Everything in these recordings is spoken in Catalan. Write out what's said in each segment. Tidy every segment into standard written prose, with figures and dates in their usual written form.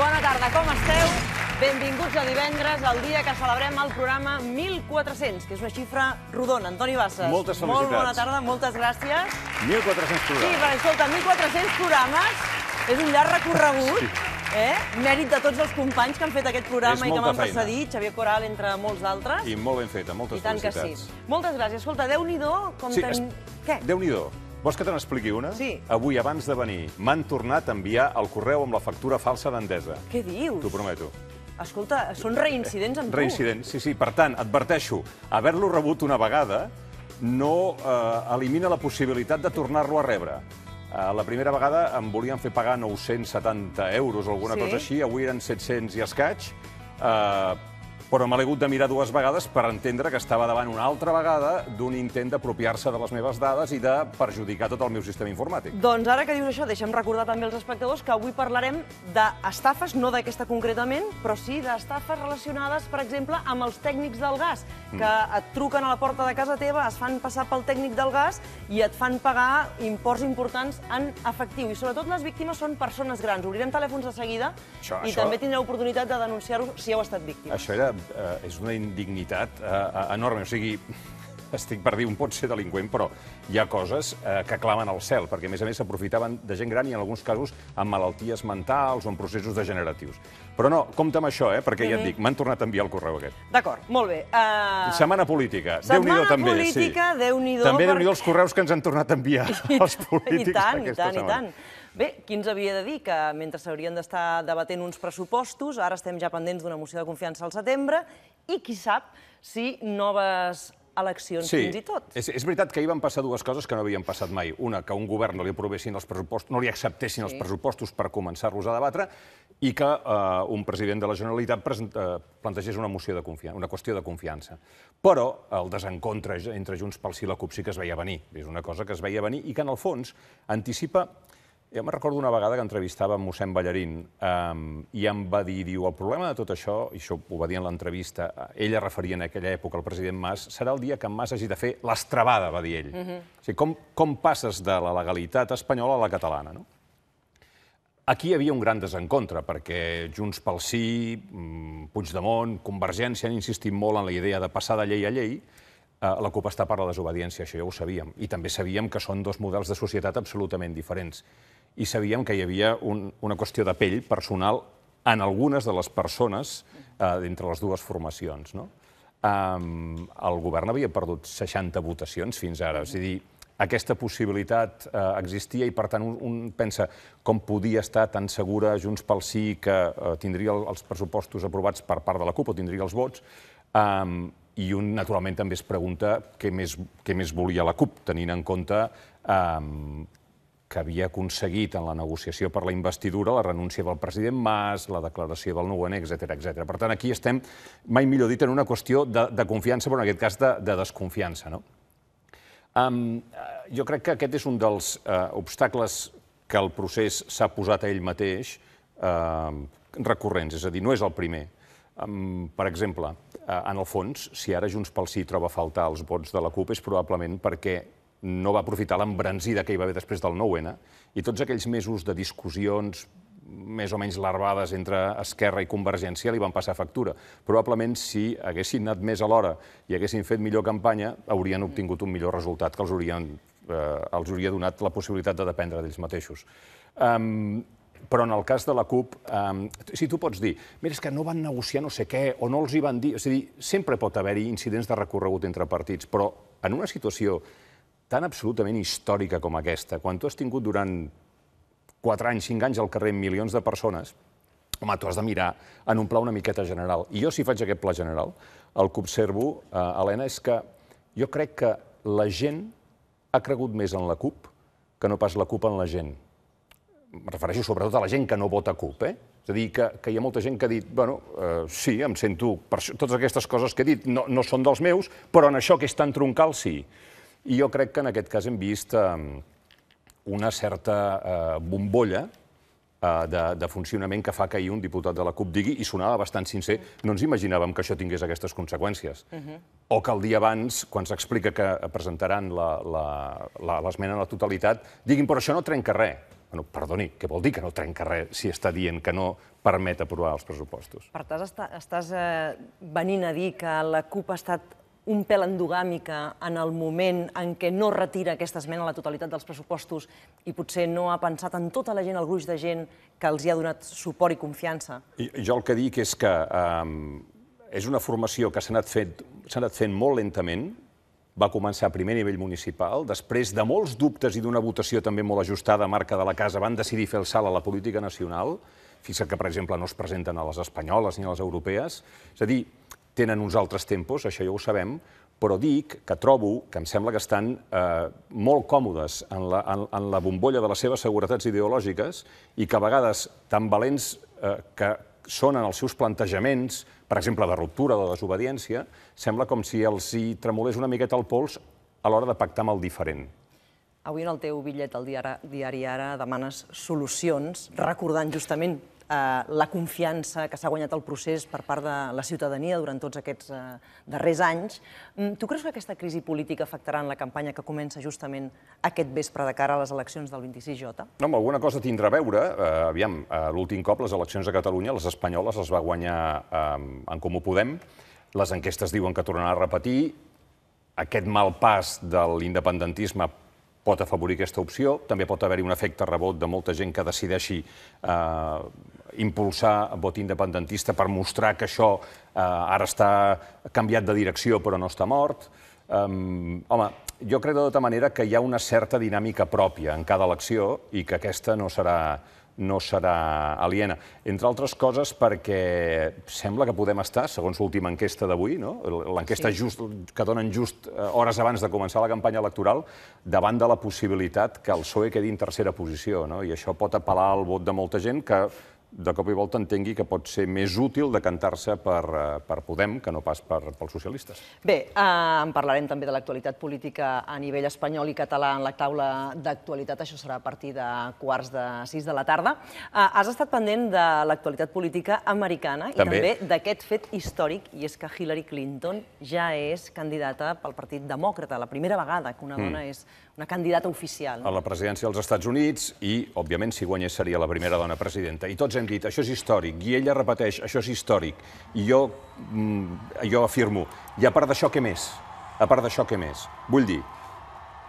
Bona tarda, com esteu? Benvinguts a divendres, el dia que celebrem el programa 1400, que és una xifra rodona. Antoni Bassas. Moltes felicitats. Molt bona tarda, moltes gràcies. 1.400 programes. Sí, perquè escolta, 1.400 programes és un llarg recorregut. Mèrit de tots els companys que han fet aquest programa i que m'han precedit, Xavier Coral, entre molts d'altres. I molt ben feta, moltes felicitats. I tant que sí. Moltes gràcies. Escolta, Déu-n'hi-do com tenim... Què? Déu-n'hi-do. Vols que te n'expliqui una? Sí. Avui, abans de venir, m'han tornat a enviar el correu amb la factura falsa d'Endesa. Què dius? T'ho prometo. Escolta, són reincidents amb tu. Reincidents, sí. Per tant, adverteixo, haver-lo rebut una vegada no elimina la possibilitat de tornar-lo a rebre. La primera vegada em volien fer pagar 970 euros o alguna cosa així, avui eren 700 i escaig, però me l'he hagut de mirar dues vegades per entendre que estava davant una altra vegada d'un intent d'apropiar-se de les meves dades i de perjudicar tot el meu sistema informàtic. Doncs ara que dius això, deixa'm recordar també als espectadors que avui parlarem d'estafes, no d'aquesta concretament, però sí d'estafes relacionades, per exemple, amb els tècnics del gas, que et truquen a la porta de casa teva, es fan passar pel tècnic del gas i et fan pagar imports importants en efectiu. I sobretot les víctimes són persones grans. Obrirem telèfons de seguida i també tindreu oportunitat de denunciar-ho si heu estat víctimes. Això és una indignitat enorme. O sigui, estic per dir, un pot ser delinqüent, però hi ha coses que clamen al cel, perquè a més s'aprofitaven de gent gran i en alguns casos amb malalties mentals o en processos degeneratius. Però no, compte amb això, perquè ja et dic, m'han tornat a enviar el correu aquest. D'acord, molt bé. Setmana política, Déu-n'hi-do també. Setmana política, Déu-n'hi-do. També Déu-n'hi-do els correus que ens han tornat a enviar els polítics aquesta setmana. I tant. Bé, qui ens havia de dir que mentre s'haurien d'estar debatent uns pressupostos, ara estem ja pendents d'una moció de confiança al setembre i qui sap si noves eleccions fins i tot. Sí, és veritat que ahir van passar dues coses que no havien passat mai. Una, que a un govern no li aprovessin els pressupostos, no li acceptessin els pressupostos per començar-los a debatre, i que un president de la Generalitat plantegés una moció de confiança, una qüestió de confiança. Però el desencontre entre Junts pel Sí i la CUP sí que es veia venir. És una cosa que es veia venir i que, en el fons, anticipa... Jo me'n recordo una vegada que entrevistava mossèn Ballarín i em va dir, el problema de tot això, i això ho va dir en l'entrevista, ell es referia en aquella època al president Mas, serà el dia que en Mas hagi de fer l'estrabada, va dir ell. O sigui, com passes de la legalitat espanyola a la catalana, no? Aquí hi havia un gran desencontre, perquè Junts pel Sí, Puigdemont, Convergència han insistit molt en la idea de passar de llei a llei. La CUP està per la desobediència, això ja ho sabíem. I també sabíem que són dos models de societat absolutament diferents. I sabíem que hi havia una qüestió de pell personal en algunes de les persones d'entre les dues formacions. El govern havia perdut 60 votacions fins ara. És a dir, aquesta possibilitat existia i, per tant, un pensa com podia estar tan segura Junts pel Sí que tindria els pressupostos aprovats per part de la CUP o tindria els vots, i un, naturalment, també es pregunta què més volia la CUP, tenint en compte que havia aconseguit en la negociació per la investidura la renúncia del president Mas, la declaració del 9N, etc. Per tant, aquí estem, mai millor dit, en una qüestió de confiança, però en aquest cas de desconfiança. Jo crec que aquest és un dels obstacles que el procés s'ha posat a ell mateix recurrents, és a dir, no és el primer. Per exemple, en el fons, si ara Junts pel Sí troba a faltar els vots de la CUP és probablement perquè no va aprofitar l'embranzida que hi va haver després del 9N i tots aquells mesos de discussions més o menys larvades entre Esquerra i Convergència li van passar factura. Probablement, si haguessin anat més a l'hora i haguessin fet millor campanya, haurien obtingut un millor resultat que els hauria donat la possibilitat de dependre d'ells mateixos. Però en el cas de la CUP, si tu pots dir, mira, és que no van negociar no sé què, o no els hi van dir... És a dir, sempre pot haver-hi incidents de recorregut entre partits, però en una situació tan absolutament històrica com aquesta, quan tu has tingut durant 4 anys, 5 anys al carrer amb milions de persones, home, tu has de mirar en un pla una miqueta general. I jo, si faig aquest pla general, el que observo, Helena, és que jo crec que la gent ha cregut més en la CUP que no pas la CUP en la gent. Em refereixo sobretot a la gent que no vota CUP, És a dir, que hi ha molta gent que ha dit, bueno, sí, em sento... Totes aquestes coses que he dit no són dels meus, però en això que és tan troncal, sí. I jo crec que en aquest cas hem vist una certa bombolla de funcionament que fa que ahir un diputat de la CUP digui, i sonava bastant sincer, no ens imaginàvem que això tingués aquestes conseqüències. O que el dia abans, quan s'explica que presentaran l'esmena a la totalitat, diguin, però això no trenca res. Perdoni, què vol dir que no trenca res si està dient que no permet aprovar els pressupostos? Per tant, estàs venint a dir que la CUP ha estat un pèl endogàmica en el moment en què no retira aquesta esmena a la totalitat dels pressupostos i potser no ha pensat en tota la gent, el gruix de gent que els hi ha donat suport i confiança? Jo el que dic és que és una formació que s'ha anat fent molt lentament, va començar a primer nivell municipal, després de molts dubtes i d'una votació també molt ajustada a marca de la casa, van decidir fer el salt a la política nacional. Fixa't que, per exemple, no es presenten a les espanyoles ni a les europees. És a dir, tenen uns altres tempos, això ja ho sabem, però dic que trobo que em sembla que estan molt còmodes en la bombolla de les seves seguretats ideològiques i que a vegades tan valents que són en els seus plantejaments, per exemple, de ruptura o de desobediència, sembla com si els hi tremolés una miqueta el pols a l'hora de pactar amb el diferent. Avui en el teu bitllet al diari Ara demanes solucions, recordant justament la confiança que s'ha guanyat el procés per part de la ciutadania durant tots aquests darrers anys. Tu creus que aquesta crisi política afectarà en la campanya que comença justament aquest vespre de cara a les eleccions del 26J? No, amb alguna cosa tindrà a veure. Aviam, l'últim cop les eleccions a Catalunya, les espanyoles les va guanyar en Comú Podem. Les enquestes diuen que tornaran a repetir. Aquest mal pas de l'independentisme pot afavorir aquesta opció. També pot haver-hi un efecte rebot de molta gent que decideixi impulsar vot independentista per mostrar que això ara està canviat de direcció però no està mort. Home, jo crec de tota manera que hi ha una certa dinàmica pròpia en cada elecció i que aquesta no serà aliena. Entre altres coses perquè sembla que podem estar, segons l'última enquesta d'avui, l'enquesta que donen just hores abans de començar la campanya electoral, davant de la possibilitat que el PSOE quedi en tercera posició. I això pot apel·lar al vot de molta gent que de cop i volta entengui que pot ser més útil decantar-se per Podem que no pas pels socialistes. Bé, en parlarem també de l'actualitat política a nivell espanyol i català en la taula d'actualitat. Això serà a partir de 5:45 de la tarda. Has estat pendent de l'actualitat política americana i també d'aquest fet històric, i és que Hillary Clinton ja és candidata pel Partit Demòcrata, la primera vegada que una dona és una candidata oficial. A la presidència dels Estats Units i, òbviament, si guanyés seria la primera dona presidenta. I tots hem dit, això és històric, i ella repeteix, això és històric. I jo afirmo, i a part d'això, què més? A part d'això, què més? Vull dir,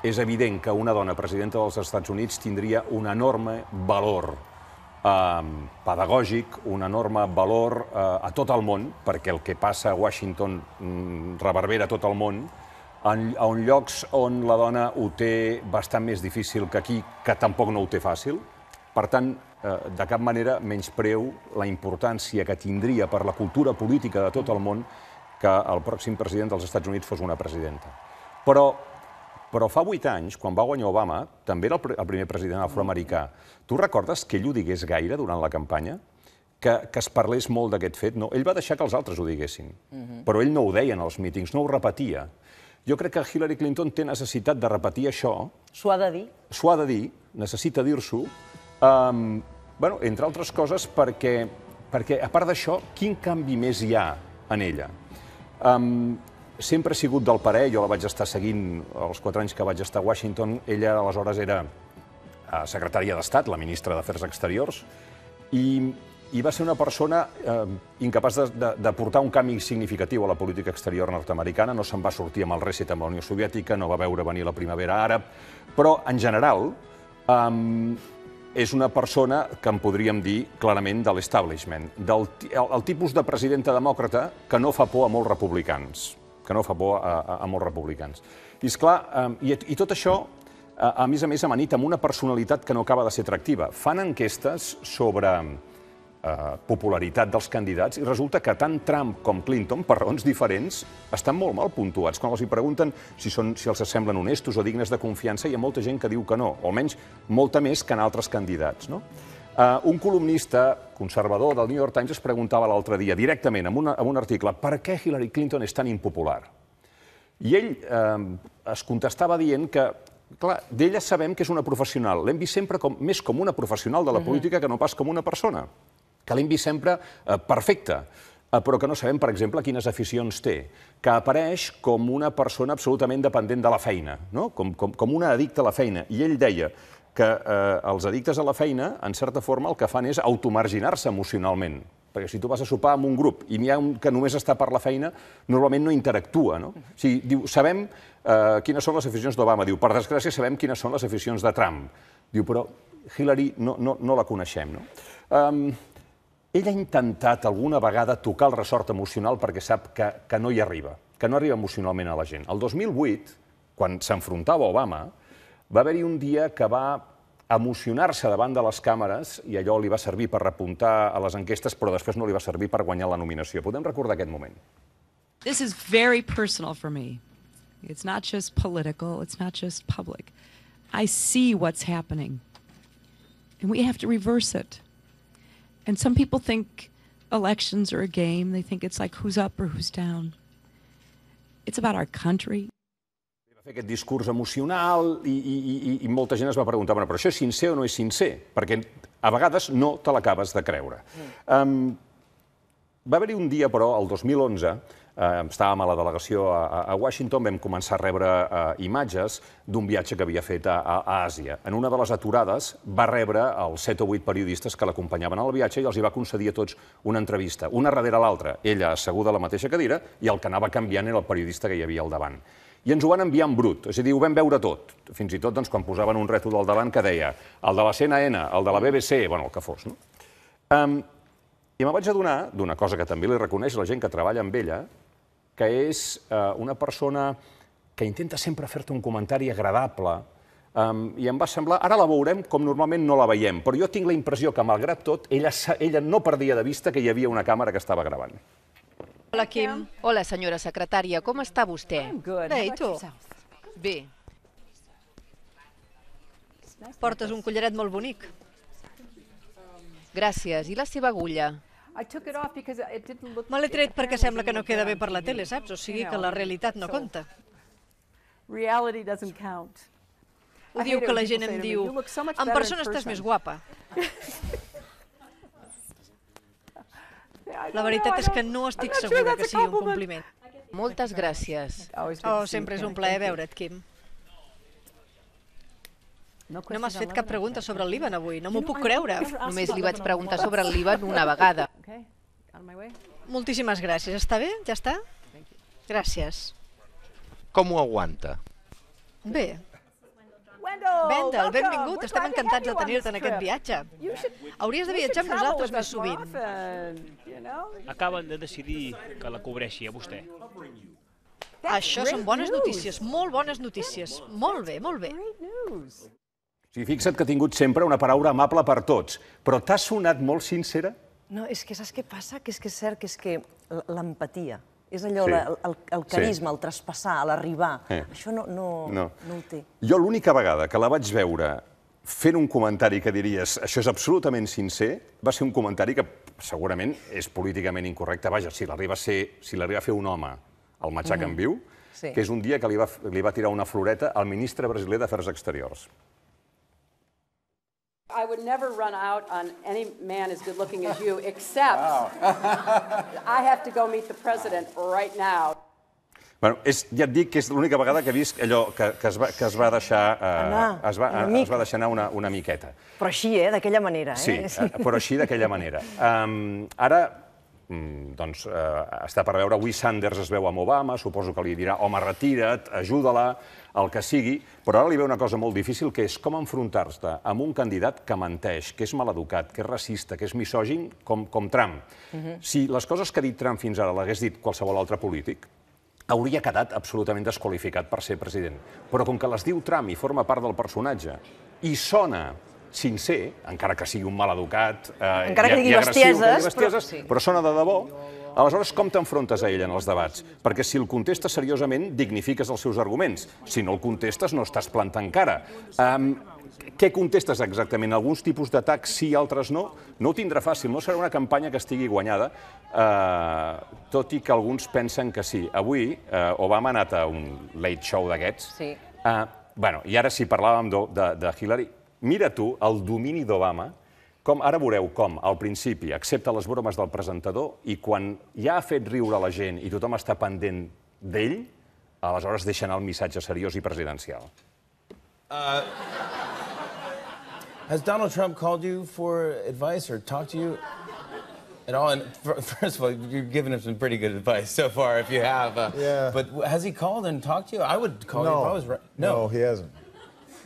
és evident que una dona presidenta dels Estats Units tindria un enorme valor pedagògic, un enorme valor a tot el món, perquè el que passa a Washington reverbera a tot el món, en llocs on la dona ho té bastant més difícil que aquí, que tampoc no ho té fàcil. Per tant, de cap manera menyspreu la importància que tindria per la cultura política de tot el món que el pròxim president dels Estats Units fos una presidenta. Però fa 8 anys, quan va guanyar Obama, també era el primer president afroamericà. Tu recordes que ell ho digués gaire durant la campanya? Que es parlés molt d'aquest fet? No, ell va deixar que els altres ho diguessin, però ell no ho deia en els mítings, no ho repetia. Jo crec que Hillary Clinton té necessitat de repetir això. S'ho ha de dir? S'ho ha de dir, necessita dir-s'ho, entre altres coses perquè, a part d'això, quin canvi més hi ha en ella? Sempre ha sigut del parer, jo la vaig estar seguint els 4 anys que vaig estar a Washington, ella aleshores era secretària d'Estat, la ministra d'Afers Exteriors, i va ser una persona incapaç de portar un canvi significatiu a la política exterior nord-americana, no se'n va sortir amb el reset amb la Unió Soviètica, no va veure venir la primavera àrab, però en general és una persona que en podríem dir clarament de l'establishment, el tipus de presidenta demòcrata que no fa por a molts republicans, I, esclar, i tot això, a més, amanit amb una personalitat que no acaba de ser atractiva. Fan enquestes sobre popularitat dels candidats i resulta que tant Trump com Clinton, per raons diferents, estan molt mal puntuats. Quan els pregunten si els semblen honestos o dignes de confiança, hi ha molta gent que diu que no, o almenys molta més que en altres candidats. Un columnista conservador del New York Times es preguntava l'altre dia, directament, en un article, per què Hillary Clinton és tan impopular? I ell es contestava dient que, clar, d'ella sabem que és una professional, l'hem vist sempre més com una professional de la política que no pas com una persona, que l'hem vist sempre perfecta, però que no sabem, per exemple, quines aficions té, que apareix com una persona absolutament dependent de la feina, com una addicta a la feina. I ell deia, que els addictes a la feina, en certa forma, el que fan és automarginar-se emocionalment. Perquè si tu vas a sopar amb un grup i n'hi ha un que només està per la feina, normalment no interactua, no? O sigui, diu, sabem quines són les aficions d'Obama. Diu, per desgràcia, sabem quines són les aficions de Trump. Diu, però Hillary no la coneixem, no? Ell ha intentat alguna vegada tocar el ressort emocional perquè sap que no hi arriba, que no arriba emocionalment a la gent. El 2008, quan s'enfrontava a Obama, va haver-hi un dia que va emocionar-se davant de les càmeres i allò li va servir per repuntar a les enquestes, però després no li va servir per guanyar la nominació. Podem recordar aquest moment? This is very personal for me. It's not just political, it's not just public. I see what's happening, and we have to reverse it. And some people think elections are a game. They think it's like who's up or who's down. It's about our country. Va fer aquest discurs emocional i molta gent es va preguntar, però això és sincer o no és sincer? Perquè a vegades no te l'acabes de creure. Va haver-hi un dia, però, el 2011, estàvem a la delegació a Washington, vam començar a rebre imatges d'un viatge que havia fet a Àsia. En una de les aturades va rebre els 7 o 8 periodistes que l'acompanyaven al viatge i els hi va concedir a tots una entrevista, una darrere l'altra, ella asseguda a la mateixa cadira i el que anava canviant era el periodista que hi havia al davant. I ens ho van enviar en brut, és a dir, ho vam veure tot. Fins i tot quan posaven un rètol al davant que deia el de la CNN, el de la BBC, bueno, el que fos, no? I me vaig adonar d'una cosa que també li reconeix la gent que treballa amb ella, que és una persona que intenta sempre fer-te un comentari agradable, i em va semblar, ara la veurem com normalment no la veiem, però jo tinc la impressió que, malgrat tot, ella no perdia de vista que hi havia una càmera que estava gravant. Hola, Kim. Hola, senyora secretària. Com està vostè? Bé, i tu? Bé. Portes un collaret molt bonic. Gràcies. I la seva agulla? Me l'he tret perquè sembla que no queda bé per la tele, saps? O sigui que la realitat no compta. Ho diu que la gent em diu, en persona estàs més guapa. La veritat és que no estic segura que sigui un compliment. Moltes gràcies. Oh, sempre és un plaer veure't, Kim. No m'has fet cap pregunta sobre el Líban avui, no m'ho puc creure. Només li vaig preguntar sobre el Líban una vegada. Moltíssimes gràcies. Està bé? Ja està? Gràcies. Com ho aguanta? Bé. Wendell, benvingut. Estem encantats de tenir-te en aquest viatge. Hauries de viatjar amb nosaltres més sovint. Acaben de decidir que la cobreixi a vostè. Això són bones notícies, molt bones notícies. Molt bé, molt bé. Sí, fixa't que ha tingut sempre una paraula amable per tots, però t'ha sonat molt sincera? No, és que saps què passa? Que és cert que és que l'empatia, és allò, el carisma, el traspassar, l'arribar, això no ho té. Jo l'única vegada que la vaig veure fent un comentari que diries això és absolutament sincer, va ser un comentari que segurament és políticament incorrecte. Vaja, si l'arriba a fer un home al matxac en viu, que és un dia que li va tirar una floreta al ministre brasiler d'Afers Exteriors. I would never run out on any man as good looking as you, except I have to go meet the president right now. Bueno, ja et dic que és l'única vegada que he vist allò que es va deixar anar una miqueta. Però així, d'aquella manera. Sí, però així d'aquella manera. Ara, doncs, està per veure, avui Sanders es veu amb Obama, suposo que li dirà, home, retira't, ajuda-la, el que sigui, però ara li ve una cosa molt difícil, que és com enfrontar-se amb un candidat que menteix, que és maleducat, que és racista, que és misògin, com Trump. Si les coses que ha dit Trump fins ara l'hagués dit qualsevol altre polític, hauria quedat absolutament desqualificat per ser president. Però com que les diu Trump i forma part del personatge, i sona sincer, encara que sigui un maleducat encara que digui bestieses, però sona de debò, aleshores com t'enfrontes a ell en els debats? Perquè si el contestes seriosament, dignifiques els seus arguments. Si no el contestes, no estàs plantant cara. Què contestes exactament? Alguns tipus d'atacs sí, altres no? No ho tindrà fàcil, no serà una campanya que estigui guanyada, tot i que alguns pensen que sí. Avui Obama ha anat a un late show d'aquests. I ara si parlàvem de Hillary, mira tu el domini d'Obama, ara veureu com, al principi, accepta les bromes del presentador i quan ja ha fet riure la gent i tothom està pendent d'ell, aleshores deixa anar el missatge seriós i presidencial. Has Donald Trump called you for advice or talked to you at all? And first of all, you've given him some pretty good advice so far, if you have. Yeah. But has he called and talked to you? I would call you if I was right. No, he hasn't.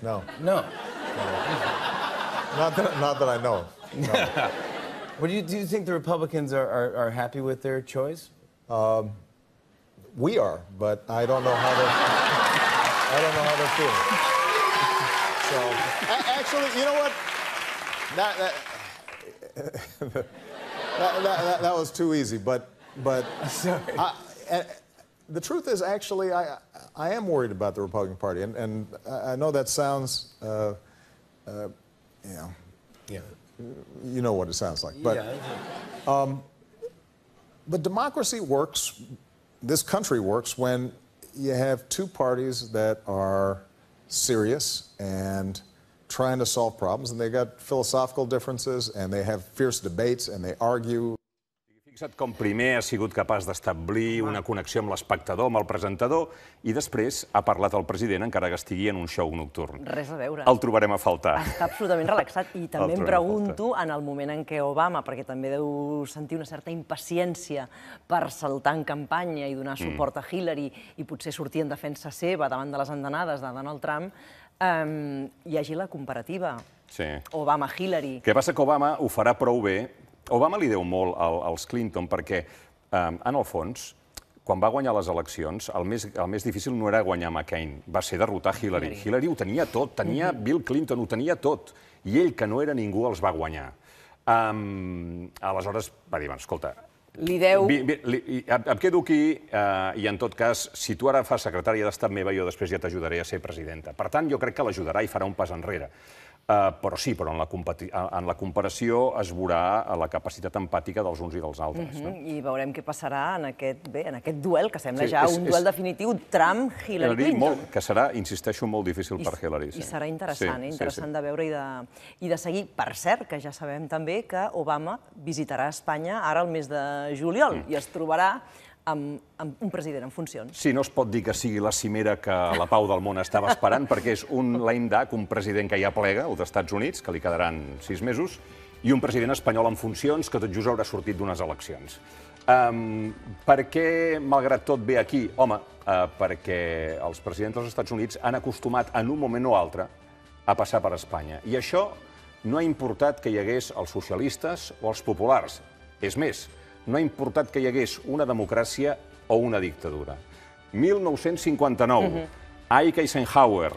No. No. Not that I know. No. Do you think the Republicans are happy with their choice? We are, but I don't know how they're feeling. So, actually, you know what? That was too easy. But sorry. The truth is, actually, I am worried about the Republican Party, and I know that sounds, you know what it sounds like. But, but democracy works. This country works when you have two parties that are serious and trying to solve problems, and they got philosophical differences, and they have fierce debates, and they argue. Fixa't com primer ha sigut capaç d'establir una connexió amb l'espectador, amb el presentador, i després ha parlat el president encara que estigui en un show nocturn. Res a veure. El trobarem a faltar. Està absolutament relaxat. I també em pregunto, en el moment en què Obama, perquè també deu sentir una certa impaciència per saltar en campanya i donar suport a Hillary i potser sortir en defensa seva davant de les andanades de Donald Trump, hi hagi la comparativa. Sí. Obama-Hillary. El que passa que Obama ho farà prou bé. Obama li deu molt als Clinton perquè, en el fons, quan va guanyar les eleccions, el més difícil no era guanyar McCain, va ser derrotar Hillary. Hillary ho tenia tot, tenia Bill Clinton, ho tenia tot, i ell, que no era ningú, els va guanyar. Aleshores va dir, escolta, em quedo aquí i, en tot cas, si tu ara fas secretària d'Estat meva, jo després ja t'ajudaré a ser presidenta. Per tant, jo crec que l'ajudarà i farà un pas enrere. Però sí, però en la comparació es veurà la capacitat empàtica dels uns i dels altres. I veurem què passarà en aquest duel, que sembla ja un duel definitiu, Trump-Hillary Clinton. Que serà, insisteixo, molt difícil per Hillary. I serà interessant de veure i de seguir. Per cert, que ja sabem també que Obama visitarà Espanya ara al mes de juliol i es trobarà amb un president en funcions. Sí, no es pot dir que sigui la cimera que la pau del món estava esperant, perquè és un lame duck, un president que ja plega, els Estats Units, que li quedaran 6 mesos, i un president espanyol en funcions que tot just haurà sortit d'unes eleccions. Per què, malgrat tot, ve aquí? Home, perquè els presidents dels Estats Units han acostumat, en un moment o altre, a passar per Espanya. I això no ha importat que hi hagués els socialistes o els populars. És més, no ha importat que hi hagués una democràcia o una dictadura. 1959, Ike Eisenhower,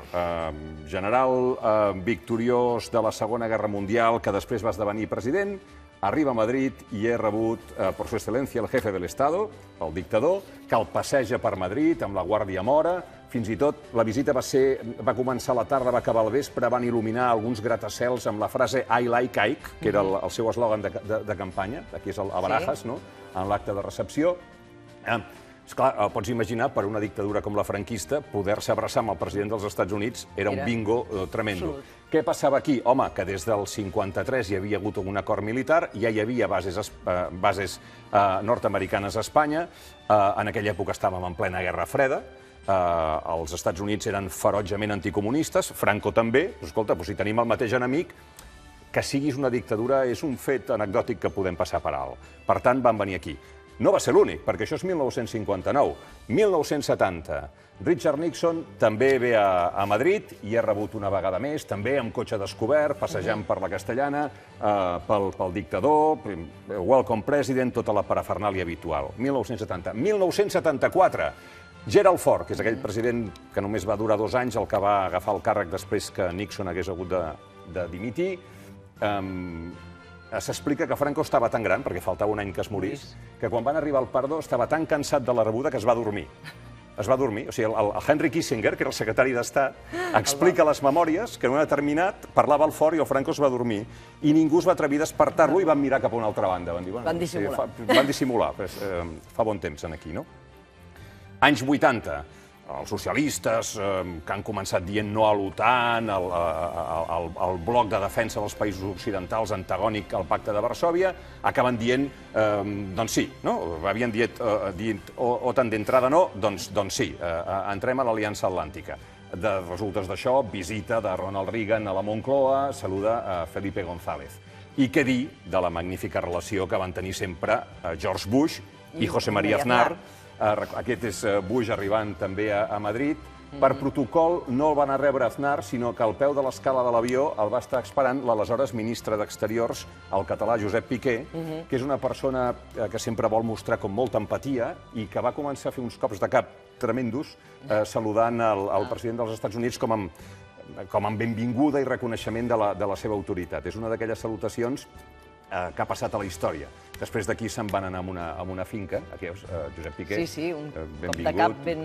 general victoriós de la Segona Guerra Mundial, que després va esdevenir president, arriba a Madrid i és rebut per su excelencia el jefe del Estado, el dictador, que el passeja per Madrid amb la Guàrdia Mora. Fins i tot la visita va començar a la tarda, va acabar al vespre, van il·luminar alguns gratacels amb la frase I like Ike, que era el seu eslògan de campanya, aquí és a Barajas, en l'acte de recepció. Esclar, pots imaginar, per una dictadura com la franquista, poder-se abraçar amb el president dels Estats Units era un bingo tremendo. Què passava aquí? Home, que des del 53 hi havia hagut un acord militar, ja hi havia bases nord-americanes a Espanya, en aquella època estàvem en plena Guerra Freda, els Estats Units eren ferotgement anticomunistes, Franco també. Escolta, si tenim el mateix enemic, que siguis una dictadura és un fet anecdòtic que podem passar per alt. Per tant, van venir aquí. No va ser l'únic, perquè això és 1959. 1970, Richard Nixon també ve a Madrid i ha rebut una vegada més, també amb cotxe descobert, passejant per la Castellana, pel dictador, Welcome President, tota la parafernàlia habitual. 1970. 1974, Gerald Ford, que és aquell president que només va durar 2 anys, el que va agafar el càrrec després que Nixon hagués hagut de dimitir. S'explica que Franco estava tan gran, perquè faltava un any que es morís, que quan van arribar al Pardo estava tan cansat de la rebuda que es va dormir. Es va dormir. O sigui, el Henry Kissinger, que era el secretari d'Estat, explica a les memòries que en un determinat parlava el Ford i el Franco es va dormir i ningú es va atrevir a despertar-lo i van mirar cap a una altra banda. Van dissimular. Van dissimular. Fa bon temps aquí, no? Anys 80, els socialistes que han començat dient no a l'OTAN, el bloc de defensa dels països occidentals antagònic al pacte de Varsòvia, acaben dient, doncs sí, no? Havien dit OTAN d'entrada no, doncs sí, entrem a l'Aliança Atlàntica. De resultes d'això, visita de Ronald Reagan a la Moncloa, saluda a Felipe González. I què dir de la magnífica relació que van tenir sempre George Bush i José María Aznar. Aquest és Bush arribant també a Madrid. Per protocol no el van a rebre Aznar, sinó que al peu de l'escala de l'avió el va estar esperant l'aleshores ministre d'Exteriors, el català Josep Piqué, que és una persona que sempre vol mostrar com molta empatia i que va començar a fer uns cops de cap tremendos saludant el president dels Estats Units com amb benvinguda i reconeixement de la seva autoritat. És una d'aquelles salutacions que ha passat a la història. Després d'aquí se'n van anar a una finca, aquí veus, Josep Piqué. Sí, un cop de cap ben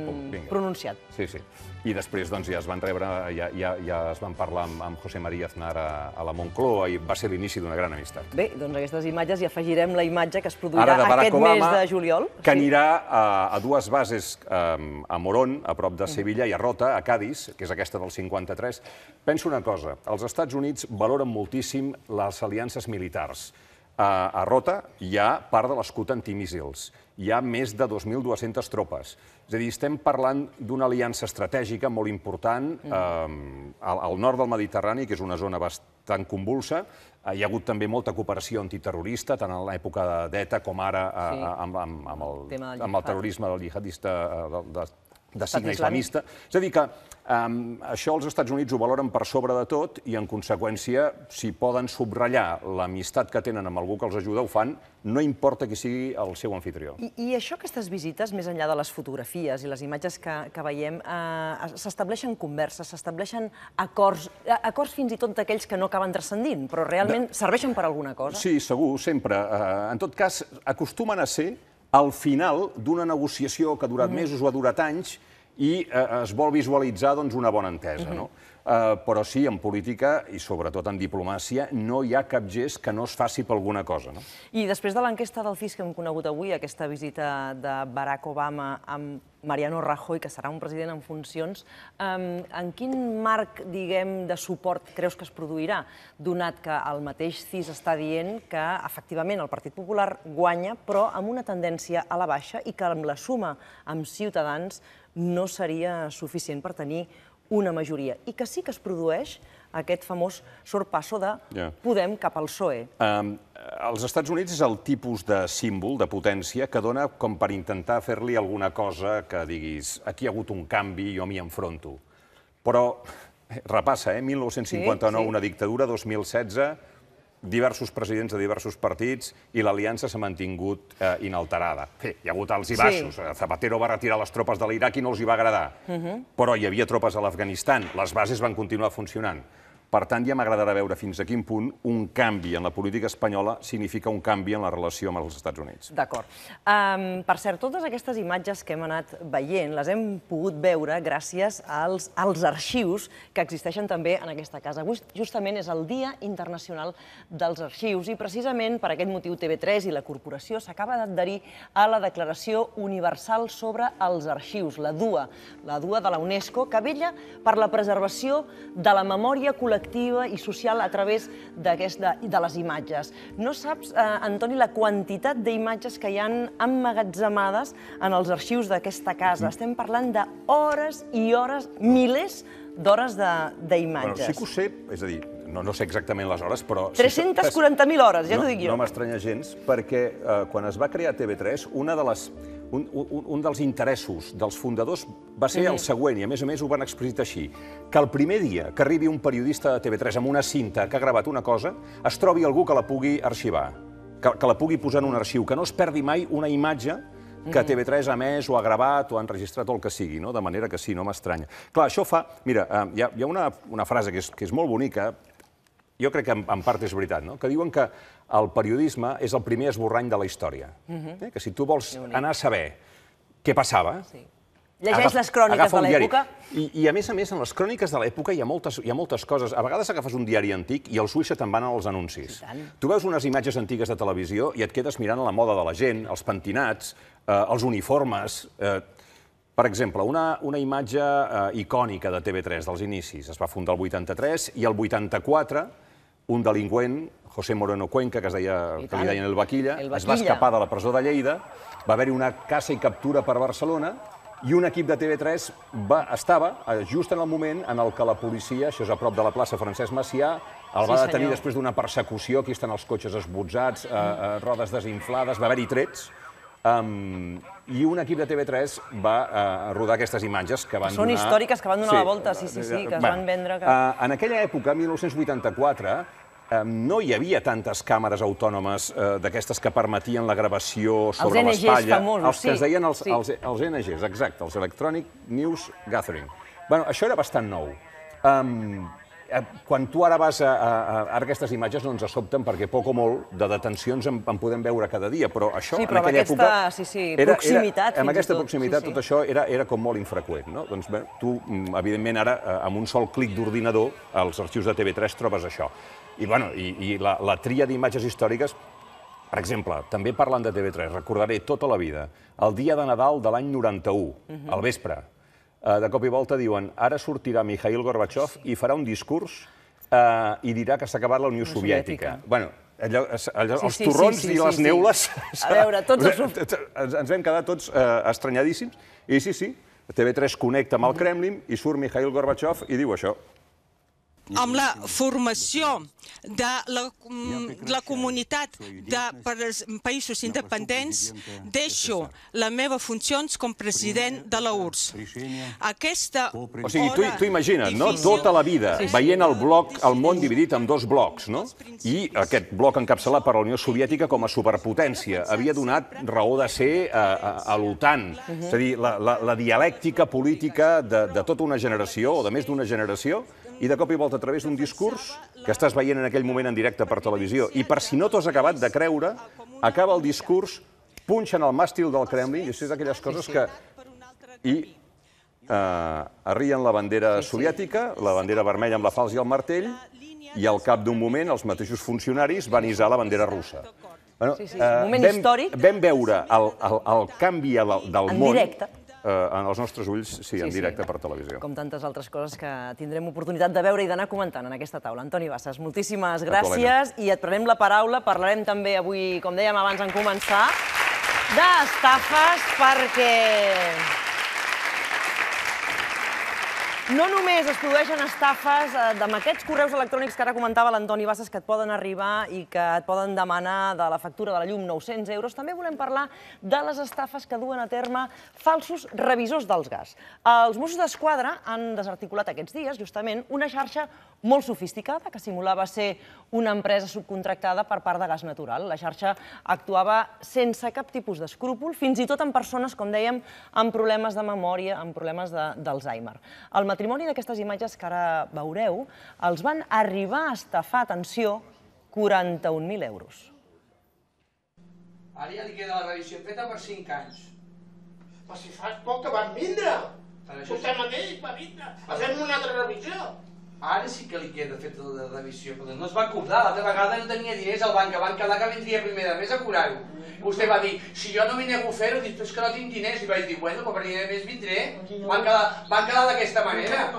pronunciat. Sí. I després ja es van rebre, ja es van parlar amb José María Aznar a la Moncloa i va ser l'inici d'una gran amistat. Bé, doncs aquestes imatges hi afegirem la imatge que es produirà aquest mes de juliol. Que anirà a dues bases, a Morón, a prop de Sevilla, i a Rota, a Cádiz, que és aquesta del 53. Penso una cosa, els Estats Units valoren moltíssim les aliances militars. A Rota hi ha part de l'escut antimíssils. Hi ha més de 2.200 tropes. És a dir, estem parlant d'una aliança estratègica molt important al nord del Mediterrani, que és una zona bastant convulsa. Hi ha hagut també molta cooperació antiterrorista, tant en l'època d'ETA com ara amb el terrorisme del jihadista de signe islamista. És a dir, que això els Estats Units ho valoren per sobre de tot i, en conseqüència, si poden subratllar l'amistat que tenen amb algú que els ajuda, ho fan, no importa qui sigui el seu anfitrió. I això, aquestes visites, més enllà de les fotografies i les imatges que veiem, s'estableixen converses, s'estableixen acords fins i tot d'aquells que no acaben transcendint, però realment serveixen per alguna cosa? Sí, segur, sempre. En tot cas, acostumen a ser al final d'una negociació que ha durat mesos o ha durat anys i es vol visualitzar una bona entesa. Però sí, en política i sobretot en diplomàcia no hi ha cap gest que no es faci per alguna cosa. I després de l'enquesta del CIS que hem conegut avui, aquesta visita de Barack Obama amb Mariano Rajoy, que serà un president en funcions, en quin marc, diguem, de suport creus que es produirà, donat que el mateix CIS està dient que, efectivament, el Partit Popular guanya, però amb una tendència a la baixa i que amb la suma amb Ciutadans no seria suficient per tenir una majoria, i que sí que es produeix aquest famós sorpasso de Podem cap al PSOE. Els Estats Units és el tipus de símbol, de potència, que dona com per intentar fer-li alguna cosa que diguis aquí hi ha hagut un canvi i jo m'hi enfronto. Però repassa, 1959, una dictadura, 2016, diversos presidents de diversos partits i l'aliança s'ha mantingut inalterada. Hi ha hagut alts i baixos. Zapatero va retirar les tropes de l'Iraq i no els hi va agradar. Però hi havia tropes a l'Afganistan. Les bases van continuar funcionant. Per tant, ja m'agradarà veure fins a quin punt un canvi en la política espanyola significa un canvi en la relació amb els Estats Units. D'acord. Per cert, totes aquestes imatges que hem anat veient les hem pogut veure gràcies als arxius que existeixen també en aquesta casa. Avui justament és el Dia Internacional dels Arxius i precisament per aquest motiu TV3 i la corporació s'acaba d'adherir a la Declaració Universal sobre els Arxius, la DUA de la UNESCO, que vetlla per la preservació de la memòria col·lectiva i social a través de les imatges. No saps, Antoni, la quantitat d'imatges que hi ha emmagatzemades en els arxius d'aquesta casa. Estem parlant d'hores i hores, milers d'hores d'imatges. Sí que ho sé, és a dir, no sé exactament les hores, però... 340.000 hores, ja t'ho dic jo. No m'estranya gens, perquè quan es va crear TV3, un dels interessos dels fundadors va ser el següent, i a més ho van explicitar així, que el primer dia que arribi un periodista de TV3 amb una cinta que ha gravat una cosa, es trobi algú que la pugui arxivar, que la pugui posar en un arxiu, que no es perdi mai una imatge que TV3 ha emès o ha gravat o ha enregistrat o el que sigui, de manera que sí, no m'estranya. Clar, això fa... Mira, hi ha una frase que és molt bonica, jo crec que en part és veritat, que diuen que el periodisme és el primer esborrany de la història. Que si tu vols anar a saber què passava... Llegeix les cròniques de l'època. I a més, en les cròniques de l'època hi ha moltes coses. A vegades agafes un diari antic i els ulls se'n van als anuncis. Tu veus unes imatges antigues de televisió i et quedes mirant la moda de la gent, els pentinats, els uniformes... Per exemple, una imatge icònica de TV3 dels inicis. Es va fundar el 83 i el 84 un delinqüent, José Moreno Cuenca, que li deien el Vaquilla, es va escapar de la presó de Lleida, va haver-hi una caça i captura per Barcelona I un equip de TV3 estava just en el moment en què la policia, això és a prop de la plaça Francesc Macià, el va detenir després d'una persecució, aquí estan els cotxes esbotzats, rodes desinflades, va haver-hi trets, i un equip de TV3 va rodar aquestes imatges que van donar... Són històriques, que van donar la volta, sí, que es van vendre... En aquella època, 1984, no hi havia tantes càmeres autònomes d'aquestes que permetien la gravació sobre l'espatlla. Els NGs famosos, els que es deien els NGs, exacte, els Electronic News Gathering. Bueno, això era bastant nou. Quan tu ara vas a aquestes imatges no ens sobten perquè poc o molt de detencions en podem veure cada dia, però això en aquella època... Sí, però amb aquesta proximitat... Amb aquesta proximitat tot això era com molt infreqüent, no? Doncs bé, tu, evidentment, ara, amb un sol clic d'ordinador, als arxius de TV3 trobes això. I la tria d'imatges històriques, per exemple, també parlant de TV3, recordaré tota la vida, el dia de Nadal de l'any 91, al vespre, de cop i volta diuen ara sortirà Mikhail Gorbachev i farà un discurs i dirà que s'ha acabat la Unió Soviètica. Bueno, els torrons i les neules... A veure, tots ens vam quedar tots estranyadíssims. I sí, TV3 connecta amb el Kremlin i surt Mikhail Gorbachev i diu això. Amb la formació de la comunitat de països independents, deixo les meves funcions com president de la URSS. O sigui, tu imagina't, no? Tota la vida veient el món dividit en dos blocs, no? I aquest bloc encapçalat per la Unió Soviètica com a superpotència havia donat raó de ser a l'OTAN. És a dir, la dialèctica política de tota una generació, o de més d'una generació, i de cop i volta a través d'un discurs que estàs veient en aquell moment en directe per televisió. I per si no t'ho has acabat de creure, acaba el discurs, punxen el màstil del Kremlin, i això és d'aquelles coses que... I arrien la bandera soviètica, la bandera vermella amb la falç i el martell, i al cap d'un moment els mateixos funcionaris van hissar la bandera russa. Moment històric. Vam veure el canvi del món... En directe. En els nostres ulls, sí, en directe per televisió. Com tantes altres coses que tindrem oportunitat de veure i d'anar comentant en aquesta taula. Antoni Bassas, moltíssimes gràcies i et prenem la paraula. Parlarem també avui, com dèiem abans en començar, d'estafes perquè... No només es produeixen estafes amb aquests correus electrònics que ara comentava l'Antoni Bassas que et poden arribar i que et poden demanar de la factura de la llum 900 euros, també volem parlar de les estafes que duen a terme falsos revisors dels gas. Els Mossos d'Esquadra han desarticulat aquests dies, justament, una xarxa molt sofisticada que simulava ser una empresa subcontractada per part de Gas Natural. La xarxa actuava sense cap tipus d'escrúpol, fins i tot en persones, com dèiem, amb problemes de memòria, amb problemes d'Alzheimer. El matrimoni d'aquestes imatges que ara veureu els van arribar a estafar, atenció, 41.000 euros. Ara ja li queda la revisió feta per 5 anys. Però si fas poc que van vindre. Vostè mateix va vindre a fer-me una altra revisió. Ara sí que li queda feta la revisió, però no es va cobrar. L'altra vegada no tenia diners al banc, que van quedar que vindria primer de mes a cobrar-ho. Vostè va dir, si jo no m'hi nego a fer-ho, és que no tinc diners. I vaig dir, bueno, però primer de mes vindré. Van quedar d'aquesta manera.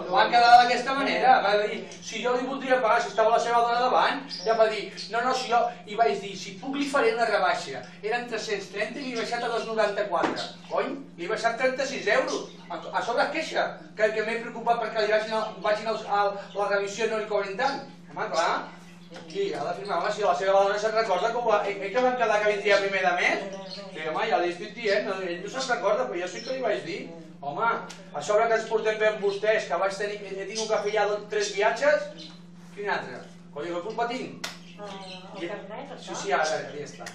Van quedar d'aquesta manera. Va dir, si jo li voldria pagar, si estava la seva dona davant, ja va dir, no, si jo... I vaig dir, si puc li faré una rebaixa. Eren 330 i li he baixat a 2,94. Cony, li he baixat 36 euros. A sobre es queixa, que m'he preocupat perquè li vagin a la revisió i no li cobrin tant. Home, clar. I ha de firmar, home, si la seva dona se'n recorda que van quedar que vindria primer de mes. Sí, home, ja li estic dient, ell no se'n recorda, però jo sí que li vaig dir. Home, a sobre que ens portem bé amb vostès, que he tingut que fer ja 3 viatges, quin altre? Coi, que culpa tinc? Sí, ara, ja està.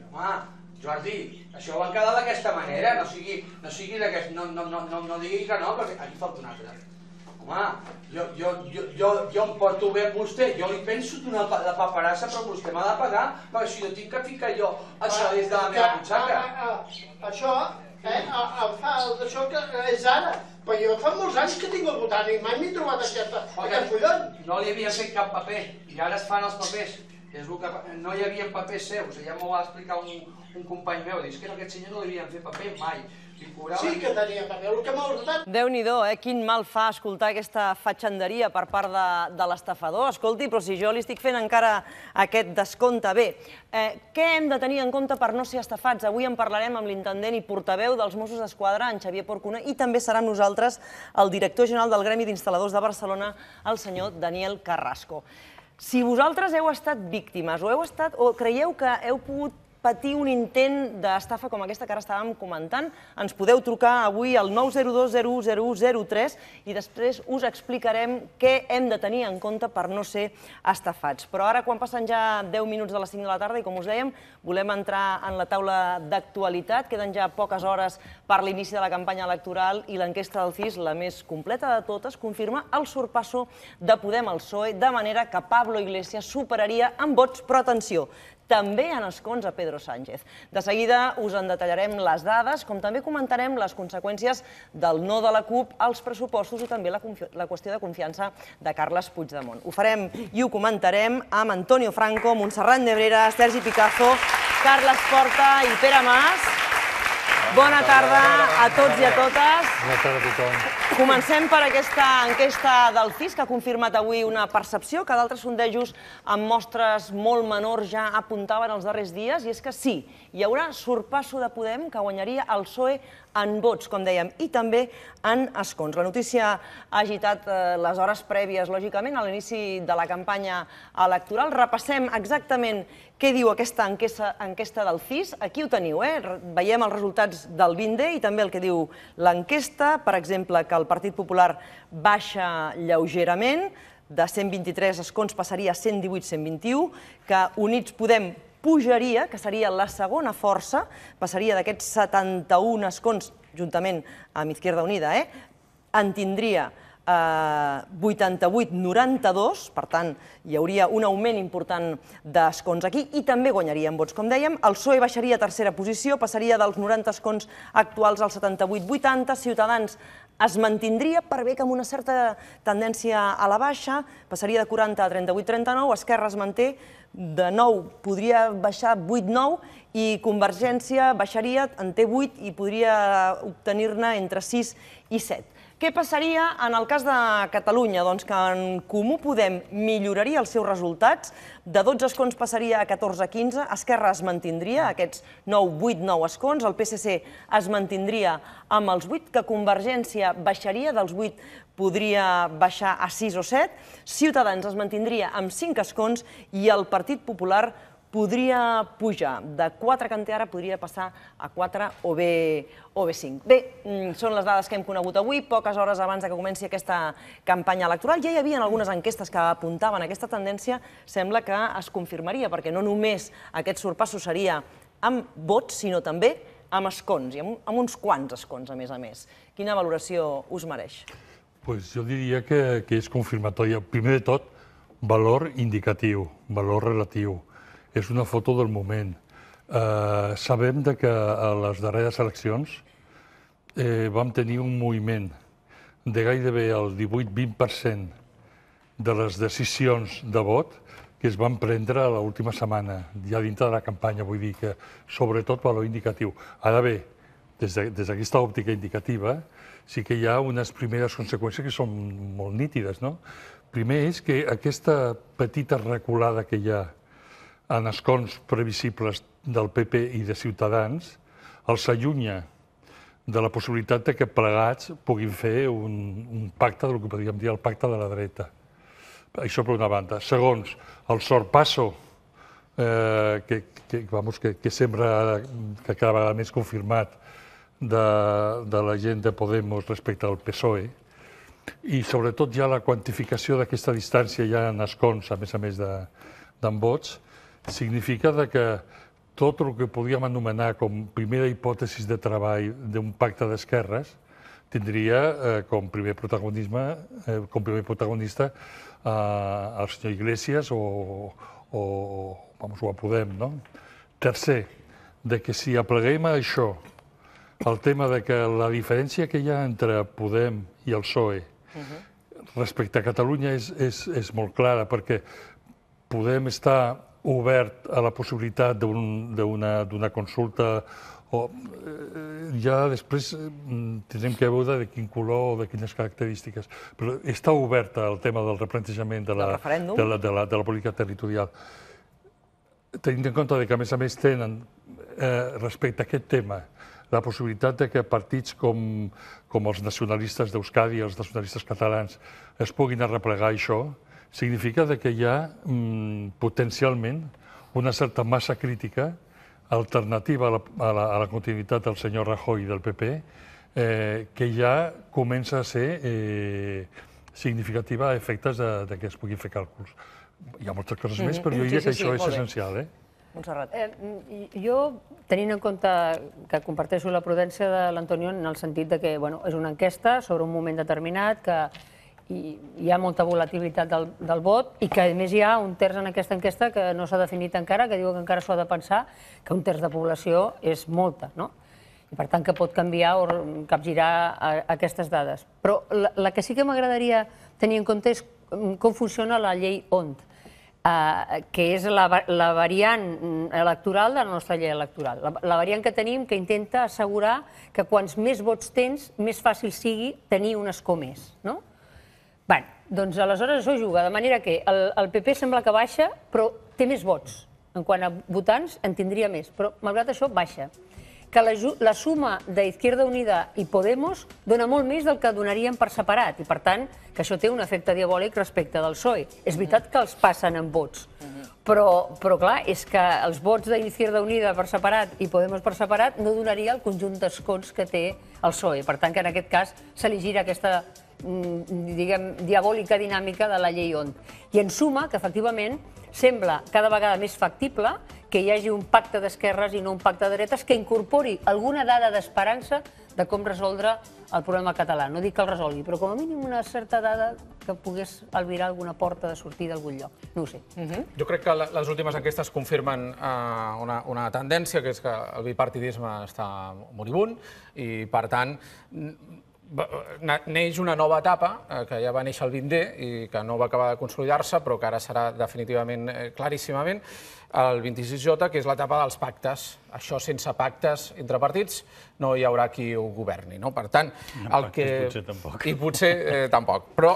Home, Jordi, això van quedar d'aquesta manera, no digui que no, perquè aquí falta un altre. Home, jo em porto bé amb vostè, jo li penso donar la paperassa, però vostè m'ha de pagar, perquè si no tinc que ficar jo això des de la meva butxaca. Això, això que és ara, però jo fa molts anys que tinc el botànic, mai m'he trobat aquest collon. No li havia fet cap paper, i ara es fan els papers. És el que no hi havia papers seus, ja m'ho va explicar un company meu, dius que aquest senyor no li havien fet paper mai. Sí que tenia paper, el que m'ha ordenat. Déu-n'hi-do, quin mal fa escoltar aquesta fatxanderia per part de l'estafador. Escolti, però si jo li estic fent encara aquest descompte. Bé, què hem de tenir en compte per no ser estafats? Avui en parlarem amb l'intendent i portaveu dels Mossos d'Esquadra, en Xavier Porcuna, i també serà amb nosaltres el director general del Gremi d'Instal·ladors de Barcelona, el senyor Daniel Carrasco. Si vosaltres heu estat víctimes o creieu que heu pogut patir un intent d'estafa com aquesta que ara estàvem comentant, ens podeu trucar avui al 902 010103 i després us explicarem què hem de tenir en compte per no ser estafats. Però ara, quan passen ja 10 minuts de les 5 de la tarda i, com us dèiem, volem entrar en la taula d'actualitat. Queden ja poques hores per l'inici de la campanya electoral i l'enquesta del CIS, la més completa de totes, confirma el sorpasso de Podem al PSOE, de manera que Pablo Iglesias superaria en vots, però atenció, també en escons a Pedro Sánchez. De seguida us en detallarem les dades, com també comentarem les conseqüències del no de la CUP als pressupostos i també la qüestió de confiança de Carles Puigdemont. Ho farem i ho comentarem amb Antonio Franco, Montserrat Nebrera, Sergi Picazo, Carles Porta i Pere Mas. Bona tarda a tots i a totes. Bona tarda a tothom. Comencem per aquesta enquesta del CIS, que ha confirmat avui una percepció que d'altres sondejos amb mostres molt menors ja apuntaven els darrers dies, i és que sí, hi haurà sorpasso de Podem que guanyaria el PSOE en vots, com dèiem, i també en escons. La notícia ha agitat les hores prèvies, lògicament, a l'inici de la campanya electoral. Repassem exactament què diu aquesta enquesta del CIS. Aquí ho teniu, veiem els resultats del BINDE i també el que diu l'enquesta. Per exemple, que el Partit Popular baixa lleugerament, de 123 escons passaria a 118-121, que Units Podem pujaria, que seria la segona força, passaria d'aquests 71 escons, juntament amb Izquierda Unida, en tindria 88-92, per tant, hi hauria un augment important d'escons aquí i també guanyaria en vots, com dèiem. El PSOE baixaria a tercera posició, passaria dels 90 escons actuals als 78-80, Ciutadans es mantindria per bé que amb una certa tendència a la baixa, passaria de 40 a 38-39, Esquerra es manté, de 9 podria baixar 8-9 i Convergència baixaria, en té 8 i podria obtenir-ne entre 6 i 7. Què passaria en el cas de Catalunya? Doncs que en Comú Podem milloraria els seus resultats, de 12 escons passaria a 14-15, Esquerra es mantindria, aquests 8-9 escons, el PSC es mantindria amb els 8, que Convergència baixaria dels 8, podria baixar a 6 o 7, Ciutadans es mantindria amb 5 escons i el Partit Popular podria pujar. De 4 que en té ara podria passar a 4 o bé 5. Bé, són les dades que hem conegut avui, poques hores abans que comenci aquesta campanya electoral. Ja hi havia algunes enquestes que apuntaven aquesta tendència, sembla que es confirmaria, perquè no només aquest sorpasso seria amb vots, sinó també amb escons, i amb uns quants escons, a més. Quina valoració us mereix? Jo diria que és confirmatòria. Primer de tot, valor indicatiu, valor relatiu. És una foto del moment. Sabem que a les darreres eleccions vam tenir un moviment de gairebé el 18-20% de les decisions de vot que es van prendre l'última setmana, ja dintre de la campanya. Vull dir que, sobretot, valor indicatiu. Ara bé, des d'aquesta òptica indicativa, sí que hi ha unes primeres conseqüències que són molt nítides. Primer és que aquesta petita reculada que hi ha en escons previsibles del PP i de Ciutadans els allunya de la possibilitat que plegats puguin fer un pacte, del que podríem dir el pacte de la dreta. Això per una banda. Segons, el sorpasso que sembla que cada vegada més confirmat de la gent de Podemos respecte al PSOE, i sobretot ja la quantificació d'aquesta distància ja en escons, a més d'en vots, significa que tot el que podríem anomenar com primera hipòtesi de treball d'un pacte d'esquerres tindria com primer protagonista el senyor Iglesias o a Podem. Tercer, que si apleguem a això el tema que la diferència que hi ha entre Podem i el PSOE respecte a Catalunya és molt clara, perquè Podem està obert a la possibilitat d'una consulta, ja després tindrem que veure de quin color o de quines característiques. Però està obert el tema del replantejament de la política territorial. Tenint en compte que, a més, tenen respecte a aquest tema la possibilitat que partits com els nacionalistes d'Euskadi i els nacionalistes catalans es puguin arreplegar això, significa que hi ha potencialment una certa massa crítica alternativa a la continuïtat del senyor Rajoy i del PP, que ja comença a ser significativa a efectes que es puguin fer càlculs. Hi ha moltes coses més, però jo diria que això és essencial. Montserrat. Jo, tenint en compte que comparteixo la prudència de l'Antonio en el sentit que és una enquesta sobre un moment determinat, que hi ha molta volatilitat del vot i que, a més, hi ha un terç en aquesta enquesta que no s'ha definit encara, que diu que encara s'ho ha de pensar, que un terç de població és molta, no? I, per tant, que pot canviar o capgirar aquestes dades. Però la que sí que m'agradaria tenir en compte és com funciona la llei ONT, que és la variant electoral de la nostra llei electoral. La variant que tenim que intenta assegurar que quants més vots tens, més fàcil sigui tenir un escó més, no? Bé, doncs aleshores això juga, de manera que el PP sembla que baixa, però té més vots. En quant a votants, en tindria més, però malgrat això baixa. Que la suma d'Izquierda Unida i Podemos dona molt més del que donaríem per separat i, per tant, que això té un efecte diabòlic respecte del PSOE. És veritat que els passen en vots, però clar, és que els vots d'Izquierda Unida per separat i Podemos per separat no donaria el conjunt d'escons que té el PSOE. Per tant, que en aquest cas se li gira aquesta, diguem, diabòlica dinàmica de la llei ONT. I en suma, que efectivament sembla cada vegada més factible que hi hagi un pacte d'esquerres i no un pacte de dretes que incorpori alguna dada d'esperança de com resoldre el problema català. No dic que el resolgui, però com a mínim una certa dada que pogués albirar alguna porta de sortida d'algun lloc. No ho sé. Jo crec que les últimes enquestes confirmen una tendència, que és que el bipartidisme està moribund i, per tant, neix una nova etapa, que ja va néixer el 20D i que no va acabar de consolidar-se, però que ara serà definitivament, claríssimament, el 26J, que és l'etapa dels pactes. Això sense pactes entre partits no hi haurà qui ho governi. Per tant, el que... Potser tampoc. I potser tampoc. Però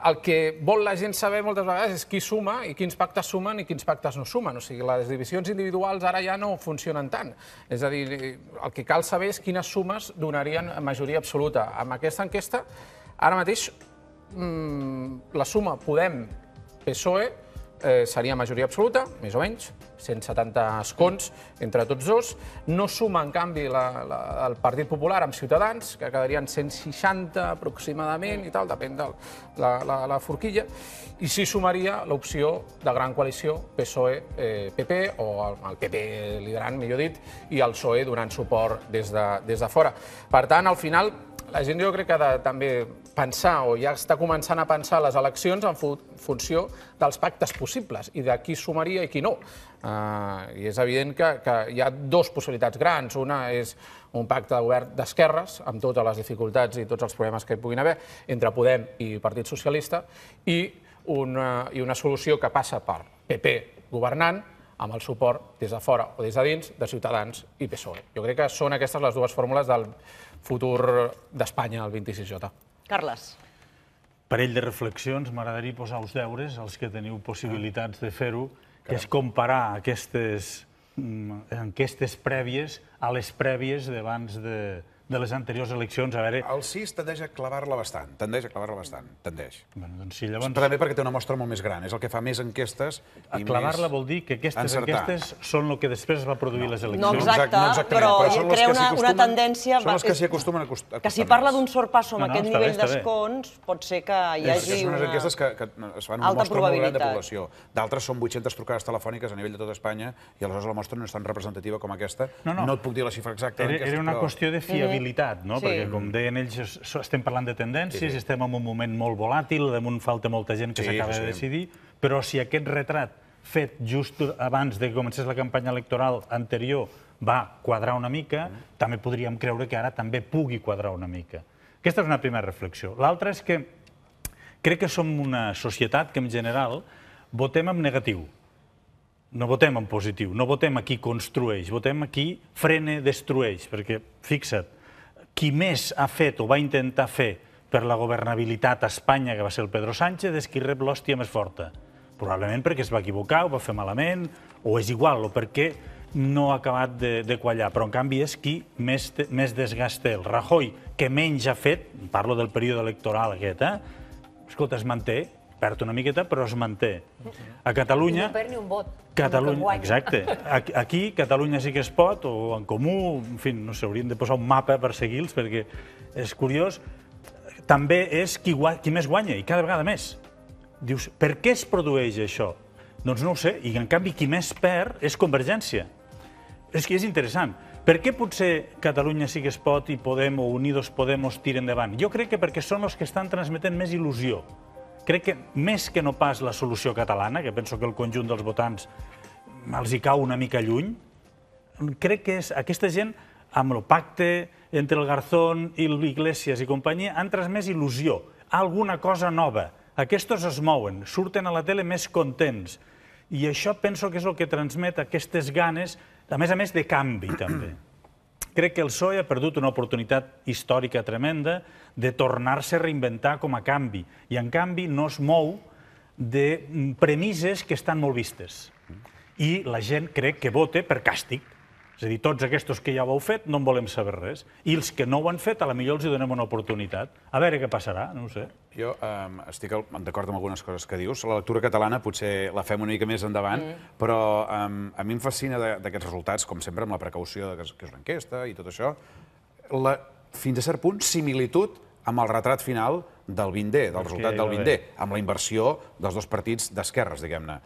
el que vol la gent saber moltes vegades és qui suma i quins pactes sumen i quins pactes no sumen. O sigui, les divisions individuals ara ja no funcionen tant. És a dir, el que cal saber és quines sumes donarien majoria absoluta. Amb aquesta enquesta, ara mateix, la suma Podem-PSOE seria majoria absoluta, més o menys, 170 escons entre tots dos. No suma, en canvi, el Partit Popular amb Ciutadans, que quedarien 160 aproximadament i tal, depèn de la forquilla, i sí sumaria l'opció de gran coalició PSOE-PP, o el PP liderant, millor dit, i el PSOE donant suport des de fora. Per tant, al final, la gent jo crec que ha de també pensar, o ja està començant a pensar les eleccions en funció dels pactes possibles i de qui sumaria i qui no. I és evident que hi ha dues possibilitats grans. Una és un pacte de govern d'esquerres, amb totes les dificultats i tots els problemes que hi puguin haver, entre Podem i Partit Socialista, i una solució que passa per PP governant, amb el suport des de fora o des de dins de Ciutadans i PSOE. Jo crec que són aquestes les dues fórmules del futur d'Espanya al 26J. Carles. Parell de reflexions. M'agradaria posar els deures, els que teniu possibilitats de fer-ho, que és comparar aquestes enquestes prèvies a les prèvies d'abans de les anteriors eleccions. El CIS tendeix a clavar-la bastant, tendeix. Doncs també perquè té una mostra molt més gran, és el que fa més enquestes i més... Clavar-la vol dir que aquestes enquestes són el que després va produir les eleccions. No, exacte, però crea una tendència... Són les que s'hi acostumen a acostar. Que si parla d'un sorpasso amb aquest nivell d'escons, pot ser que hi hagi una... Són unes enquestes que es fan una mostra molt gran de població. D'altres són 800 trucades telefòniques a nivell de tota Espanya i aleshores la mostra no és tan representativa com aquesta. No et puc dir la xifra exacta. Era una qüestió de fiabilitat, perquè, com deien ells, estem parlant de tendències, estem en un moment molt volàtil, damunt falta molta gent que s'acaba de decidir, però si aquest retrat fet just abans que comencés la campanya electoral anterior va quadrar una mica, també podríem creure que ara també pugui quadrar una mica. Aquesta és una primera reflexió. L'altra és que crec que som una societat que, en general, votem en negatiu. no votem en positiu, no votem a qui construeix, votem a qui frena, destrueix, perquè, fixa't, qui més ha fet o va intentar fer per la governabilitat a Espanya, que va ser el Pedro Sánchez, és qui rep l'hòstia més forta. Probablement perquè es va equivocar, ho va fer malament, o és igual, o perquè no ha acabat de quallar, però en canvi és qui més desgast té. El Rajoy, que menys ha fet, parlo del període electoral aquest, escolta, es manté, perd una miqueta, però es manté. A Catalunya... No perd ni un vot. Exacte. Aquí, Catalunya sí que es pot, o en Comú, en fi, no sé, haurien de posar un mapa per seguir-los, perquè és curiós. També és qui més guanya, i cada vegada més. Dius, per què es produeix això? Doncs no ho sé, i en canvi qui més perd és Convergència. És que és interessant. Per què potser Catalunya sí que es pot i Podem o Unidos Podemos tiren endavant? Jo crec que perquè són els que estan transmetent més il·lusió. Crec que més que no pas la solució catalana, que penso que el conjunt dels votants els hi cau una mica lluny, crec que és aquesta gent, amb el pacte entre el Garzón i l'Iglesias i companyia, han transmès il·lusió, alguna cosa nova. Aquests es mouen, surten a la tele més contents. I això penso que és el que transmet aquestes ganes, a més de canvi, també. Crec que el PSOE ha perdut una oportunitat històrica tremenda de tornar-se a reinventar com a canvi. I, en canvi, no es mou de premisses que estan molt vistes. I la gent crec que vota per càstig. És a dir, tots aquests que ja ho heu fet no en volem saber res. I els que no ho han fet, potser els hi donem una oportunitat. A veure què passarà, no ho sé. Jo estic d'acord amb algunes coses que dius. La lectura catalana potser la fem una mica més endavant, però a mi em fascina d'aquests resultats, com sempre, amb la precaució que és una enquesta i tot això, fins a cert punt, similitud amb el retrat final del 20D, del resultat del 20D, amb la inversió dels dos partits d'esquerres, diguem-ne.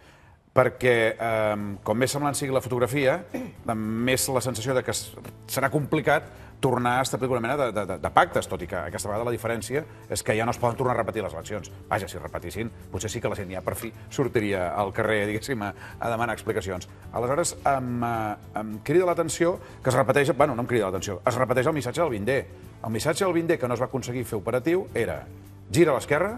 Perquè com més semblant sigui la fotografia, més la sensació que serà complicat tornar a establir una mena de pactes, tot i que aquesta vegada la diferència és que ja no es poden tornar a repetir les eleccions. Vaja, si repetissin, potser sí que la gent ja per fi sortiria al carrer, diguéssim, a demanar explicacions. Aleshores, em crida l'atenció que es repeteix, bueno, no em crida l'atenció, es repeteix el missatge del 20D. El missatge del 20D que no es va aconseguir fer operatiu era gira a l'esquerra,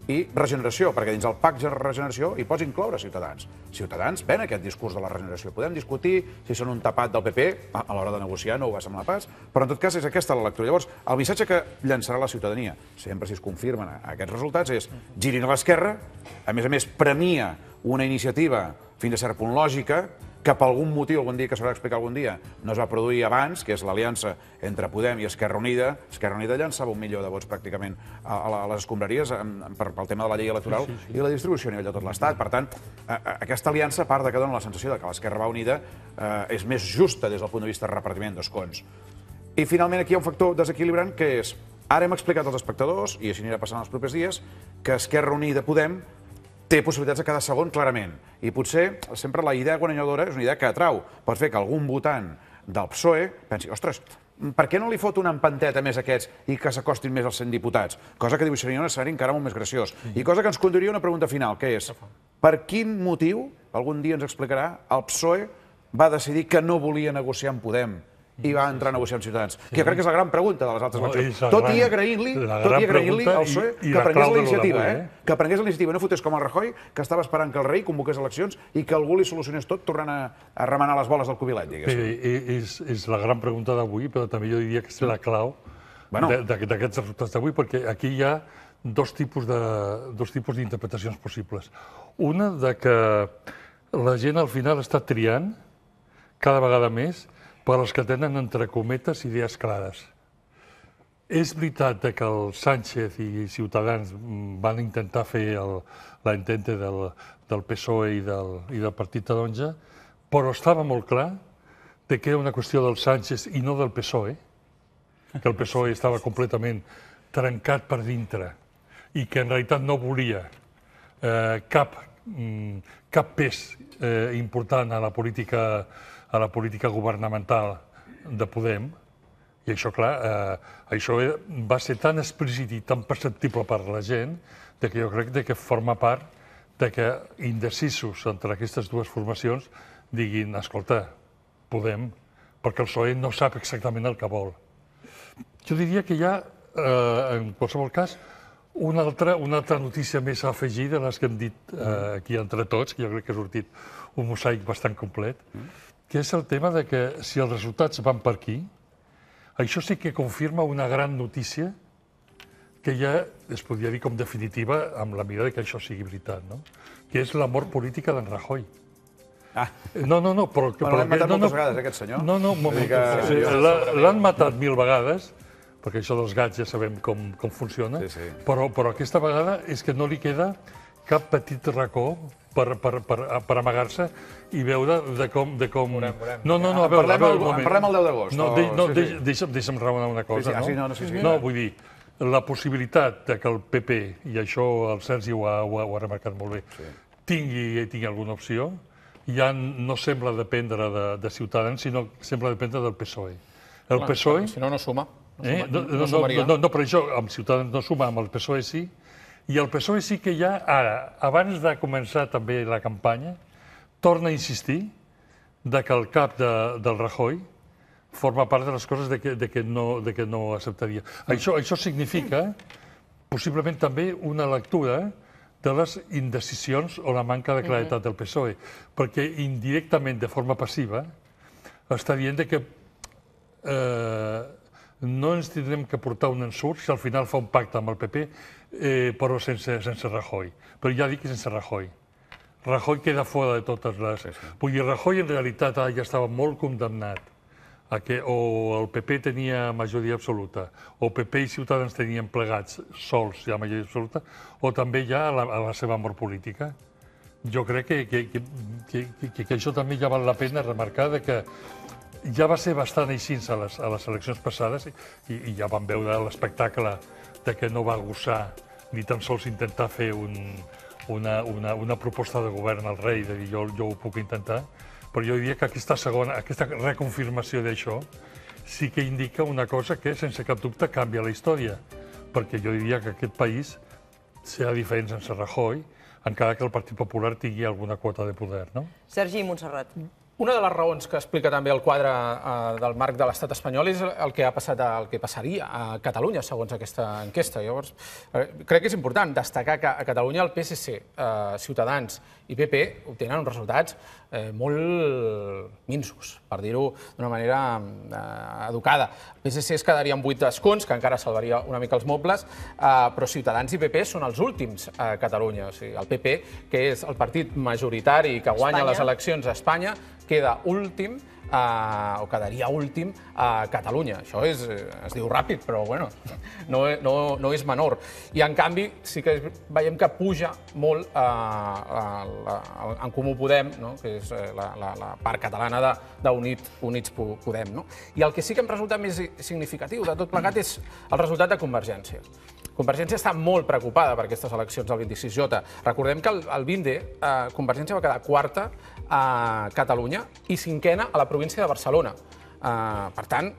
i regeneració, perquè dins el pacte de regeneració hi pots incloure Ciutadans. Ciutadans ven aquest discurs de la regeneració. Podem discutir si són un tapat del PP, a l'hora de negociar no ho va semblar pas, però en tot cas és aquesta la lectura. Llavors, el missatge que llançarà la ciutadania, sempre si es confirmen aquests resultats, és girin a l'esquerra, a més, premia una iniciativa fins a cert punt lògica, que per algun motiu, algun dia que s'haurà d'explicar algun dia, no es va produir abans, que és l'aliança entre Podem i Esquerra Unida. Esquerra Unida llançava 1 milió de vots pràcticament a les escombraries pel tema de la llei electoral i la distribució a nivell de tot l'Estat. Per tant, aquesta aliança, a part que dona la sensació que l'Esquerra va unida, és més justa des del punt de vista de repartiment d'escons. I finalment aquí hi ha un factor desequilibrant que és, ara hem explicat als espectadors, i així anirà passant els propers dies, que Esquerra Unida Podem té possibilitats a cada segon, clarament. I potser sempre la idea guanyadora és una idea que atrau. Pot fer que algun votant del PSOE pensi, ostres, per què no li fot una empanteta més a aquests i que s'acostin més als 100 diputats? Cosa que dibuixaria un escenari encara molt més graciós. I cosa que ens conduiria a una pregunta final, que és, per quin motiu, algun dia ens explicarà, el PSOE va decidir que no volia negociar amb Podem i va entrar a negociar amb Ciutadans? Que jo crec que és la gran pregunta de les altres eleccions. Tot i agraint-li al PSOE que prengués la iniciativa, que prengués la iniciativa, no fotés com el Rajoy, que estava esperant que el rei convoqués eleccions i que algú li solucionés tot tornant a remenar les boles del cubilet, diguéssim. És la gran pregunta d'avui, però també jo diria que és la clau d'aquests resultats d'avui, perquè aquí hi ha dos tipus d'interpretacions possibles. Una de que la gent al final està triant cada vegada més per als que tenen, entre cometes, idees clares. És veritat que el Sánchez i Ciutadans van intentar fer l'entente del PSOE i del Partit Taronja, però estava molt clar que era una qüestió del Sánchez i no del PSOE, que el PSOE estava completament trencat per dintre i que en realitat no volia cap pes important a la política governamental de Podem, i això, clar, això va ser tan explícit i tan perceptible per la gent que jo crec que forma part que indecisos entre aquestes dues formacions diguin, escolta, Podem, perquè el PSOE no sap exactament el que vol. Jo diria que hi ha, en qualsevol cas, una altra notícia més a afegir de les que hem dit aquí entre tots, que jo crec que ha sortit un mosaic bastant complet, que és el tema de que si els resultats van per aquí, això sí que confirma una gran notícia que ja es podria dir com definitiva amb la mira que això sigui veritat, no? Que és la mort política d'en Rajoy. No, però... L'han matat moltes vegades, aquest senyor. No, un moment. L'han matat 1000 vegades, perquè això dels gats ja sabem com funciona, però aquesta vegada és que no li queda cap petit racó per amagar-se i veure de com... No, a veure, un moment. Parlem el 10 d'agost. No, deixa'm raonar una cosa, no? No, vull dir, la possibilitat que el PP, i això el Sergi ho ha remarcat molt bé, tingui alguna opció, ja no sembla dependre de Ciutadans, sinó sembla dependre del PSOE. El PSOE... Si no, no suma. No, per això, amb Ciutadans no suma, amb el PSOE sí, i el PSOE sí que ja ara, abans de començar també la campanya, torna a insistir que el cap del Rajoy forma part de les coses de que no acceptaria. Això significa, possiblement també, una lectura de les indecisions o la manca de claretat del PSOE, perquè indirectament, de forma passiva, està dient que no ens tindrem que portar un ensurt si al final fa un pacte amb el PP, però sense Rajoy. Però ja dic que sense Rajoy. Rajoy queda fora de totes les... Vull dir, Rajoy en realitat ja estava molt condemnat a que o el PP tenia majoria absoluta, o PP i Ciutadans tenien plegats sols ja majoria absoluta, o també ja a la seva mort política. Jo crec que això també ja val la pena remarcar que ja va ser bastant així a les eleccions passades i ja vam veure l'espectacle de que no va gossar ni tan sols intentar fer una proposta de govern al rei, de dir jo ho puc intentar, però jo diria que aquesta reconfirmació d'això sí que indica una cosa que, sense cap dubte, canvia la història, perquè jo diria que aquest país serà diferent sense Rajoy, encara que el Partit Popular tingui alguna quota de poder, no? Sergi Montserrat. Una de les raons que explica també el quadre del marc de l'estat espanyol és el que ha passat, el que passaria a Catalunya, segons aquesta enquesta. Llavors, crec que és important destacar que a Catalunya el PSC, Ciutadans i PP obtenen uns resultats molt minsos, per dir-ho d'una manera educada. El PSC es quedaria amb 8 escons, que encara salvaria una mica els mobles, però Ciutadans i PP són els últims a Catalunya. O sigui, el PP, que és el partit majoritari que guanya les eleccions a Espanya, queda últim, o quedaria últim a Catalunya. Això es diu ràpid, però bueno, no és menor. I en canvi sí que veiem que puja molt en Comú Podem, que és la part catalana d'Units Podem. I el que sí que em resulta més significatiu de tot plegat és el resultat de Convergència. Convergència està molt preocupada per aquestes eleccions del 26J. Recordem que el 20D Convergència va quedar quarta a Catalunya i cinquena a la província de Barcelona. Per tant,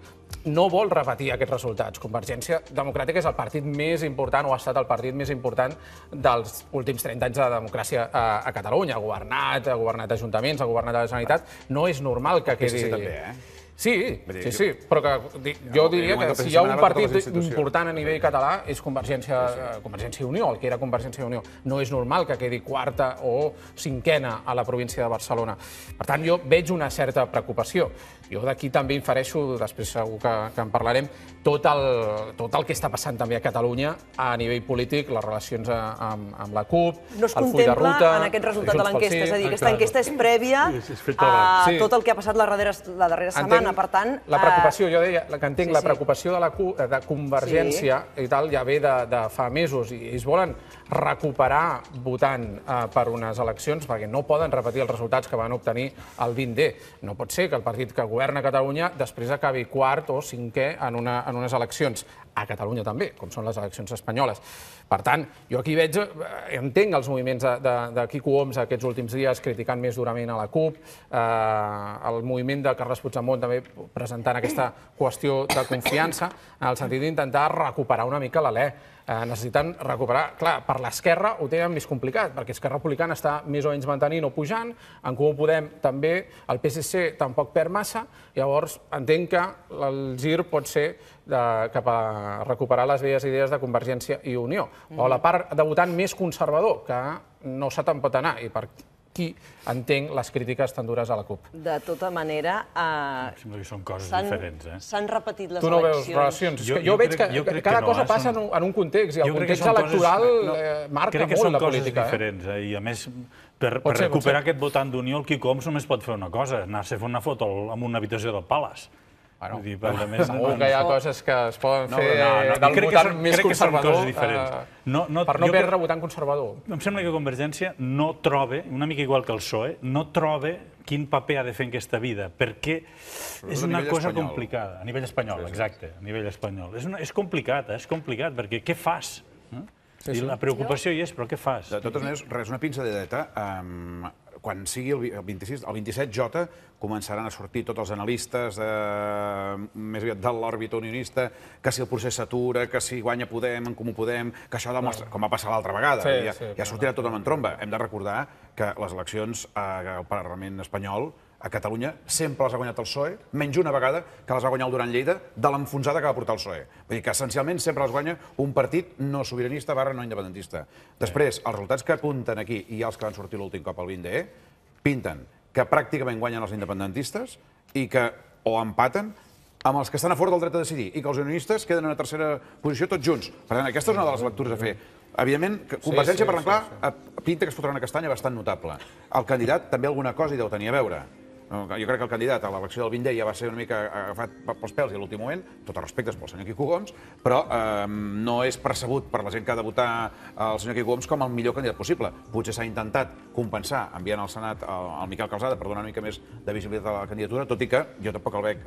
no vol repetir aquests resultats. Convergència Democràtica és el partit més important, o ha estat el partit més important dels últims 30 anys de democràcia a Catalunya. Ha governat ajuntaments, ha governat la Generalitat. No és normal que quedi... Sí, també, Sí, però jo diria que si hi ha un partit important a nivell català és Convergència i Unió, el que era Convergència i Unió. No és normal que quedi quarta o cinquena a la província de Barcelona. Per tant, jo veig una certa preocupació. Jo d'aquí també infereixo, després segur que en parlarem, tot el que està passant també a Catalunya a nivell polític, les relacions amb la CUP, el full de ruta... No es contempla en aquest resultat de l'enquesta, és a dir, aquesta enquesta és prèvia a tot el que ha passat la darrera setmana. Per tant... La preocupació, jo deia, que entenc, la preocupació de Convergència i tal ja ve de fa mesos i ells volen recuperar votant per unes eleccions perquè no poden repetir els resultats que van obtenir el 20D. No pot ser que el partit que governa Catalunya després acabi quart o cinquè en unes eleccions. A Catalunya també, com són les eleccions espanyoles. Per tant, jo aquí entenc els moviments de Quico Homs aquests últims dies criticant més durament a la CUP, el moviment de Carles Puigdemont també presentant aquesta qüestió de confiança en el sentit d'intentar recuperar una mica l'alè. Necessiten recuperar... Clar, per l'esquerra ho tenen més complicat, perquè Esquerra Republicana està més o menys mantenint o pujant, en Comú Podem també, el PSC tampoc perd massa, llavors entenc que el gir pot ser cap a recuperar les velles idees de Convergència i Unió, o la part de votant més conservador, que no sap on pot anar, i qui entenc les crítiques tan dures a la CUP. De tota manera, Sembla que són coses diferents, eh? s'han repetit les eleccions. Tu no veus relacions. Jo veig que cada cosa passa en un context, i el context electoral marca molt la política. Crec que són coses diferents, i a més, per recuperar aquest votant d'Unió, el Quico Homs només pot fer una cosa, anar-se a fer una foto en una habitació del Palace. Segur que hi ha coses que es poden fer del votant més conservador per no perdre votant conservador. Em sembla que Convergència no troba, una mica igual que el PSOE, no troba quin paper ha de fer en aquesta vida, perquè és una cosa complicada. A nivell espanyol, exacte, a nivell espanyol. És complicat, perquè què fas? I la preocupació hi és, però què fas? De totes maneres, res, una pinzelleta. Quan sigui el 27J, començaran a sortir tots els analistes més aviat de l'òrbita unionista, que si el procés s'atura, que si guanya Podem, en Comú Podem, que això demostra, com va passar l'altra vegada, ja sortirà tot en tromba. Hem de recordar que les eleccions al Parlament espanyol a Catalunya sempre les ha guanyat el PSOE, menys una vegada que les va guanyar el Duran Lleida de l'enfonsada que va portar el PSOE. Vull dir que essencialment sempre les guanya un partit no sobiranista / no independentista. Després, els resultats que apunten aquí i els que van sortir l'últim cop al 20D pinten que pràcticament guanyen els independentistes i que o empaten amb els que estan a favor del dret a decidir i que els unionistes queden en una tercera posició tots junts. Per tant, aquesta és una de les lectures a fer. Evidentment, Convergència, per l'enclar, pinta que es fotrà una castanya bastant notable. El candidat també alguna cosa hi deu tenir a veure. Jo crec que el candidat a l'elecció del 20D ja va ser una mica agafat pels pèls i a l'últim moment, tot els respectes pel senyor Quico Homs, però no és percebut per la gent que ha de votar el senyor Quico Homs com el millor candidat possible. Potser s'ha intentat compensar enviant al Senat el Miquel Calçada per donar una mica més de visibilitat a la candidatura, tot i que jo tampoc el veig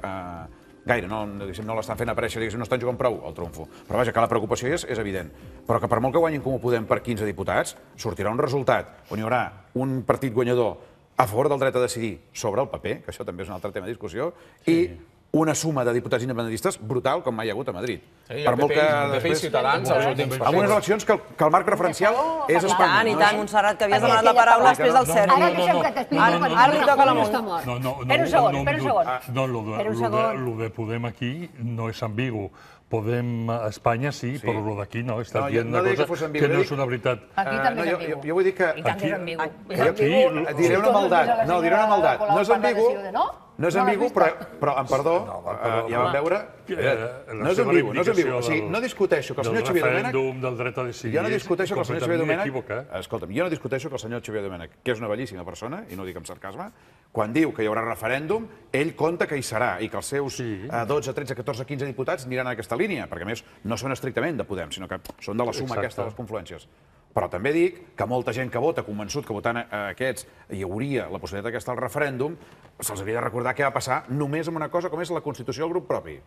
gaire, no l'estan fent aparèixer, no estan jugant prou al trumfo. Però vaja, que la preocupació és evident. Però que per molt que guanyin Comú Podem per 15 diputats, sortirà un resultat on hi haurà un partit guanyador a favor del dret a decidir sobre el paper, que això també és un altre tema de discussió, i una suma de diputats independentistes brutal com mai hi ha hagut a Madrid. I el PP i Ciutadans als últims. Amb unes eleccions que el marc referencial és Espanya. I tant, Montserrat, que havies demanat la paraula després del CERN. Ara deixem que t'expliqui. Ara li toca la Mont. Espera un segon. No, lo de Podem aquí no és ambigu. Podem a Espanya sí, però lo d'aquí no. Estàs dient una cosa que no és una veritat. Aquí també és ambigu. Jo vull dir que... I tant que és ambigu. Diré una maldat. No, diré una maldat. No és ambigu, no és ambigu, però, amb perdó, ja vam veure... No és ambigu, no és ambigu. O sigui, no discuteixo que el senyor Xavier Domènech... Del referèndum, del dret a decidir... Jo no discuteixo que el senyor Xavier Domènech... Escolta'm, jo no discuteixo que el senyor Xavier Domènech, que és una bellíssima persona, i no ho dic amb sarcasme, quan diu que hi haurà referèndum, ell compta que hi serà i que els seus 12, 13, 14, 15 diputats aniran en aquesta línia, perquè a més no són estrictament de Podem, sinó que són de la suma aquesta de les confluències. Però també dic que molta gent que vota, convençut que votant aquests hi hauria la possibilitat que el referèndum, se'ls hauria de recordar què va passar només amb una cosa com és la constitució del grup propi.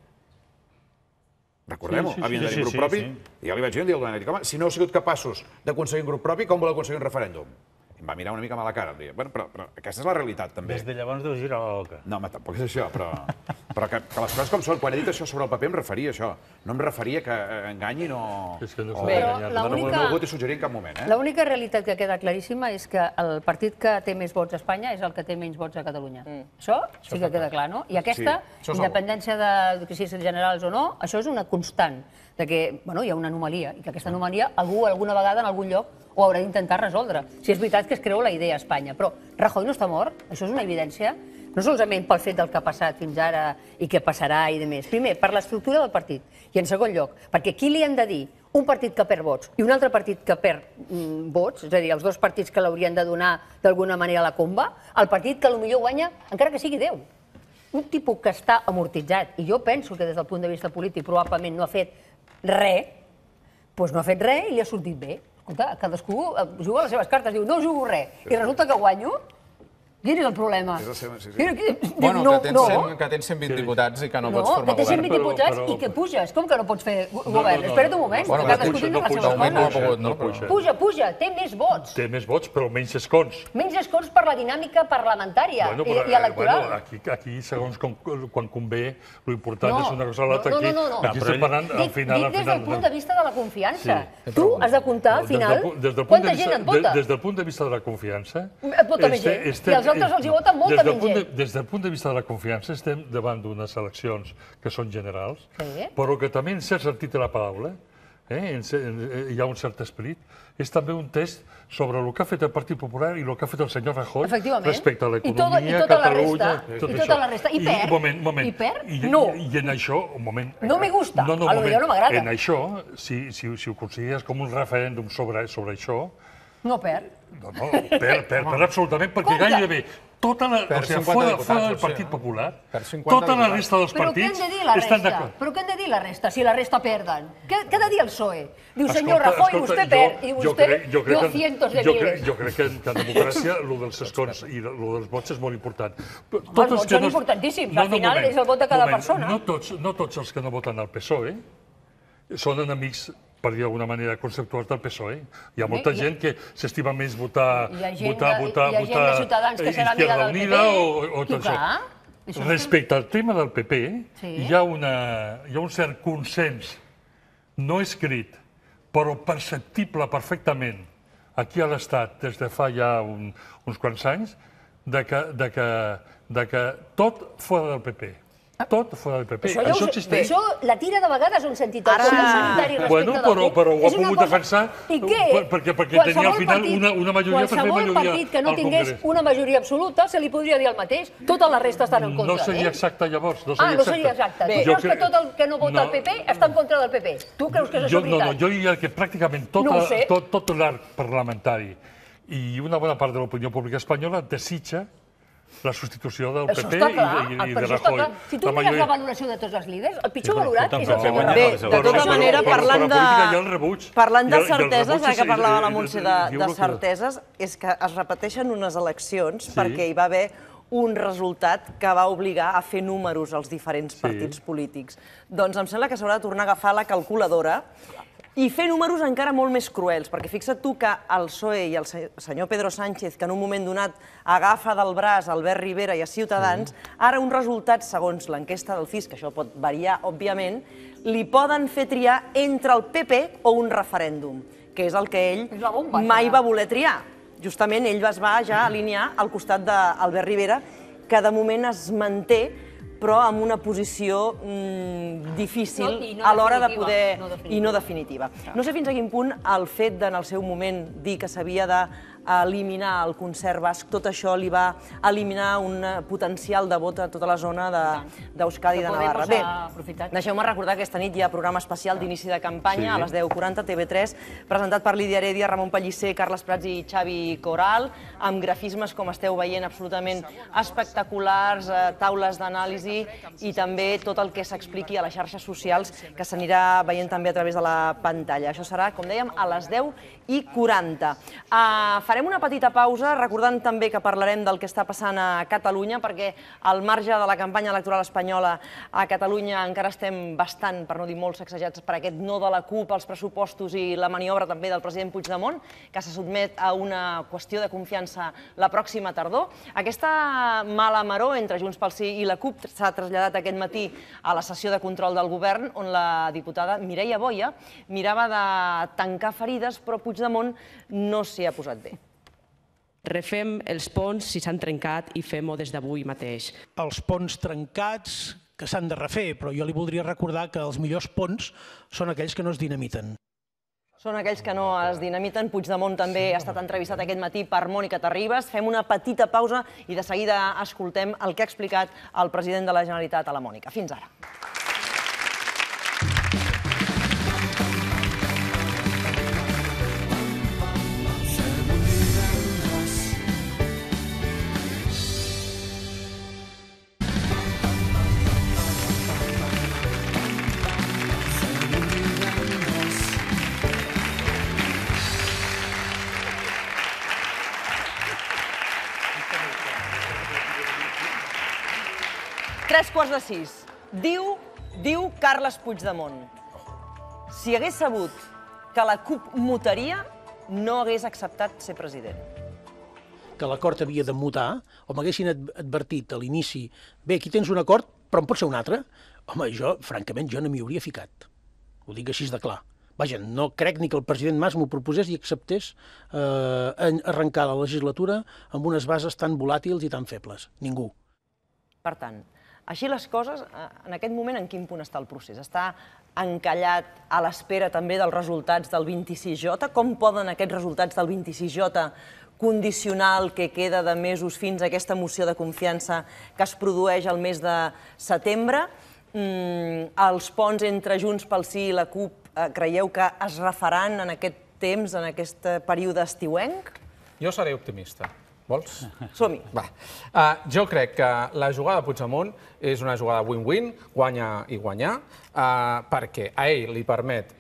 Recordem-ho, havien de tenir grup propi, i ja li vaig dir un dia al Domènech, home, si no heu sigut capaços d'aconseguir un grup propi, com voleu aconseguir un referèndum? Em va mirar una mica mal a la cara, em deia, però aquesta és la realitat, també. Des de llavors deu girar la boca. No, home, tampoc és això, però que les coses com són. Quan he dit això sobre el paper em referia a això. No em referia que enganyi no... No ho he hagut de suggerir en cap moment. L'única realitat que queda claríssima és que el partit que té més vots a Espanya és el que té menys vots a Catalunya. Això sí que queda clar, no? I aquesta, independència de que siguin generals o no, això és una constant, que hi ha una anomalia, i que aquesta anomalia algú alguna vegada en algun lloc ho haurà d'intentar resoldre. Si és veritat que es creu la idea a Espanya. Però Rajoy no està mort, això és una evidència, no solament pel fet del que ha passat fins ara i què passarà i demés. Primer, per l'estructura del partit. I en segon lloc, perquè qui li han de dir un partit que perd vots i un altre partit que perd vots, és a dir, els dos partits que l'haurien de donar d'alguna manera a la comba, el partit que potser guanya, encara que sigui 10. Un tipus que està amortitzat, i jo penso que des del punt de vista polític probablement no ha fet res, doncs no ha fet res i li ha sortit bé. Escolta, cadascú juga a les seves cartes, diu no jugo res, i resulta que guanyo. Quin és el problema? Bueno, que tens 120 diputats i que no pots formar govern. No, que tens 120 diputats i que puges. Com que no pots fer govern? Espera't un moment, que cadascú tingui les seves coses. Puja, té més vots. Té més vots, però menys escons. Menys escons per la dinàmica parlamentària i electoral. Aquí, segons quan convé, l'important és una cosa o l'altra. Aquí estem parlant al final... Dic des del punt de vista de la confiança. Tu has de comptar, al final, quanta gent et vota. Des del punt de vista de la confiança... Et vota més gent. I els altres els hi voten molta menys gent. Des del punt de vista de la confiança estem davant d'unes eleccions que són generals, però que també en cert sentit de la paraula hi ha un cert esperit. És també un test sobre el que ha fet el Partit Popular i el que ha fet el senyor Rajoy respecte a l'economia, Catalunya... I tota la resta. I perd? I perd? No. I en això, un moment... No me gusta, a lo millor no m'agrada. En això, si ho consideres com un referèndum sobre això... No perd. No, perd absolutament, perquè gairebé tota la... O sigui, fora del Partit Popular, tota la resta dels partits estan d'acord. Però què han de dir la resta, si la resta perden? Què ha de dir el PSOE? Diu, senyor Rajoy, vostè perd, i vostè dio cientos de miles. Jo crec que en democràcia el dels escons i el dels vots és molt important. Els vots són importantíssims, al final és el vot de cada persona. No tots els que no voten al PSOE són enemics, per dir d'alguna manera, conceptuals del PSOE. Hi ha molta gent que s'estima més votar Izquierda Unida o tot això. Respecte al tema del PP, hi ha un cert consens no escrit, però perceptible perfectament aquí a l'Estat des de fa ja uns quants anys, de que tot fora del PP. Tot fora del PP. Això existeix. Això la tira de vegades un sentit com un solitari respecte del PP. Però ho ha pogut defensar perquè tenia al final una majoria per fer majoria al Congrés. Qualsevol partit que no tingués una majoria absoluta se li podria dir el mateix. Tota la resta estan en contra. No seria exacte llavors. No seria exacte. Tu creus que tot el que no vota el PP està en contra del PP? Tu creus que és això veritat? No, jo diria que pràcticament tot l'arc parlamentari i una bona part de l'opinió pública espanyola desitja la substitució del PP i de Rajoy. Si tu mires la valoració de tots els líders, el pitjor valorat és el senyor Rajoy. Bé, de tota manera, parlant de certeses, ja que parlava la Montse de certeses, és que es repeteixen unes eleccions perquè hi va haver un resultat que va obligar a fer números als diferents partits polítics. Doncs em sembla que s'haurà de tornar a agafar la calculadora i fer números encara molt més cruels, perquè fixa't tu que el PSOE i el senyor Pedro Sánchez, que en un moment donat agafa del braç Albert Rivera i a Ciutadans, ara un resultat, segons l'enquesta del CIS, que això pot variar, òbviament, li poden fer triar entre el PP o un referèndum, que és el que ell mai va voler triar. Justament ell es va ja alinear al costat d'Albert Rivera, que de moment es manté però amb una posició difícil a l'hora de poder... i no definitiva. No sé fins a quin punt el fet de, en el seu moment, dir que s'havia d'eliminar el concert basc, tot això li va eliminar un potencial de vot a tota la zona d'Euskadi i de Navarra. Bé, deixeu-me recordar que aquesta nit hi ha programa especial d'inici de campanya a les 10:40, TV3, presentat per Lídia Heredia, Ramon Pellicer, Carles Prats i Xavi Coral, amb grafismes, com esteu veient, absolutament espectaculars, taules d'anàlisi i també tot el que s'expliqui a les xarxes socials que s'anirà veient també a través de la pantalla. Això serà, com dèiem, a les 10:40. Farem una petita pausa, recordant també que parlarem del que està passant a Catalunya, perquè al marge de la campanya electoral espanyola a Catalunya encara estem bastant, per no dir molt, sacsejats per aquest no de la CUP als pressupostos i la maniobra també del president Puigdemont, que se sotmet a una qüestió de confiança la pròxima tardor. Aquesta mala maror entre Junts pel Sí i la CUP s'ha traslladat aquest matí a la sessió de control del govern, on la diputada Mireia Boia mirava de tancar ferides, però Puigdemont no s'hi ha posat bé. Refem els ponts si s'han trencat i fem-ho des d'avui mateix. Els ponts trencats que s'han de refer, però jo li voldria recordar que els millors ponts són aquells que no es dinamiten. Són aquells que no es dinamiten. Puigdemont també ha estat entrevistat aquest matí per Mònica Terribas. Fem una petita pausa i de seguida escoltem el que ha explicat el president de la Generalitat a la Mònica. Fins ara. Tres quarts de sis. Diu Carles Puigdemont: si hagués sabut que la CUP mutaria, no hagués acceptat ser president. Que l'acord havia de mutar, o m'haguessin advertit a l'inici, bé, aquí tens un acord, però en pot ser un altre, home, jo, francament, jo no m'hi hauria ficat. Ho dic així de clar. Vaja, no crec ni que el president Mas m'ho proposés i acceptés arrencar la legislatura amb unes bases tan volàtils i tan febles. Ningú. Per tant, Així les coses, en aquest moment, en quin punt està el procés? Està encallat a l'espera també dels resultats del 26J? Com poden aquests resultats del 26J condicionar el que queda de mesos fins a aquesta moció de confiança que es produeix al mes de setembre? Els ponts entre Junts pel Sí i la CUP creieu que es refaran en aquest temps, en aquest període estiuenc? Jo seré optimista. Vols? Som-hi. Jo crec que la jugada de Puigdemont és una jugada win-win, guanya i guanyar, perquè a ell li permet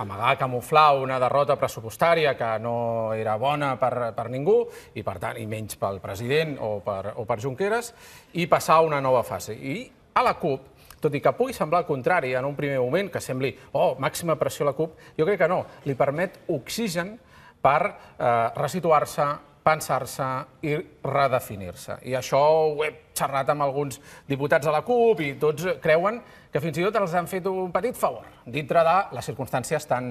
amagar, camuflar una derrota pressupostària que no era bona per ningú, i per tant, i menys pel president o per Junqueras, i passar a una nova fase. I a la CUP, tot i que pugui semblar el contrari en un primer moment, que sembli, màxima pressió a la CUP, jo crec que no, li permet oxigen per resituar-se, pensar-se i redefinir-se. I això ho he xerrat amb alguns diputats de la CUP i tots creuen que fins i tot els han fet un petit favor dintre de les circumstàncies tan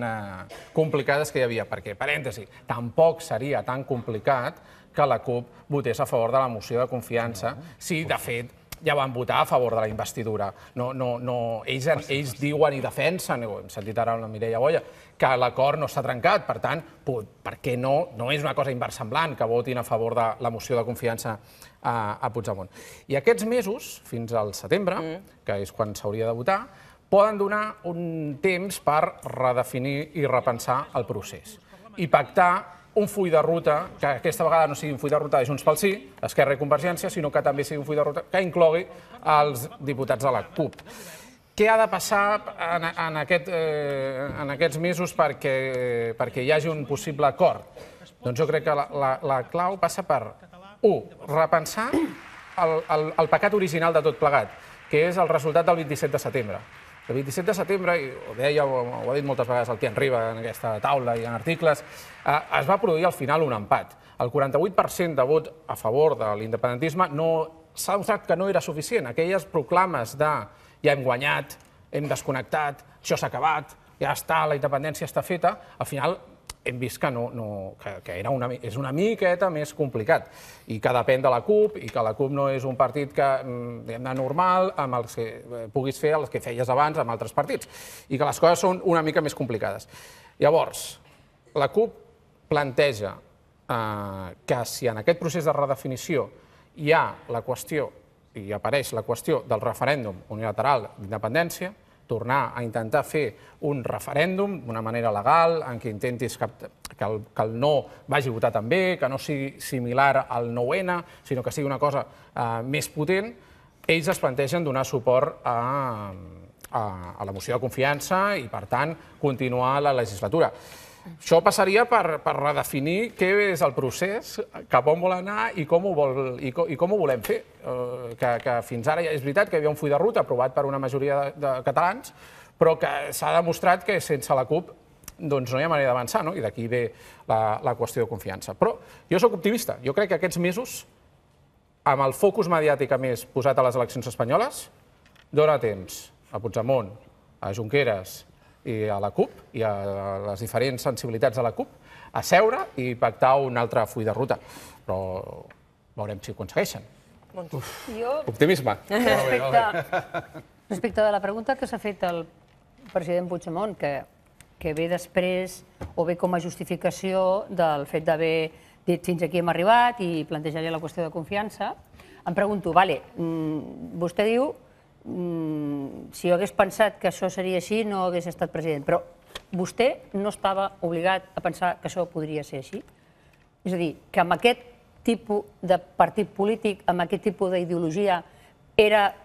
complicades que hi havia. Perquè, parèntesi, tampoc seria tan complicat que la CUP votés a favor de la moció de confiança si, de fet, ja van votar a favor de la investidura. Ells diuen i defensen, hem sentit ara la Mireia Boya, que l'acord no s'ha trencat. Per tant, per què no? No és una cosa inversemblant que votin a favor de la moció de confiança a Puigdemont. I aquests mesos, fins al setembre, que és quan s'hauria de votar, poden donar un temps per redefinir i repensar el procés i pactar un full de ruta, que aquesta vegada no sigui un full de ruta de Junts pel Sí, Esquerra i Convergència, sinó que també sigui un full de ruta que inclogui els diputats de la CUP. Què ha de passar en aquests mesos perquè hi hagi un possible acord? Doncs jo crec que la clau passa per, 1, repensar el pecat original de tot plegat, que és el resultat del 27 de setembre. El 27 de setembre, i ho deia, ho ha dit moltes vegades el Tian Riba en aquesta taula i en articles, es va produir al final un empat. El 48% de vot a favor de l'independentisme s'ha demostrat que no era suficient. Aquelles proclames de ja hem guanyat, hem desconnectat, això s'ha acabat, ja està, la independència està feta, al final hem vist que és una miqueta més complicat i que depèn de la CUP i que la CUP no és un partit normal amb els que puguis fer els que feies abans amb altres partits i que les coses són una mica més complicades. Llavors, la CUP planteja que si en aquest procés de redefinició hi ha la qüestió i apareix la qüestió del referèndum unilateral d'independència, tornar a intentar fer un referèndum d'una manera legal, en què intentis que el no vagi a votar també, que no sigui similar al 9-N, sinó que sigui una cosa més potent, ells es plantegen donar suport a la moció de confiança i, per tant, continuar la legislatura. Això passaria per redefinir què és el procés, cap on vol anar i com ho volem fer. Que fins ara ja és veritat que hi havia un full de ruta aprovat per una majoria de catalans, però que s'ha demostrat que sense la CUP no hi ha manera d'avançar, i d'aquí ve la qüestió de confiança. Però jo soc optimista. Jo crec que aquests mesos, amb el focus mediàtic a més posat a les eleccions espanyoles, dona temps a Puigdemont, a Junqueras i a la CUP, i a les diferents sensibilitats de la CUP, a seure i pactar un altre full de ruta. Però veurem si ho aconsegueixen. Optimisme. Respecte de la pregunta que s'ha fet el president Puigdemont, que ve després o ve com a justificació del fet d'haver dit fins aquí hem arribat i plantejar-li la qüestió de confiança, em pregunto, vostè diu si jo hagués pensat que això seria així no hagués estat president, però vostè no estava obligat a pensar que això podria ser així? És a dir, que amb aquest tipus de partit polític, amb aquest tipus d'ideologia, era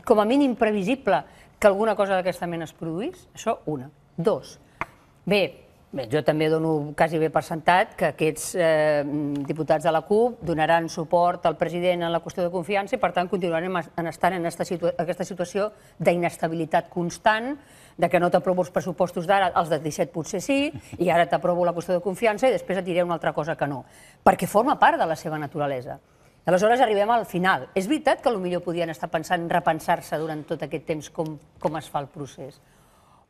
com a mínim previsible que alguna cosa d'aquesta mena es produís? Això, una. 2. Bé, jo també dono quasi bé per sentat que aquests diputats de la CUP donaran suport al president en la qüestió de confiança i, per tant, continuarem estant en aquesta situació d'inestabilitat constant, de que no t'aprovo els pressupostos d'ara, els de 17 potser sí, i ara t'aprovo la qüestió de confiança i després et diré una altra cosa que no, perquè forma part de la seva naturalesa. Aleshores arribem al final. És veritat que potser podien estar pensant en repensar-se durant tot aquest temps com es fa el procés,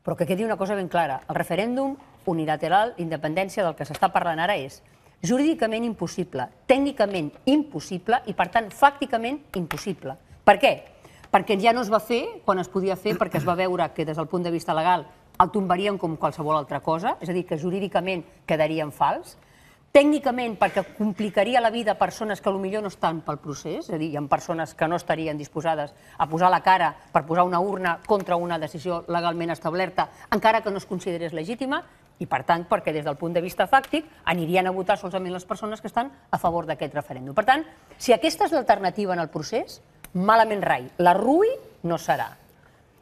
però que quedi una cosa ben clara. El referèndum unilateral d'independència del que s'està parlant ara és jurídicament impossible, tècnicament impossible i, per tant, fàcticament impossible, Per què? Perquè ja no es va fer quan es podia fer, perquè es va veure que des del punt de vista legal el tombarien com qualsevol altra cosa, és a dir, que jurídicament quedaria en fals, tècnicament perquè complicaria la vida a persones que potser no estan pel procés, és a dir, hi ha persones que no estarien disposades a posar la cara per posar una urna contra una decisió legalment establerta, encara que no es considerés legítima, i per tant, perquè des del punt de vista fàctic anirien a votar solament les persones que estan a favor d'aquest referèndum. Per tant, si aquesta és l'alternativa en el procés, malament rai, la RUI no serà.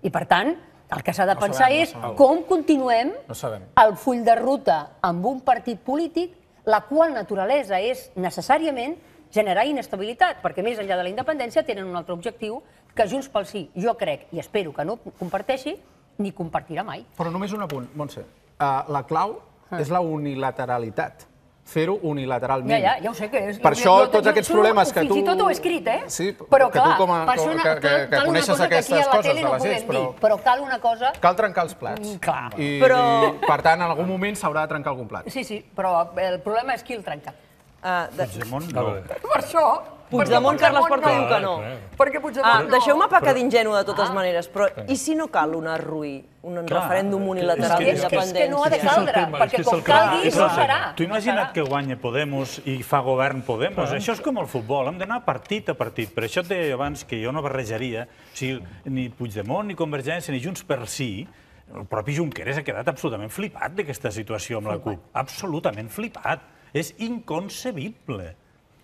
I per tant, el que s'ha de pensar és com continuem el full de ruta amb un partit polític la qual naturalesa és necessàriament generar inestabilitat, perquè més enllà de la independència tenen un altre objectiu que Junts pel Sí, jo crec, i espero que no comparteixi, ni compartirà mai. Però només un apunt, Montse. La clau és la unilateralitat. Fer-ho unilateralment. Ja ho sé que és. Per això tots aquests problemes que tu... Fins i tot ho he escrit, Sí, però que tu clar, que coneixes aquestes coses de les lleis, però cal una cosa... Cal trencar els plats. Clar. I, per tant, en algun moment s'haurà de trencar algun plat. Sí, però el problema és qui el trenca. Puigdemont no. Per això... Puigdemont, Carles Porta diu que no. Perquè Puigdemont no. Deixeu-me pecar d'ingenu de totes maneres, però i si no cal una RUI, un referèndum unilateral d'independència? És que no ha de caldre, perquè com calgui no serà. Tu imagina't que guanya Podemos i fa govern Podemos. Això és com el futbol, hem d'anar partit a partit. Per això et deia abans que jo no barrejaria ni Puigdemont, ni Convergència, ni Junts per Sí. El propi Junqueras ha quedat absolutament flipat d'aquesta situació amb la CUP. Absolutament flipat. És inconcebible.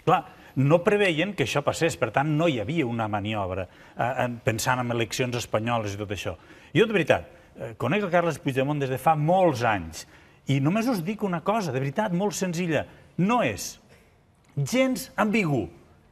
Clar, no preveien que això passés, per tant, no hi havia una maniobra pensant en eleccions espanyoles i tot això. Jo, de veritat, conec el Carles Puigdemont des de fa molts anys i només us dic una cosa, de veritat, molt senzilla. No és gens ambigu.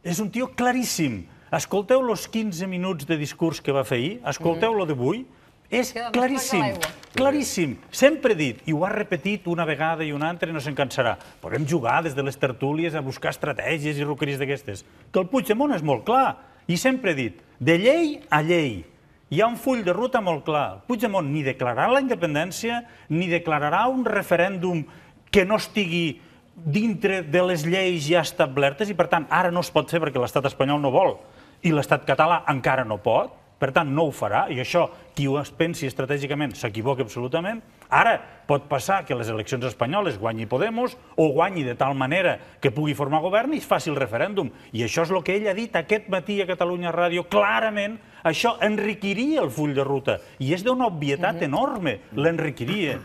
És un tio claríssim. Escolteu els 15 minuts de discurs que va fer ahir, escolteu-lo d'avui, és claríssim, claríssim. Sempre he dit, i ho ha repetit una vegada i una altra i no se'n cansarà. Podem jugar des de les tertúlies a buscar estratègies i roqueries d'aquestes. Que el Puigdemont és molt clar. I sempre he dit, de llei a llei. Hi ha un full de ruta molt clar. Puigdemont ni declararà la independència, ni declararà un referèndum que no estigui dintre de les lleis ja establertes i, per tant, ara no es pot fer perquè l'estat espanyol no vol i l'estat català encara no pot. Per tant, no ho farà, i això, qui ho pensi estratègicament s'equivoca absolutament. Ara pot passar que les eleccions espanyoles guanyi Podemos o guanyi de tal manera que pugui formar govern i es faci el referèndum. I això és el que ell ha dit aquest matí a Catalunya Ràdio. Clarament, això enriquiria el full de ruta. I és d'una obvietat enorme, l'enriquiria.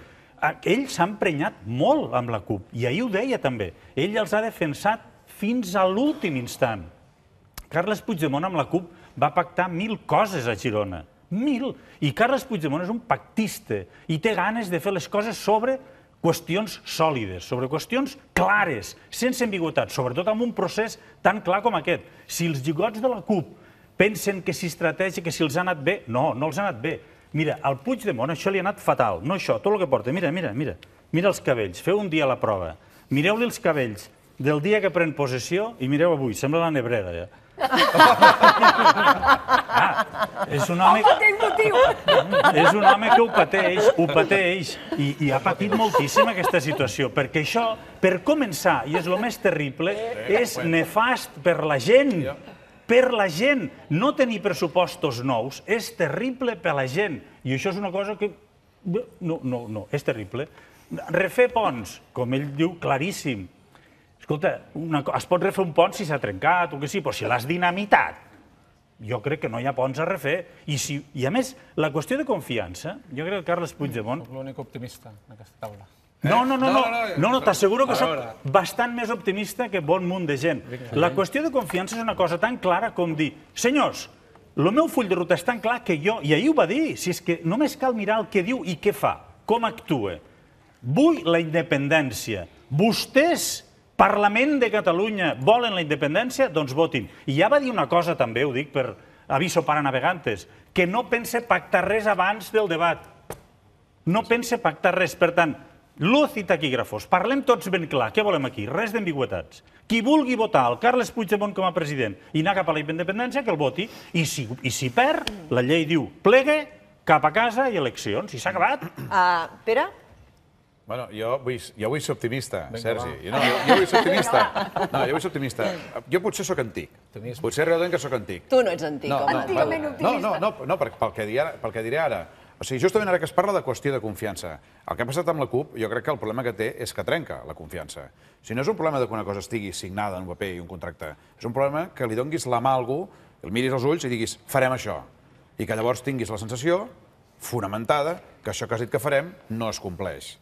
Ell s'ha emprenyat molt amb la CUP, i ahir ho deia també. Ell els ha defensat fins a l'últim instant. Carles Puigdemont amb la CUP va pactar 1000 coses a Girona. 1000! I Carles Puigdemont és un pactista i té ganes de fer les coses sobre qüestions sòlides, sobre qüestions clares, sense ambigüitat, sobretot amb un procés tan clar com aquest. Si els lligots de la CUP pensen que si estratègia, que si els ha anat bé, no, no els ha anat bé. Mira, al Puigdemont això li ha anat fatal, no això, tot el que porta. Mira els cabells, feu un dia la prova. Mireu-li els cabells del dia que pren possessió i mireu avui, sembla la nebrera, ja. És un home que ho pateix i ha patit moltíssim aquesta situació, perquè això, per començar, i és el més terrible, és nefast per la gent. Per la gent. No tenir pressupostos nous és terrible per la gent. I això és una cosa que... No, és terrible. Refer ponts, com ell diu, claríssim. Escolta, es pot refer un pont si s'ha trencat o que sí, però si l'has dinamitat, jo crec que no hi ha ponts a refer. I a més, la qüestió de confiança, jo crec que Carles Puigdemont... L'únic optimista en aquesta taula. No, t'asseguro que soc bastant més optimista que bon munt de gent. La qüestió de confiança és una cosa tan clara com dir, senyors, el meu full de ruta és tan clar que jo, i ahir ho va dir, si és que només cal mirar el que diu i què fa, com actua. Vull la independència. Vostès, Parlament de Catalunya, volen la independència? Doncs votin. I ja va dir una cosa també, ho dic per aviso para navegantes, que no pense pactar res abans del debat. No pense pactar res. Per tant, luz i taquígrafos. Parlem tots ben clar. Què volem aquí? Res d'ambigüetats. Qui vulgui votar el Carles Puigdemont com a president i anar cap a la independència, que el voti. I si perd, la llei diu plegue, cap a casa i eleccions. I s'ha acabat. Pere? Bueno, jo vull ser optimista, Sergi. Jo vull ser optimista. No, jo vull ser optimista. Jo potser sóc antic. Potser realment que sóc antic. Tu no ets antic, home. Antigament optimista. No, pel que diré ara. O sigui, justament ara que es parla de qüestió de confiança, el que ha passat amb la CUP, jo crec que el problema que té és que trenca la confiança. Si no és un problema que una cosa estigui signada en un paper i un contracte, és un problema que li donguis la mà a algú, el miris als ulls i diguis, farem això. I que llavors tinguis la sensació, fonamentada, que això que has dit que farem no es compleix.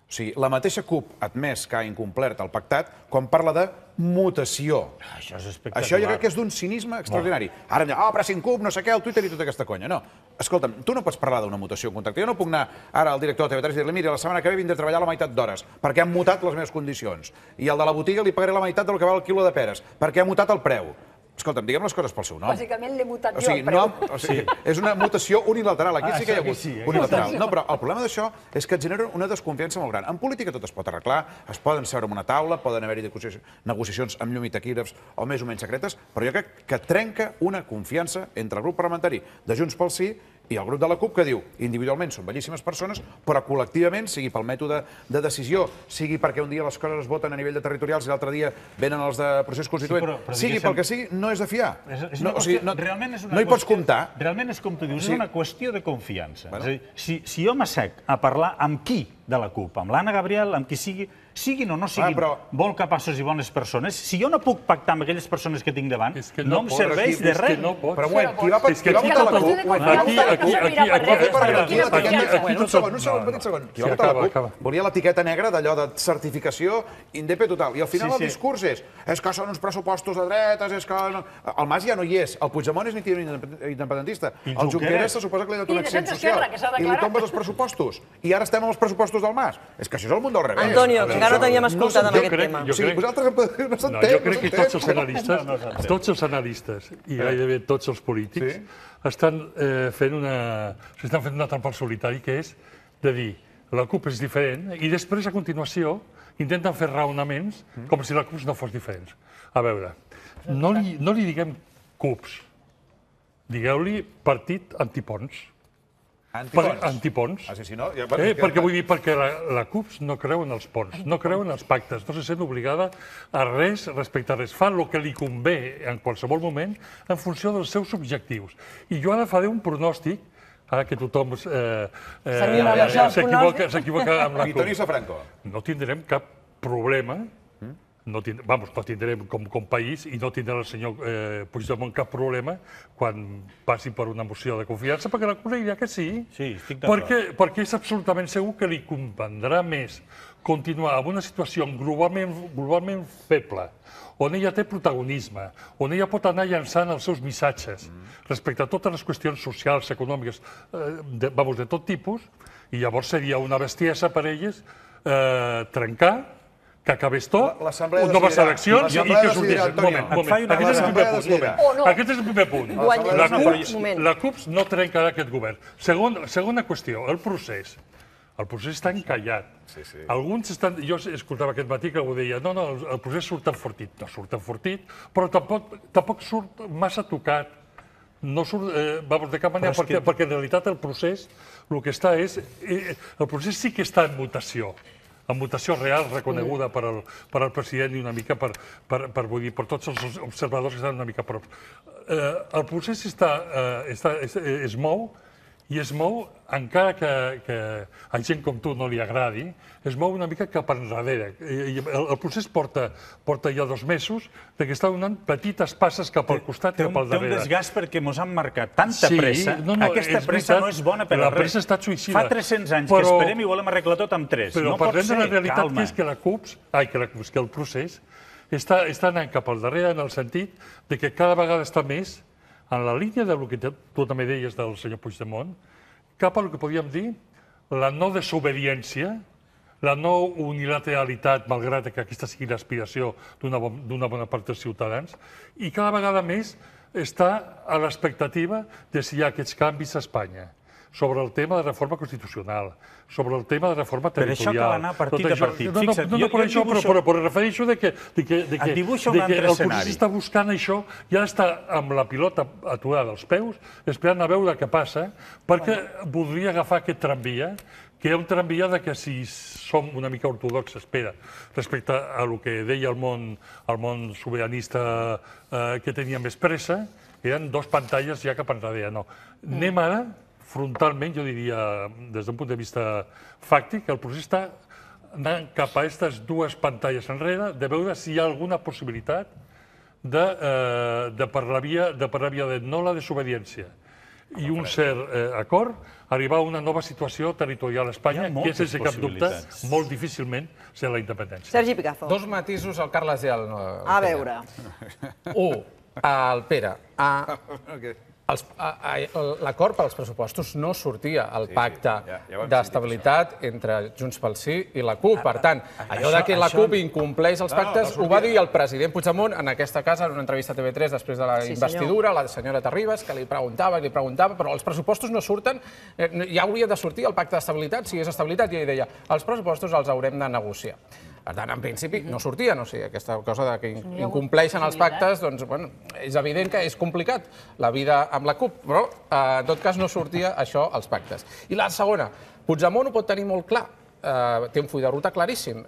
O sigui, la mateixa CUP ha admès que ha incomplert el pactat quan parla de mutació. Això és espectacular. Això jo crec que és d'un cinisme extraordinari. Ara em diuen, pressing CUP, no sé què, el Twitter i tota aquesta conya. No, escolta'm, tu no pots parlar d'una mutació en contracte. Jo no puc anar ara al director de TV3 i dir-li, mira, la setmana que ve vindré a treballar la meitat d'hores, perquè han mutat les meves condicions. I al de la botiga li pagaré la meitat del que val el quilo de peres, perquè ha mutat el preu. Escolta'm, diguem les coses pel seu nom. Bàsicament l'he mutat jo el preu. És una mutació unilateral. Aquí sí que hi ha hagut unilateral. No, però el problema d'això és que et genera una desconfiança molt gran. En política tot es pot arreglar, es poden seure en una taula, poden haver-hi negociacions amb llum i taquígrafs o més o menys secretes, però jo crec que trenca una confiança entre el grup parlamentari de Junts pel Sí i el grup de la CUP que diu, individualment són bellíssimes persones, però col·lectivament, sigui pel mètode de decisió, sigui perquè un dia les coses es voten a nivell de territorials i l'altre dia venen els de procés constituent, sigui pel que sigui, no és de fiar. No hi pots comptar. Realment és com tu dius, és una qüestió de confiança. És a dir, si jo m'assec a parlar amb qui de la CUP, amb l'Anna Gabriel, amb qui siguin o no siguin molt capaços i bones persones, si jo no puc pactar amb aquelles persones que tinc davant, no em serveix de res. Però, qui va votar la CUP volia l'etiqueta negra d'allò de certificació indep total. I al final el discurs és que són uns pressupostos de dretes, és que... El Mas ja no hi és, el Puigdemont és independentista, el Junqueras se suposa que li ha donat un accent social i li tombes els pressupostos. I ara estem amb els pressupostos del Mas. És que això és el món del revés. Antonio, que encara no t'havíem escoltat amb aquest tema. Jo crec que tots els analistes i gairebé tots els polítics estan fent una trampa al solitari, que és de dir la CUP és diferent i després, a continuació, intenten fer raonaments com si la CUP no fos diferent. A veure, no li diguem CUPs, digueu-li partit antipons. Antipons. Perquè vull dir, perquè la CUP no creu en els ponts, no creu en els pactes, no se sent obligada a res respecte a res. Fa el que li convé en qualsevol moment en funció dels seus objectius. I jo ara faré un pronòstic, ara que tothom s'equivoca amb la CUP. No tindrem cap problema, no tindrem com país i no tindrà el senyor Puigdemont cap problema quan passi per una moció de confiança, perquè la CUP dirà que sí, perquè és absolutament segur que li convendrà més continuar en una situació globalment feble, on ella té protagonisme, on ella pot anar llançant els seus missatges respecte a totes les qüestions socials, econòmiques, de tot tipus, i llavors seria una bestiesa per elles trencar, que acabés tot, noves eleccions i que sortís. Aquest és el primer punt. La CUP no trencarà aquest govern. Segona qüestió, el procés. El procés està encallat. Alguns estan... Jo escoltava aquest matí que algú deia no, el procés surt enfortit. No surt enfortit, però tampoc surt massa tocat. No surt, de cap manera, perquè en realitat el procés, el que està és... El procés sí que està en mutació real reconeguda per al president i una mica per tots els observadors que estan una mica a prop. El procés es mou, i es mou, encara que a gent com tu no li agradi, es mou una mica cap enrere. El procés porta ja 2 mesos que està donant petites passes cap al costat i cap al darrere. Té un desgast perquè ens han marcat tanta pressa. Aquesta pressa no és bona per a res. La pressa ha estat suïcida. Fa 300 anys que esperem i volem arreglar tot amb 3. Però parlem de la realitat que és que el procés està anant cap al darrere en el sentit que cada vegada està més en la línia del que tu també deies del senyor Puigdemont, cap al que podríem dir la no desobediència, la no unilateralitat, malgrat que aquesta sigui l'aspiració d'una bona part dels ciutadans, i cada vegada més està a l'expectativa de si hi ha aquests canvis a Espanya, sobre el tema de reforma constitucional, sobre el tema de reforma territorial. Per això cal anar partit a partit. No per això, però refereixo que el procés està buscant això i ara està amb la pilota aturada als peus, esperant a veure què passa, perquè voldria agafar aquest tramvia que hi ha un tramvia que si som una mica ortodoxes, respecte a el que deia el món sobiranista que tenia més pressa, eren dos pantalles ja cap enrere. No. Anem ara, frontalment, jo diria, des d'un punt de vista fàctic, el procés està anant cap a aquestes dues pantalles enrere, de veure si hi ha alguna possibilitat de per la via de no la desobediència i un cert acord, arribar a una nova situació territorial a Espanya, que és, sense cap dubte, molt difícilment ser la independència. Sergi Picazo. Dos matisos al Carles i al... A veure. Un, al Pere. L'acord pels pressupostos no sortia al pacte d'estabilitat entre Junts pel Sí i la CUP. Per tant, allò que la CUP incompleix els pactes ho va dir el president Puigdemont en aquesta casa, en una entrevista a TV3 després de la investidura, la senyora Terribas, que li preguntava, però els pressupostos no surten, ja hauria de sortir el pacte d'estabilitat, si és estabilitat, i ell deia, els pressupostos els haurem de negociar. Per tant, en principi, no sortien, o sigui, aquesta cosa que incompleixen els pactes, doncs, bueno, és evident que és complicat la vida amb la CUP, però, en tot cas, no sortia això als pactes. I la segona, Puigdemont ho pot tenir molt clar, té un full de ruta claríssim,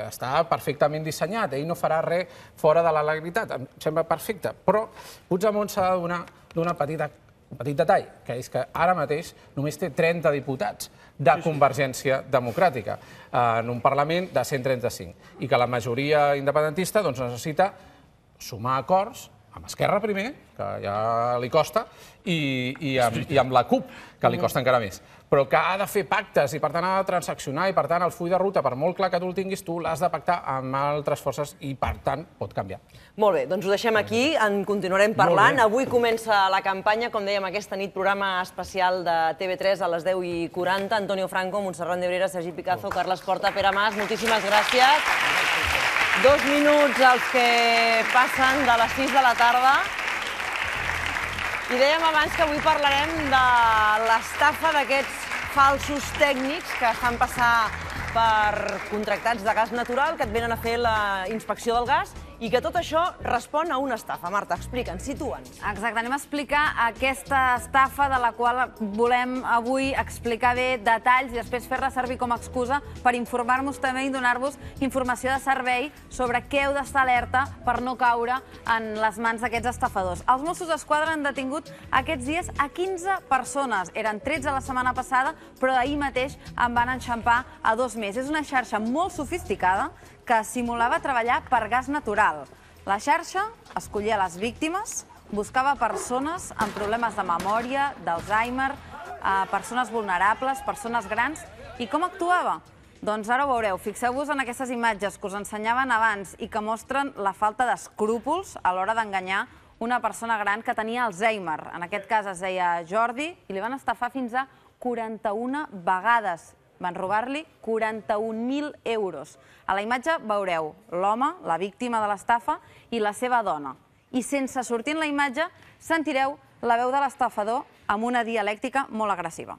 està perfectament dissenyat, ell no farà res fora de la legalitat, em sembla perfecte, però Puigdemont s'ha de donar un petit detall, que és que ara mateix només té 30 diputats de Convergència Democràtica en un Parlament de 135 i que la majoria independentista necessita sumar acords amb Esquerra primer, que ja li costa, i amb la CUP, que li costa encara més. Però que ha de fer pactes i, per tant, ha de transaccionar i, per tant, el full de ruta, per molt clar que tu el tinguis, tu l'has de pactar amb altres forces i, per tant, pot canviar. Molt bé, doncs ho deixem aquí, en continuarem parlant. Avui comença la campanya, com dèiem, aquesta nit, programa especial de TV3 a les 10:40. Antonio Franco, Montserrat Nebrera, Sergi Picazo, Carles Porta, Pere Mas, moltíssimes gràcies. 2 minuts els que passen de les 6 de la tarda. I dèiem abans que avui parlarem de l'estafa d'aquests falsos tècnics que es fan passar per contractats de gas natural, que et venen a fer la inspecció del gas, i que tot això respon a una estafa. Marta, explica'ns, situa'ns. Exacte, anem a explicar aquesta estafa de la qual volem avui explicar bé detalls i després fer-la servir com a excusa per informar-nos també i donar-vos informació de servei sobre què heu d'estar alerta per no caure en les mans d'aquests estafadors. Els Mossos d'Esquadra han detingut aquests dies a 15 persones. Eren 13 la setmana passada, però ahir mateix en van enxampar a 2 més. És una xarxa molt sofisticada que simulava treballar per gas natural. La xarxa escollia les víctimes, buscava persones amb problemes de memòria, d'Alzheimer, persones vulnerables, persones grans. I com actuava? Doncs ara ho veureu. Fixeu-vos en aquestes imatges que us ensenyaven abans i que mostren la falta d'escrúpols a l'hora d'enganyar una persona gran que tenia Alzheimer. En aquest cas es deia Jordi i li van estafar fins a 41 vegades. Van robar-li 41.000 euros. A la imatge veureu l'home, la víctima de l'estafa, i la seva dona. I sense sortir en la imatge sentireu la veu de l'estafador amb una dialèctica molt agressiva.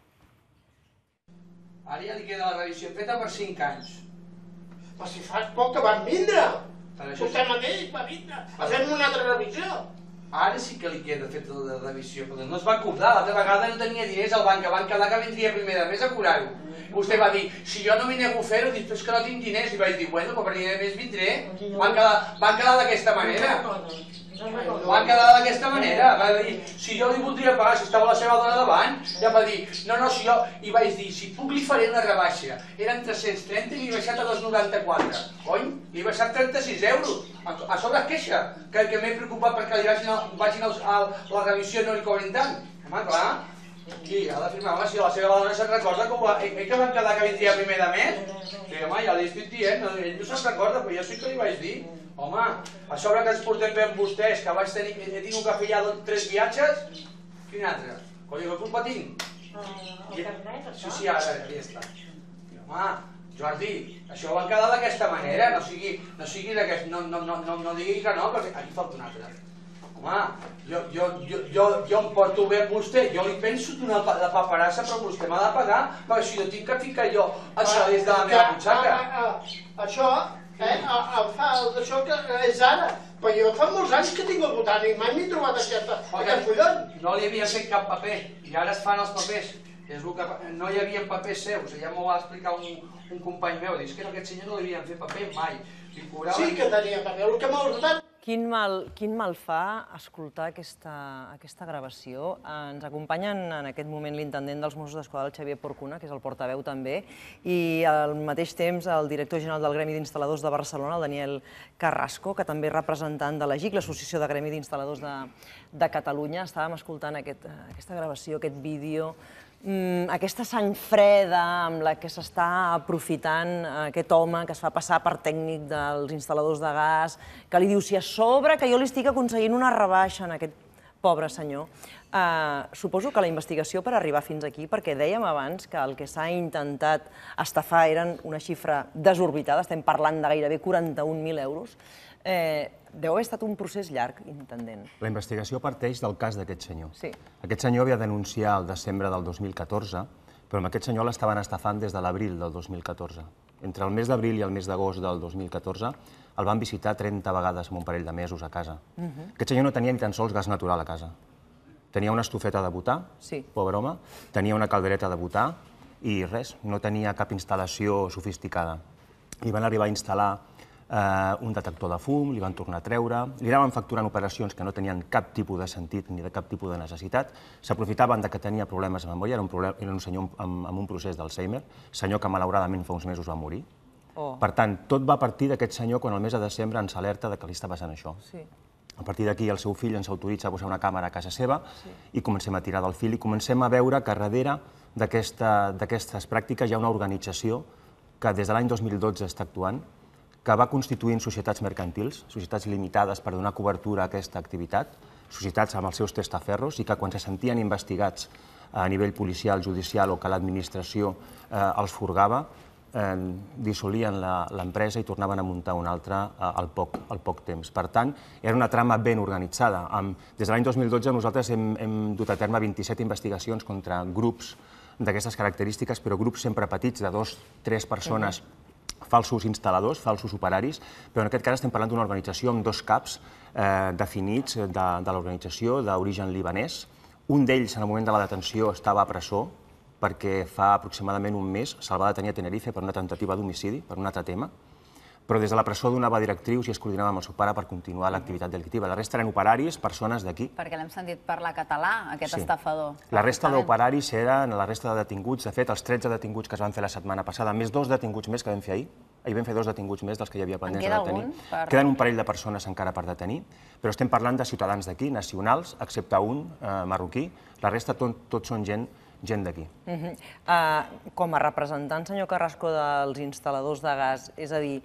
Ara ja li queda la revisió feta per 5 anys. Però si fa poc que van vindre. Vostè mateix va vindre. Fem una altra revisió. Ara sí que li queda feta la revisió, però no es va cobrar. L'altra vegada no tenia diners al banc, van quedar que vindria primer de mes a cobrar-ho. Vostè va dir, si jo no m'hi nego a fer-ho, dic, és que no tinc diners. I vaig dir, bueno, però primer de mes vindré. Van quedar d'aquesta manera. Van quedar d'aquesta manera. Va dir, si jo li voldria pagar, si estava la seva dona davant, ja va dir, no, si jo... I vaig dir, si puc li faré una rebaixa. Eren 330 i li he baixat a 2,94. Cony, li he baixat 36 euros. A sobre es queixa, que m'he preocupat perquè li vagin a la revisió i no li cobrin tant. Home, clar. I ha de firmar, home, si la seva dona se'n recorda que van quedar que vindria primer de mes. Sí, home, ja li estic dient, ell no se'n recorda, però jo sí que li vaig dir. Home, a sobre que ens portem bé amb vostès, que he tingut que fer ja 3 viatges, quin altre? Coi, que culpa tinc? Sí, ara, ja està. Home, Jordi, això van quedar d'aquesta manera, no digui que no, però aquí falta un altre. Home, jo em porto bé amb vostè, jo li penso donar la paperassa, però vostè m'ha de pagar, perquè si jo tinc que ficar jo els calés de la meva butxaca. Això, això que és ara, però jo fa molts anys que tinc el botànic, mai m'he trobat aquest fullon. No li havia fet cap paper, i ara es fan els papers. És el que no hi havia papers seus, ja m'ho va explicar un company meu, dius que aquest senyor no li havien fet paper mai. Sí que tenia paper, el que m'ha ordenat. Quin mal fa escoltar aquesta gravació. Ens acompanyen en aquest moment l'intendent dels Mossos d'Esquadra, el Xavier Porcuna, que és el portaveu també, i al mateix temps el director general del Gremi d'Instal·ladors de Barcelona, el Daniel Carrasco, que també és representant de l'AGIC, l'Associació de Gremi d'Instal·ladors de Catalunya. Estàvem escoltant aquesta gravació, aquest vídeo, aquesta sang freda amb la que s'està aprofitant aquest home que es fa passar per tècnic dels instal·ladors de gas, que li diu si a sobre que jo li estic aconseguint una rebaixa en aquest pobre senyor. Suposo que la investigació per arribar fins aquí, perquè dèiem abans que el que s'ha intentat estafar eren una xifra desorbitada, estem parlant de gairebé 41.000 euros, deu haver estat un procés llarg, intendent. La investigació parteix del cas d'aquest senyor. Sí. Aquest senyor havia denunciat el desembre del 2014, però amb aquest senyor l'estaven estafant des de l'abril del 2014. Entre el mes d'abril i el mes d'agost del 2014 el van visitar 30 vegades en un parell de mesos a casa. Aquest senyor no tenia ni tan sols gas natural a casa. Tenia una estufeta de butà, pobre home, tenia una caldereta de butà i res, no tenia cap instal·lació sofisticada. Li van arribar a instal·lar un detector de fum, li van tornar a treure, li anaven facturant operacions que no tenien cap tipus de sentit ni de cap tipus de necessitat, s'aprofitaven que tenia problemes de memòria, era un senyor amb un procés d'Alzheimer, senyor que malauradament fa uns mesos va morir. Per tant, tot va partir d'aquest senyor quan el mes de desembre ens alerta que li està passant això. A partir d'aquí el seu fill ens autoritza a posar una càmera a casa seva i comencem a tirar del fil i comencem a veure que darrere d'aquestes pràctiques hi ha una organització que des de l'any 2012 està actuant, que va constituint societats mercantils, societats limitades per donar cobertura a aquesta activitat, societats amb els seus testaferros, i que quan se sentien investigats a nivell policial, judicial o que l'administració els furgava, dissolien l'empresa i tornaven a muntar una altra al poc temps. Per tant, era una trama ben organitzada. Des de l'any 2012 nosaltres hem dut a terme 27 investigacions contra grups d'aquestes característiques, però grups sempre petits, de 2 o 3 persones, falsos instal·ladors, falsos operaris, però en aquest cas estem parlant d'una organització amb 2 caps definits de l'organització d'origen libanès. Un d'ells, en el moment de la detenció, estava a presó perquè fa aproximadament un mes se'l va detenir a Tenerife per una tentativa d'homicidi, per un altre tema, però des de la presó donava directrius i es coordinava amb el seu pare per continuar l'activitat delictiva. La resta eren operaris, persones d'aquí. Perquè l'hem sentit parlar català, aquest estafador. La resta d'operaris eren la resta de detinguts. De fet, els 13 detinguts que es van fer la setmana passada, més 2 detinguts més que vam fer ahir. Ahir vam fer 2 detinguts més dels que hi havia pendents de detenir. Queden un parell de persones encara per detenir, però estem parlant de ciutadans d'aquí, nacionals, excepte un marroquí. La resta tots són gent d'aquí. Com a representant, senyor Carrasco, dels instal·ladors de gas, és a dir,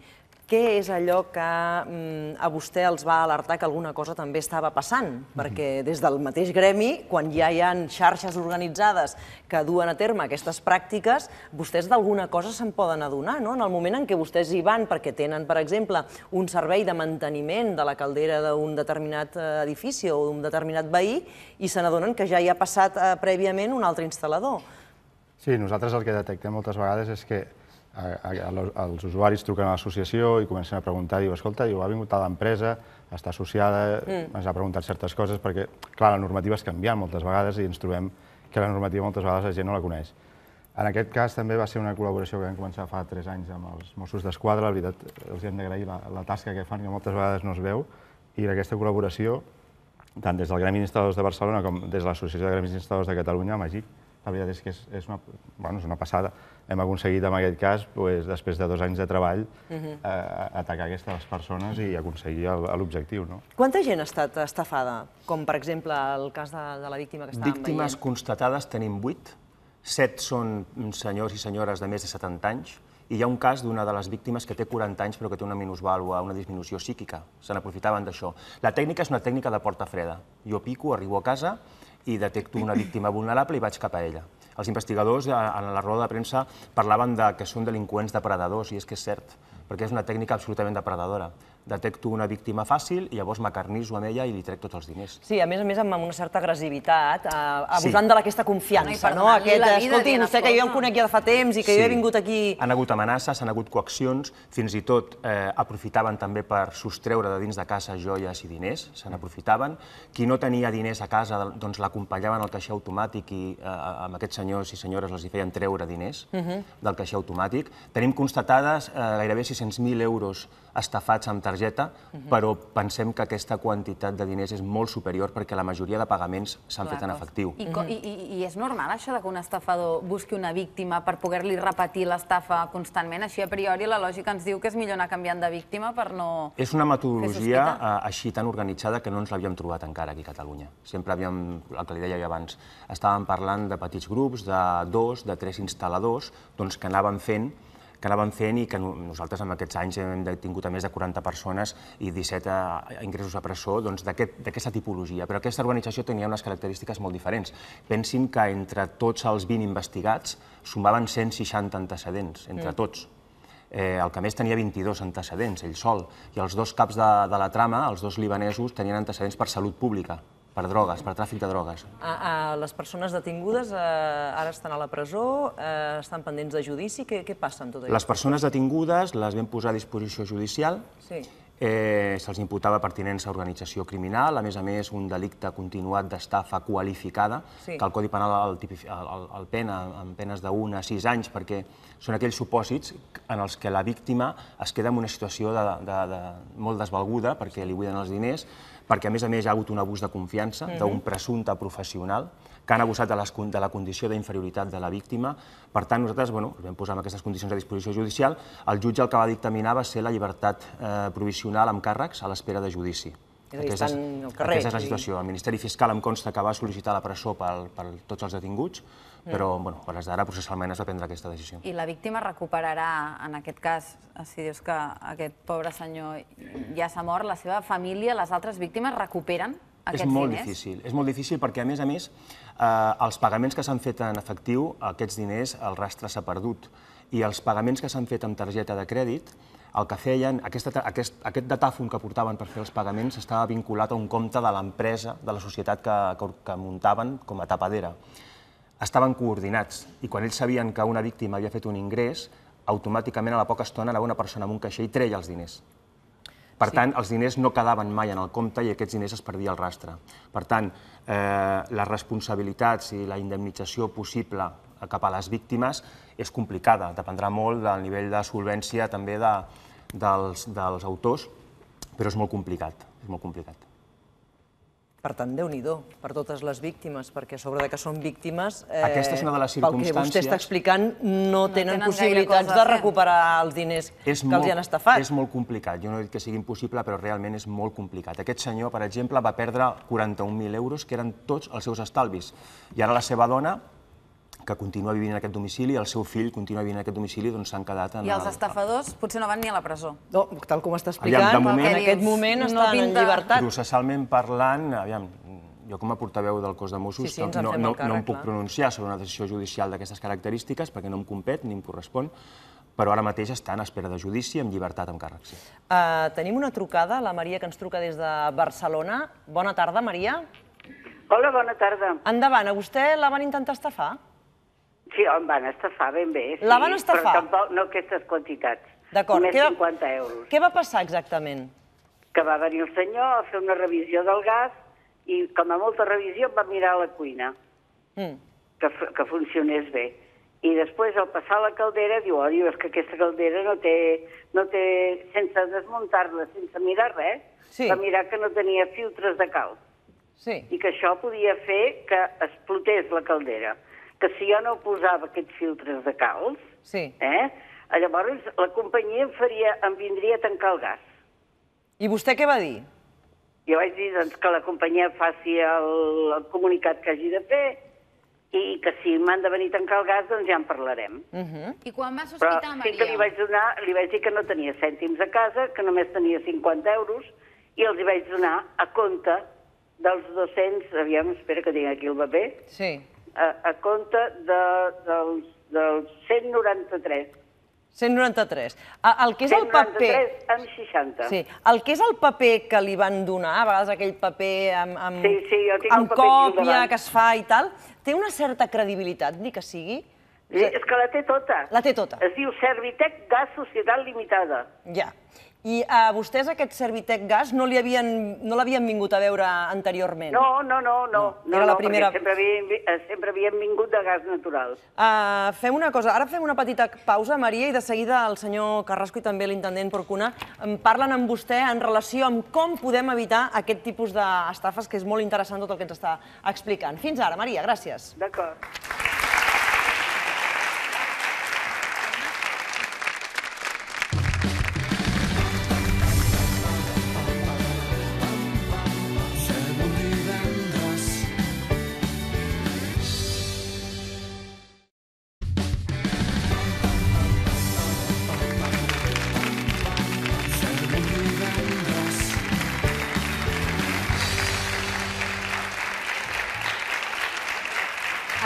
què és allò que a vostè els va alertar que alguna cosa també estava passant? Perquè des del mateix gremi, quan ja hi ha xarxes organitzades que duen a terme aquestes pràctiques, vostès d'alguna cosa se'n poden adonar, no? En el moment en què vostès hi van perquè tenen, per exemple, un servei de manteniment de la caldera d'un determinat edifici o d'un determinat veí i se n'adonen que ja hi ha passat prèviament un altre instal·lador. Sí, nosaltres el que detectem moltes vegades és que els usuaris truquen a l'associació i comencen a preguntar, diu, escolta, ha vingut a l'empresa, està associada, ens ha preguntat certes coses, perquè, clar, la normativa és canviant moltes vegades i ens trobem que la normativa moltes vegades la gent no la coneix. En aquest cas també va ser una col·laboració que vam començar fa 3 anys amb els Mossos d'Esquadra, la veritat, els hem d'agrair la tasca que fan, que moltes vegades no es veu, i aquesta col·laboració, tant des del Gremi d'Instal·ladors de Barcelona com des de l'Associació de Gremis d'Instal·ladors de Catalunya, amb AGIC, la veritat és que és una passada. Hem aconseguit, en aquest cas, després de 2 anys de treball, atacar aquestes persones i aconseguir l'objectiu. Quanta gent ha estat estafada? Com, per exemple, el cas de la víctima que estàvem veient. Víctimes constatades tenim 8. 7 són senyors i senyores de més de 70 anys. I hi ha un cas d'una de les víctimes que té 40 anys però que té una minusvàlua, una disminució psíquica. Se n'aprofitaven d'això. La tècnica és una tècnica de porta freda. Jo pico, arribo a casa i detecto una víctima vulnerable i vaig cap a ella. Els investigadors, en la roda de premsa, parlaven que són delinqüents depredadors, i és que és cert, perquè és una tècnica absolutament depredadora. detecto una víctima fàcil i llavors m'acarnisso amb ella i li trec tots els diners. Sí, a més amb una certa agressivitat, abusant d'aquesta confiança, no? Escolti, vostè que jo el conec ja de fa temps i que jo he vingut aquí... Han hagut amenaces, han hagut coaccions, fins i tot aprofitaven també per sostreure de dins de casa joies i diners, se n'aprofitaven. Qui no tenia diners a casa, doncs l'acompanyaven al caixer automàtic i amb aquests senyors i senyores els hi feien treure diners del caixer automàtic. Tenim constatades gairebé 600.000 euros estafats amb targeta, però pensem que aquesta quantitat de diners és molt superior perquè la majoria de pagaments s'han fet en efectiu. I és normal això que un estafador busqui una víctima per poder-li repetir l'estafa constantment? Així, a priori, la lògica ens diu que és millor anar canviant de víctima per no... És una metodologia així tan organitzada que no ens l'havíem trobat encara aquí a Catalunya. Sempre havíem, el que li deia abans, estàvem parlant de petits grups, de 2, de 3 instal·ladors, que anaven fent i que nosaltres en aquests anys hem tingut a més de 40 persones i 17 ingressos a presó d'aquesta tipologia. Però aquesta organització tenia unes característiques molt diferents. Pensin que entre tots els 20 investigats sumaven 160 antecedents, entre tots. El que més tenia 22 antecedents, ell sol, i els 2 caps de la trama, els 2 libanesos, tenien antecedents per salut pública, per drogues, per tràfic de drogues. Les persones detingudes ara estan a la presó, estan pendents de judici, què passa amb tot això? Les persones detingudes les vam posar a disposició judicial, se'ls imputava pertinença a organització criminal, a més, un delicte continuat d'estafa qualificada, que el Codi Penal el pena amb penes de 1 a 6 anys, perquè són aquells supòsits en els que la víctima es queda en una situació molt desvalguda perquè li buiden els diners, perquè a més hi ha hagut un abús de confiança d'un presumpte professional que han abusat de la condició d'inferioritat de la víctima. Per tant, nosaltres vam posar en aquestes condicions a disposició judicial. El jutge el que va dictaminar va ser la llibertat provisional amb càrrecs a l'espera de judici. Aquesta és la situació. El Ministeri Fiscal em consta que va sol·licitar la presó per tots els detinguts, però a les d'ara processalment es va prendre aquesta decisió. I la víctima recuperarà, en aquest cas, si dius que aquest pobre senyor ja s'ha mort, la seva família, les altres víctimes recuperen aquests diners? És molt difícil perquè, a més, els pagaments que s'han fet en efectiu, aquests diners, el rastre s'ha perdut. I els pagaments que s'han fet amb targeta de crèdit, el que feien, aquest datàfon que portaven per fer els pagaments estava vinculat a un compte de l'empresa, de la societat que muntaven com a tapadera. Estaven coordinats i quan ells sabien que una víctima havia fet un ingrés, automàticament a la poca estona anava una persona amb un caixer i treia els diners. Per tant, els diners no quedaven mai en el compte i aquests diners es perdia el rastre. Per tant, les responsabilitats i la indemnització possible cap a les víctimes és complicada. Dependrà molt del nivell de solvència també dels autors, però és molt complicat. Per tant, Déu-n'hi-do per totes les víctimes, perquè a sobre que són víctimes, aquesta és una de les circumstàncies... pel que vostè està explicant, no tenen possibilitats de recuperar els diners que els hi han estafat. És molt complicat. Jo no he dit que sigui impossible, però realment és molt complicat. Aquest senyor, per exemple, va perdre 41.000 euros, que eren tots els seus estalvis. I ara la seva dona, que continua vivint en aquest domicili, i el seu fill continua vivint en aquest domicili, doncs s'han quedat en... I els estafadors potser no van ni a la presó. No, tal com està explicant, en aquest moment estan en llibertat. Processalment parlant, jo com a portaveu del cos de Mossos no em puc pronunciar sobre una decisió judicial d'aquestes característiques perquè no em compet ni em correspon, però ara mateix està en espera de judici amb llibertat amb càrrec. Tenim una trucada, la Maria, que ens truca des de Barcelona. Bona tarda, Maria. Hola, bona tarda. Endavant, a vostè la van intentar estafar? Sí, em van estafar ben bé. La van estafar? Però tampoc no aquestes quantitats. D'acord. Només 50 euros. Què va passar exactament? Que va venir el senyor a fer una revisió del gas i, com a molta revisió, va mirar a la cuina que funcionés bé. I després, al passar la caldera, diu, és que aquesta caldera no té sense desmuntar-la, sense mirar res, va mirar que no tenia filtres de calç. I que això podia fer que explotés la caldera. Que si jo no posava aquests filtres de calç, llavors la companyia em vindria a tancar el gas. I vostè què va dir? Jo vaig dir que la companyia faci el comunicat que hagi de fer i que si m'han de venir a tancar el gas, doncs ja en parlarem. I quan va sospitar, Maria? Però sí que li vaig dir que no tenia cèntims a casa, que només tenia 50 euros, i els hi vaig donar a compte dels 200, espera que tinc aquí el paper, a compte dels 193. 193. El que és el paper... 193 amb 60. Sí, el que és el paper que li van donar, a vegades aquell paper amb còpia que es fa i tal, té una certa credibilitat, ni que sigui? És que la té tota. La té tota. Es diu Servitec Gas Societat Limitada. Ja. I a vostès aquest Servitec Gas no l'havien vingut a veure anteriorment? No, Era la primera... sempre havien vingut de gas natural. Fem una cosa, ara fem una petita pausa, Maria, i de seguida el senyor Carrasco i també l'intendent Porcuna parlen amb vostè en relació amb com podem evitar aquest tipus d'estafes, que és molt interessant tot el que ens està explicant. Fins ara, Maria, gràcies. D'acord.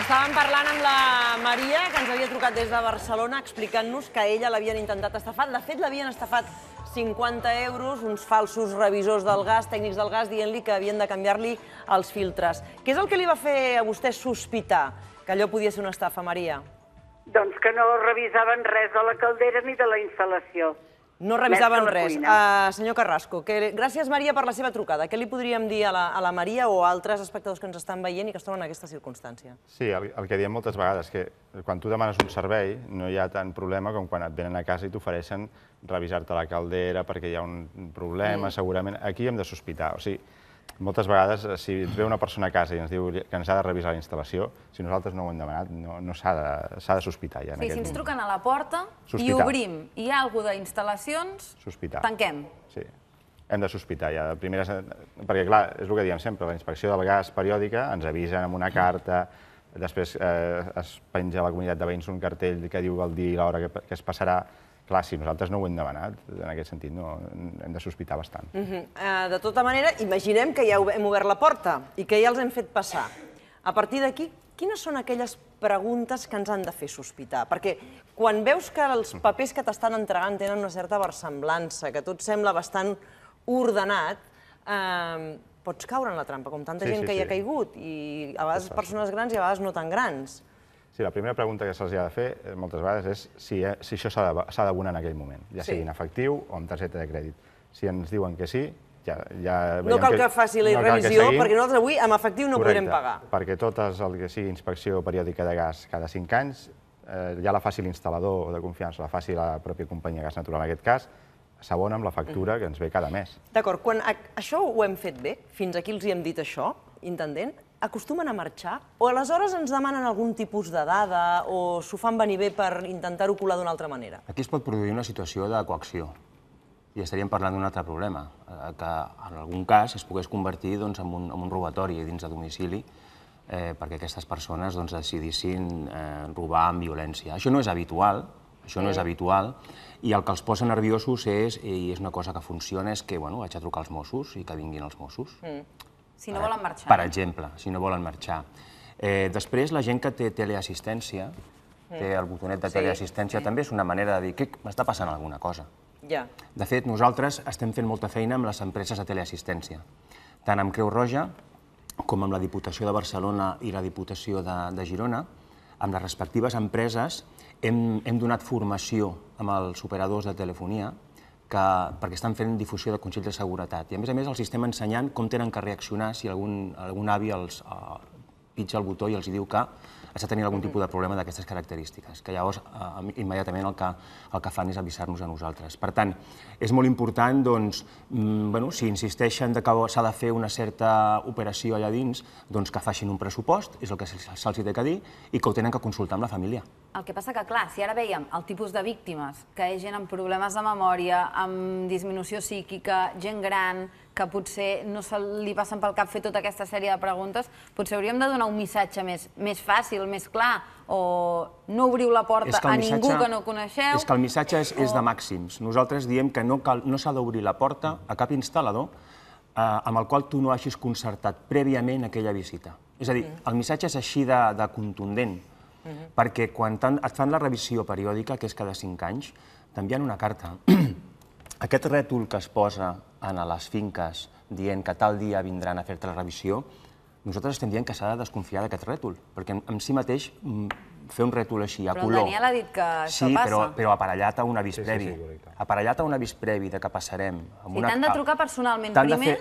Estàvem parlant amb la Maria, que ens havia trucat des de Barcelona, explicant-nos que a ella l'havien intentat estafar. De fet, l'havien estafat 50 euros, uns falsos revisors del gas, tècnics del gas, dient-li que havien de canviar-li els filtres. Què és el que li va fer a vostè sospitar que allò podia ser una estafa, Maria? Doncs que no revisaven res de la caldera ni de la instal·lació. No revisaven res. Senyor Carrasco, gràcies, Maria, per la seva trucada. Què li podríem dir a la Maria o a altres espectadors que ens estan veient i que es troben en aquesta circumstància? Sí, el que diem moltes vegades, que quan tu demanes un servei no hi ha tant problema com quan et venen a casa i t'ofereixen revisar-te la caldera perquè hi ha un problema, segurament. Aquí hem de sospitar. O sigui, moltes vegades, si ens ve una persona a casa i ens diu que ens ha de revisar la instal·lació, si nosaltres no ho hem demanat, no s'ha de sospitar ja. Sí, si ens truquen a la porta i obrim i hi ha alguna d'instal·lacions, tanquem. Sí, hem de sospitar ja. Perquè, clar, és el que diem sempre, la inspecció del gas periòdica ens avisen amb una carta, després es penja a la comunitat de veïns un cartell que diu el dia i l'hora que es passarà. Clar, si nosaltres no ho hem demanat, en aquest sentit hem de sospitar bastant. De tota manera, imaginem que ja hem obert la porta i que ja els hem fet passar. A partir d'aquí, quines són aquelles preguntes que ens han de fer sospitar? Perquè quan veus que els papers que t'estan entregant tenen una certa versemblança, que tot sembla bastant ordenat, pots caure en la trampa, com tanta gent que hi ha caigut, i a vegades persones grans i a vegades no tan grans. Sí, la primera pregunta que se'ls ha de fer moltes vegades és si això s'ha d'abonar en aquell moment, ja sigui en efectiu o amb targeta de crèdit. Si ens diuen que sí, ja veiem que... No cal que faci la revisió, perquè nosaltres avui amb efectiu no podrem pagar. Perquè totes el que sigui inspecció periòdica de gas cada 5 anys, ja la faci l'instal·lador de confiança, la faci la pròpia companyia Gas Natural en aquest cas, s'abona amb la factura que ens ve cada mes. D'acord, quan això ho hem fet bé, fins aquí els hi hem dit això, intendent, acostumen a marxar? O aleshores ens demanen algun tipus de dada o s'ho fan venir bé per intentar-ho colar d'una altra manera? Aquí es pot produir una situació de coacció i estaríem parlant d'un altre problema, que en algun cas es pogués convertir en un robatori dins de domicili perquè aquestes persones decidissin robar amb violència. Això no és habitual, i el que els posa nerviosos és, i és una cosa que funciona, és que vaig a trucar als Mossos i que vinguin els Mossos. Si no volen marxar. Per exemple, si no volen marxar. Després, la gent que té teleassistència, té el botonet de teleassistència, també és una manera de dir que m'està passant alguna cosa. De fet, nosaltres estem fent molta feina amb les empreses de teleassistència, tant amb Creu Roja com amb la Diputació de Barcelona i la Diputació de Girona. Amb les respectives empreses hem donat formació amb els operadors de telefonia perquè estan fent difusió de consells de seguretat. I a més els estem ensenyant com tenen que reaccionar si algun avi els pitja el botó i els diu que està tenint algun tipus de problema d'aquestes característiques, que llavors immediatament el que fan és avisar-nos a nosaltres. Per tant, és molt important, si insisteixen que s'ha de fer una certa operació allà dins, que facin un pressupost, és el que se'ls ha de dir, i que ho tenen que consultar amb la família. El que passa que, clar, si ara veiem el tipus de víctimes, que és gent amb problemes de memòria, amb disminució psíquica, gent gran, que potser no se li passen pel cap fer tota aquesta sèrie de preguntes, potser hauríem de donar un missatge més fàcil, més clar, o no obriu la porta a ningú que no coneixeu. És que el missatge és de màxims. Nosaltres diem que no s'ha d'obrir la porta a cap instal·lador amb el qual tu no hagis concertat prèviament aquella visita. És a dir, el missatge és així de contundent. Perquè quan et fan la revisió periòdica, que és cada 5 anys, t'envien una carta. Aquest rètol que es posa a les finques dient que tal dia vindran a fer-te la revisió, nosaltres estem dient que s'ha de desconfiar d'aquest rètol, perquè en si mateix fer un rètol així, a color... Però el Daniel ha dit que això passa. Sí, però aparellat a un avís previ. Aparellat a un avís previ de que passarem... I t'han de trucar personalment primer?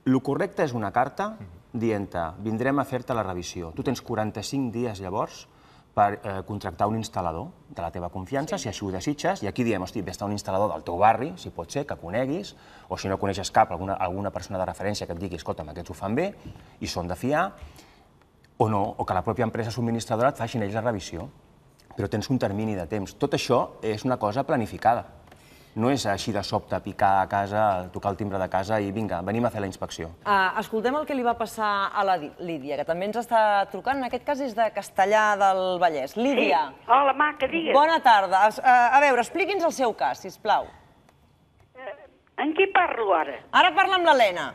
El correcte és una carta dient-te, vindrem a fer-te la revisió. Tu tens 45 dies llavors per contractar un instal·lador de la teva confiança, si així ho desitges, i aquí diem, hosti, vés a un instal·lador del teu barri, si pot ser, que coneguis, o si no coneixes cap, alguna persona de referència que et digui, escolta'm, aquests ho fan bé, i són de fiar, o no, o que la pròpia empresa subministradora et facin ells la revisió. Però tens un termini de temps. Tot això és una cosa planificada. No és així de sobte picar a casa, tocar el timbre de casa i vinga, venim a fer la inspecció. Escoltem el que li va passar a la Lídia, que també ens està trucant. En aquest cas és de Castellà del Vallès. Lídia. Sí. Hola, maca, digues. Bona tarda. A veure, expliqui'ns el seu cas, sisplau. En qui parlo ara? Ara parla amb l'Helena.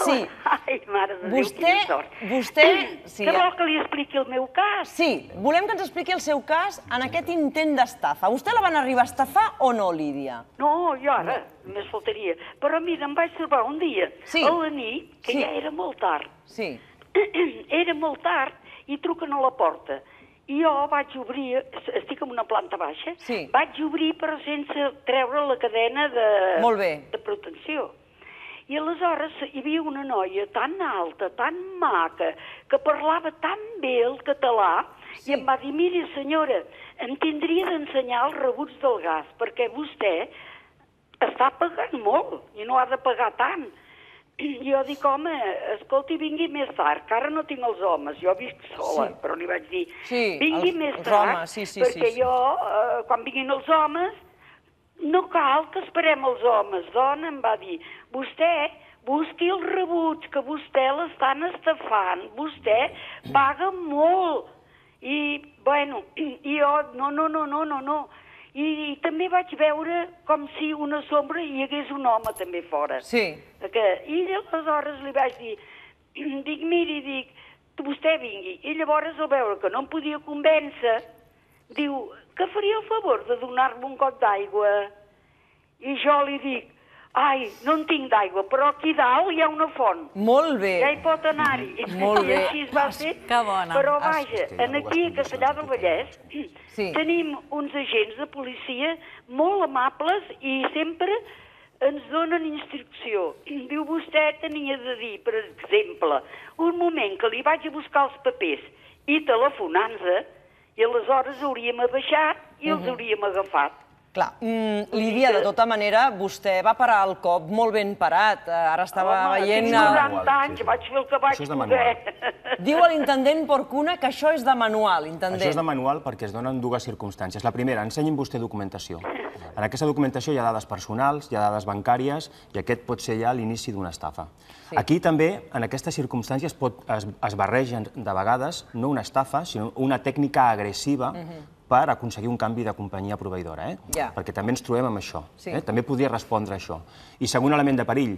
Sí. Ai, mare de Déu, quina sort. Vostè... Que vol que li expliqui el meu cas? Sí, volem que ens expliqui el seu cas en aquest intent d'estafa. Vostè la van arribar a estafar o no, Lídia? No, jo ara, només faltaria. Però mira, em vaig trobar un dia, a la nit, que ja era molt tard. Sí. Era molt tard i truquen a la porta. I jo vaig obrir, estic en una planta baixa, vaig obrir però sense treure la cadena de protecció. I aleshores hi havia una noia tan alta, tan maca, que parlava tan bé el català, i em va dir, miri senyora, em tindria d'ensenyar els rebuts del gas, perquè vostè està pagant molt i no ha de pagar tant. Jo dic, home, escolti, vingui més tard, que ara no tinc els homes, jo visc sola, però li vaig dir, vingui més tard, perquè jo, quan vinguin els homes, no cal que esperem els homes. Dona, em va dir, vostè busqui els rebuts, que vostè l'estan estafant, vostè paga molt. I, bueno, jo, no. I també vaig veure com si una sombra hi hagués un home també fora. Sí. I aleshores li vaig dir, miri, vostè vingui. I llavors al veure que no em podia convèncer, diu, que faria el favor de donar-me un got d'aigua? I jo li dic, ai, no en tinc d'aigua, però aquí dalt hi ha una font. Molt bé. Ja hi pot anar-hi. Molt bé. I així es va fer. Que bona. Però vaja, aquí a Castellà del Vallès tenim uns agents de policia molt amables i sempre ens donen instrucció. Diu, vostè tenia de dir, per exemple, un moment que li vaig a buscar els papers i telefonant-se, i aleshores hauríem abaixat i els hauríem agafat. Clar, Lídia, de tota manera, vostè va parar el cop molt ben parat. Ara estava veient... Home, tinc 90 anys, vaig fer el que vaig poder. Diu a l'intendent Porcuna que això és de manual, intendent. Això és de manual perquè es donen dues circumstàncies. La primera, ensenyi'm vostè documentació. En aquesta documentació hi ha dades personals, hi ha dades bancàries, i aquest pot ser ja l'inici d'una estafa. Aquí també, en aquestes circumstàncies, es barregen de vegades no una estafa, sinó una tècnica agressiva per aconseguir un canvi de companyia proveïdora, perquè també ens trobem amb això. També podria respondre a això. I segon element de perill,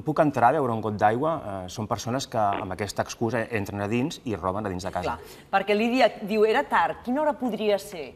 puc entrar a beure un got d'aigua? Són persones que amb aquesta excusa entren a dins i roben a dins de casa. Perquè Lídia diu, era tard, quina hora podria ser?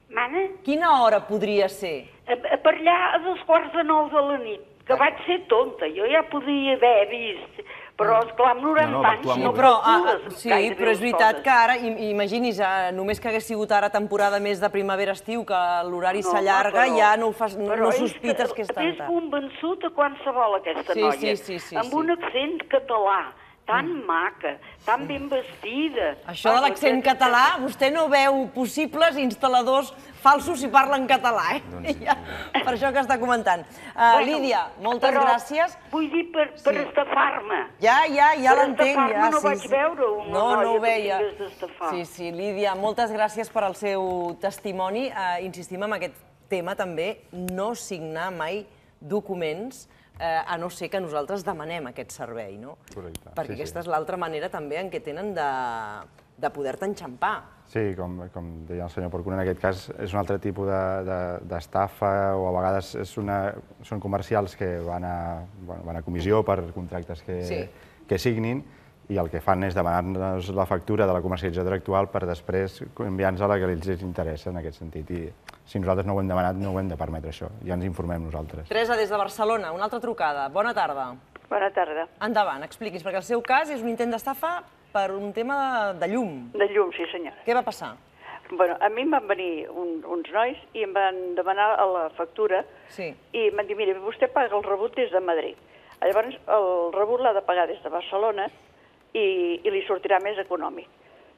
Mana? Quina hora podria ser? Per allà a 8:45 de la nit, que vaig ser tonta, jo ja podia haver vist... Però, esclar, amb 90 anys no calcules. Sí, però és veritat que ara, imagini's, només que hagués sigut ara temporada més de primavera-estiu, que l'horari s'allarga, ja no sospites que és tan tard. T'has convençut a qualsevol aquesta noia, amb un accent català, tan maca, tan ben vestida. Això de l'accent català, vostè no veu possibles instal·ladors falsos si parlen català, per això que està comentant. Lídia, moltes gràcies. Vull dir, per estafar-me. Ja l'entenc. Per estafar-me no vaig veure una noia que tingués d'estafar. Sí, Lídia, moltes gràcies per al seu testimoni. Insistim en aquest tema també, no signar mai documents a no ser que nosaltres demanem aquest servei, no? Correcte. Perquè aquesta és l'altra manera també en què tenen de poder-te enxampar. Sí, com deia el senyor Porcuna, en aquest cas és un altre tipus d'estafa o a vegades són comercials que van a comissió per contractes que signin i el que fan és demanar-nos la factura de la comercialitzadora actual per després enviar-nos a la que els interessa, en aquest sentit. I si nosaltres no ho hem demanat, no ho hem de permetre, això. Ja ens informem nosaltres. Teresa, des de Barcelona, una altra trucada. Bona tarda. Bona tarda. Endavant, expliqui's, perquè el seu cas és un intent d'estafa per un tema de llum. De llum, sí senyora. Què va passar? Bueno, a mi em van venir uns nois i em van demanar la factura i em van dir, mira, vostè paga el rebut des de Madrid. Llavors, el rebut l'ha de pagar des de Barcelona i li sortirà més econòmic.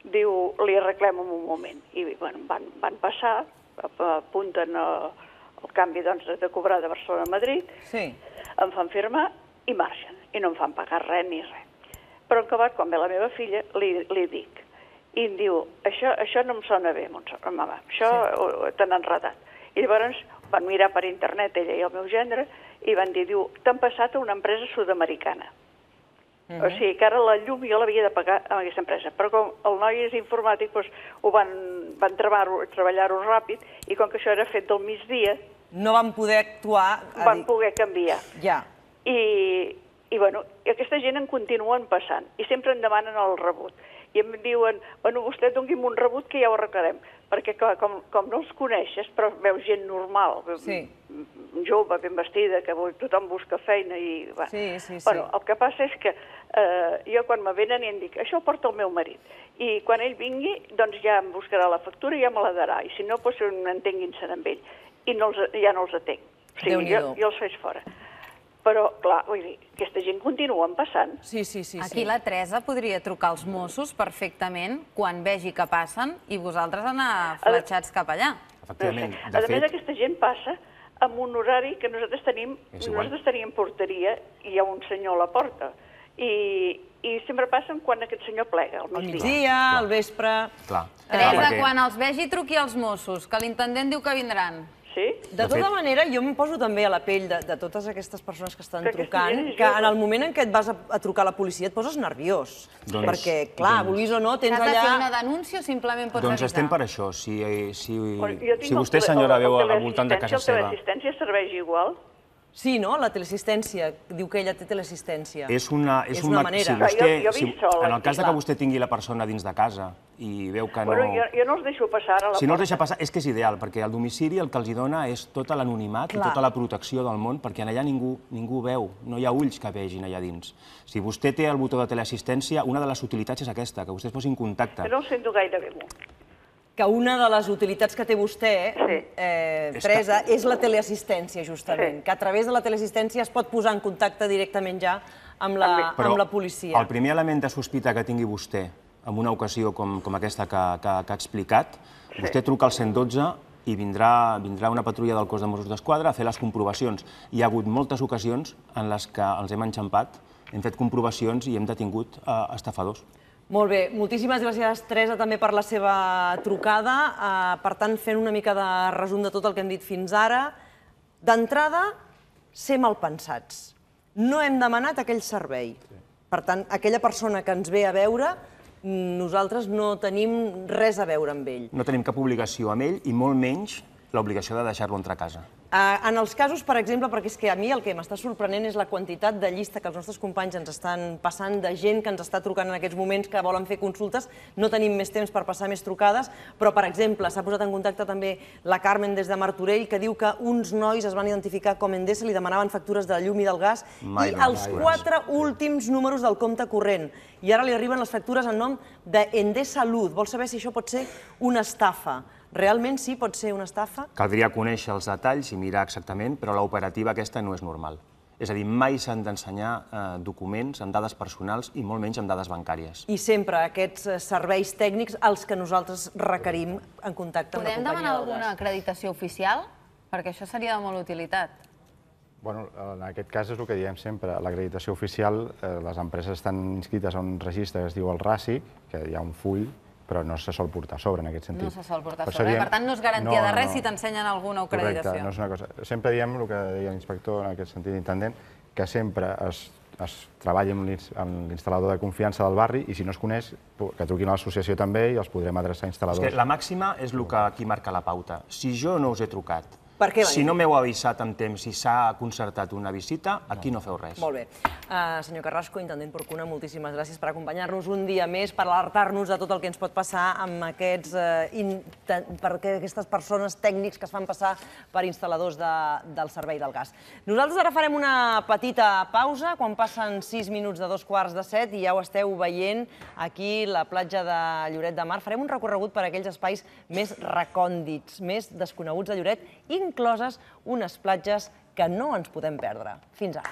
Diu, li arreglem en un moment. I bueno, van passar, apunten el canvi de cobrar de Barcelona a Madrid, em fan firmar i marxen. I no em fan pagar res ni res. Però en acabat, quan ve la meva filla, li dic. I em diu, això no em sona bé, mama, això t'han enredat. I llavors van mirar per internet, ella i el meu gendre, i van dir, diu, t'han passat a una empresa sud-americana. O sigui que ara la llum jo l'havia de pagar amb aquesta empresa. Però com el noi és informàtic, ho van treballar-ho ràpid, i com que això era fet del migdia... No van poder actuar... Van poder canviar. Ja. I bueno, aquesta gent en continuen passant, i sempre em demanen el rebut. I em diuen, bueno, vostè doni'm un rebut que ja ho arreglarem. Perquè, clar, com no els coneixes, però veus gent normal, jove, ben vestida, que tothom busca feina i... Bueno, el que passa és que jo quan me venen i em dic, això ho porta el meu marit. I quan ell vingui, doncs ja em buscarà la factura i ja me la darà. I si no, doncs entenguin-se'n amb ell. I ja no els atenc. O sigui, jo els faig fora. Però, clar, vull dir, aquesta gent continua passant. Sí. Aquí la Teresa podria trucar als Mossos perfectament quan vegi que passen i vosaltres anar fletxats cap allà. Efectivament. A més, aquesta gent passa amb un horari que nosaltres tenim porteria i hi ha un senyor a la porta. I sempre passen quan aquest senyor plega, al migdia, al vespre... Teresa, quan els vegi, truqui als Mossos, que l'intendent diu que vindran. Sí? De tota manera, jo em poso també a la pell de totes aquestes persones que estan trucant, que en el moment en què et vas a trucar a la policia et poses nerviós. Perquè, clar, vulguis o no, tens allà... Has de fer una denúncia o simplement pots avisar? Doncs estem per això. Si vostè, senyora, veu al voltant de casa seva... El teleassistència serveix igual? Sí, no? La teleassistència. Diu que ella té teleassistència. És una manera. En el cas que vostè tingui la persona dins de casa i veu que no... Jo no els deixo passar a la porta. Si no els deixa passar, és que és ideal, perquè al domicili el que els dona és tota l'anonimat i tota la protecció del món, perquè allà ningú veu, no hi ha ulls que vegin allà dins. Si vostè té el botó de teleassistència, una de les utilitats és aquesta, que vostè es posi en contacte. No ho sento gaire bé. Que una de les utilitats que té vostè, Teresa, és la teleassistència, justament. Que a través de la teleassistència es pot posar en contacte directament ja amb la policia. El primer element de sospita que tingui vostè en una ocasió com aquesta que ha explicat, vostè truca al 112 i vindrà una patrulla del cos de Mossos d'Esquadra a fer les comprovacions. Hi ha hagut moltes ocasions en les que els hem enxampat, hem fet comprovacions i hem detingut estafadors. Molt bé, moltíssimes gràcies, Teresa, també per la seva trucada. Per tant, fent una mica de resum de tot el que hem dit fins ara. D'entrada, ser malpensats. No hem demanat aquell servei. Per tant, aquella persona que ens ve a veure, nosaltres no tenim res a veure amb ell. No tenim cap obligació amb ell i molt menys l'obligació de deixar-lo entrar a casa. En els casos, per exemple, perquè és que a mi el que m'està sorprenent és la quantitat de llista que els nostres companys ens estan passant, de gent que ens està trucant en aquests moments que volen fer consultes. No tenim més temps per passar més trucades, però, per exemple, s'ha posat en contacte també la Carmen des de Martorell, que diu que uns nois es van identificar com Endesa, li demanaven factures de llum i del gas, i els 4 últims números del compte corrent. I ara li arriben les factures en nom d'Endesa Luz. Vol saber si això pot ser una estafa. Realment sí, pot ser una estafa? Caldria conèixer els detalls i mirar exactament, però l'operativa aquesta no és normal. És a dir, mai s'han d'ensenyar documents amb dades personals i molt menys amb dades bancàries. I sempre aquests serveis tècnics els que nosaltres requerim en contacte amb la companyia del gas. Podem demanar alguna acreditació oficial? Perquè això seria de molt utilitat. Bueno, en aquest cas és el que diem sempre. L'acreditació oficial, les empreses estan inscrites a un registre que es diu el RASIC, que hi ha un full, però no se sol portar a sobre, en aquest sentit. No se sol portar a sobre. Per tant, no és garantia de res si t'ensenyen alguna acreditació. Correcte, no és una cosa. Sempre diem el que deia l'inspector, en aquest sentit, intendent, que sempre es treballa amb l'instal·lador de confiança del barri i si no es coneix, que truquin a l'associació també i els podrem adreçar a instal·ladors. La màxima és el que aquí marca la pauta. Si jo no us he trucat Si no m'heu avisat amb temps i s'ha concertat una visita, aquí no feu res. Molt bé. Senyor Carrasco, intendent Porcuna, moltíssimes gràcies per acompanyar-nos un dia més, per alertar-nos de tot el que ens pot passar amb aquestes persones tècnics que es fan passar per instal·ladors del servei del gas. Nosaltres ara farem una petita pausa, quan passen 6 minuts de 2:15 i ja ho esteu veient aquí, la platja de Lloret de Mar. Farem un recorregut per aquells espais més recòndits, més desconeguts de Lloret, incloses unes platges que no ens podem perdre. Fins ara.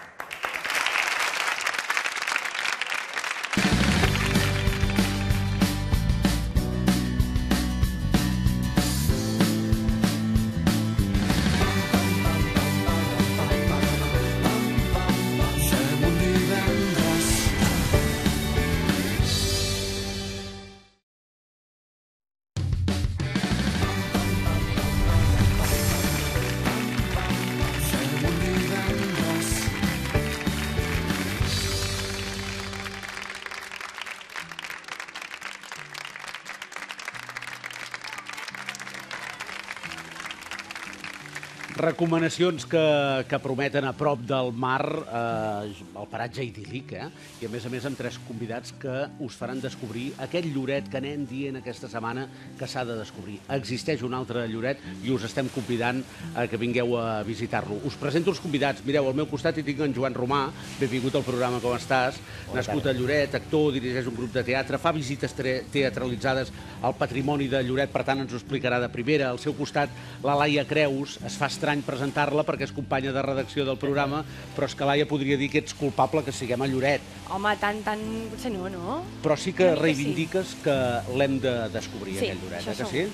Recomanacions que prometen a prop del mar, el paratge idíl·lic, i a més amb 3 convidats que us faran descobrir aquest Lloret que anem dient aquesta setmana que s'ha de descobrir. Existeix un altre Lloret i us estem convidant que vingueu a visitar-lo. Us presento els convidats. Mireu, al meu costat hi tinc en Joan Romà, benvingut al programa, com estàs? Nascut a Lloret, actor, dirigeix un grup de teatre, fa visites teatralitzades al patrimoni de Lloret, per tant ens ho explicarà de primera. Al seu costat, la Laia Creus, es fa estrany presentar-la perquè és companya de redacció del programa, però és que Laia podria dir que ets culpable que siguem a Lloret. Home, tant, potser no? Però sí que reivindiques que l'hem de descobrir, aquest Lloret, que sí?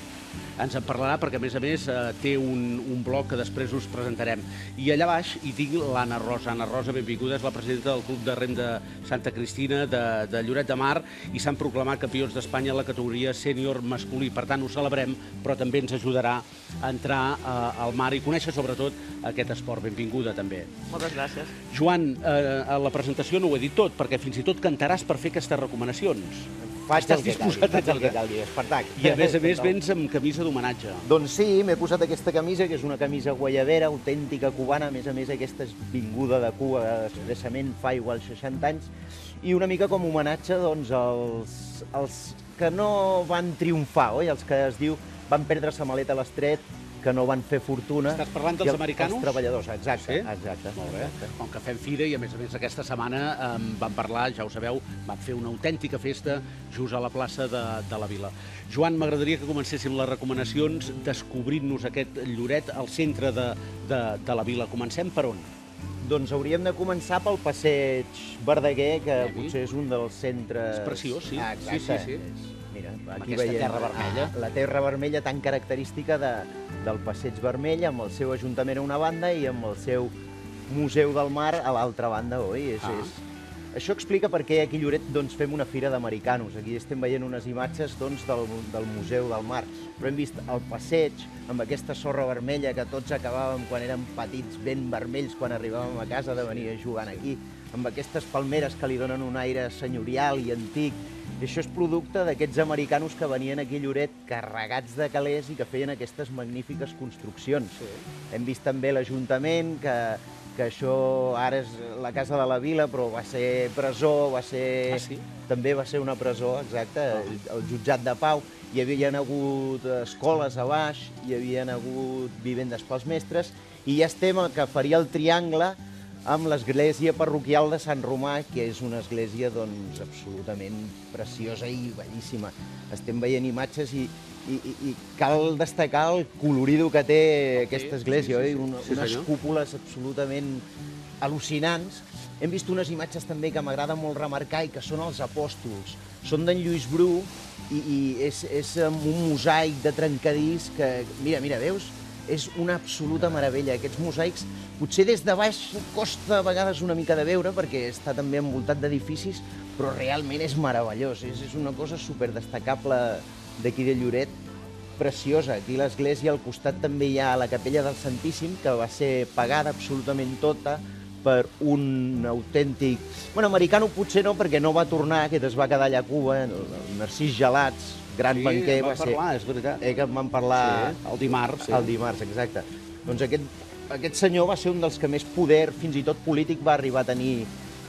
Ens en parlarà perquè, a més, té un blog que després us presentarem. I allà baix hi tinc l'Anna Rosa. Anna Rosa, benvinguda, és la presidenta del Club de Rem de Santa Cristina de Lloret de Mar i s'han proclamat campions d'Espanya en la categoria sènior masculí. Per tant, ho celebrem, però també ens ajudarà a entrar al mar i conèixer sobretot aquest esport. Benvinguda, també. Moltes gràcies. Joan, a la presentació no ho he dit tot, perquè fins i tot cantaràs per fer aquestes recomanacions. Faig el que calgui, Espartac. I a més vens amb camisa d'homenatge. Doncs sí, m'he posat aquesta camisa, que és una camisa guayabera, autèntica cubana, a més aquesta és vinguda de Cuba expressament fa igual 60 anys, i una mica com homenatge als que no van triomfar, oi? Els que es diu van perdre sa maleta a l'estret, que no van fer fortuna. Estàs parlant dels americanos? Els treballadors, exacte. Molt bé. Com que fem fira i, a més aquesta setmana vam parlar, ja ho sabeu, vam fer una autèntica festa just a la plaça de la Vila. Joan, m'agradaria que comencéssim les recomanacions descobrint-nos aquest Lloret al centre de la Vila. Comencem per on? Doncs hauríem de començar pel passeig Verdaguer, que potser és un dels centres... És preciós, sí. Exacte. Sí. Mira, aquí veiem terra vermella. La terra vermella tan característica del Passeig Vermell, amb el seu ajuntament a una banda i amb el seu Museu del Mar a l'altra banda, oi? Això explica per què aquí a Lloret fem una fira d'americanos. Aquí estem veient unes imatges del Museu del Mar, però hem vist el passeig amb aquesta sorra vermella que tots acabàvem quan érem petits, ben vermells, quan arribàvem a casa de venir a jugar aquí, amb aquestes palmeres que li donen un aire senyorial i antic. I això és producte d'aquests americanos que venien aquí a Lloret carregats de calés i que feien aquestes magnífiques construccions. Hem vist també l'Ajuntament, que això ara és la Casa de la Vila, però va ser presó, també va ser una presó, exacte, el jutjat de pau. Hi havien hagut escoles a baix, hi havien hagut vivendes pels mestres, i ja estem al que faria el triangle amb l'església parroquial de Sant Romà, que és una església absolutament preciosa i bellíssima. Estem veient imatges i cal destacar el colorido que té aquesta església, unes cúpules absolutament al·lucinants. Hem vist unes imatges també que m'agrada molt remarcar i que són els apòstols. Són d'en Lluís Bru i és un mosaic de trencadís que, mira, veus? És una absoluta meravella. Aquests mosaics, potser des de baix costa a vegades una mica de veure, perquè està també envoltat d'edificis, però realment és meravellós. És una cosa superdestacable d'aquí de Lloret, preciosa. Aquí a l'església, al costat també hi ha la capella del Santíssim, que va ser pagada absolutament tota per un autèntic... Bueno, americano potser no, perquè no va tornar, aquest es va quedar allà a Cuba, el Narcís Gelats, gran banquer, va ser... Sí, en vam parlar, és veritat. Que en vam parlar... El dimarts. El dimarts, exacte. Doncs aquest senyor va ser un dels que més poder, fins i tot polític, va arribar a tenir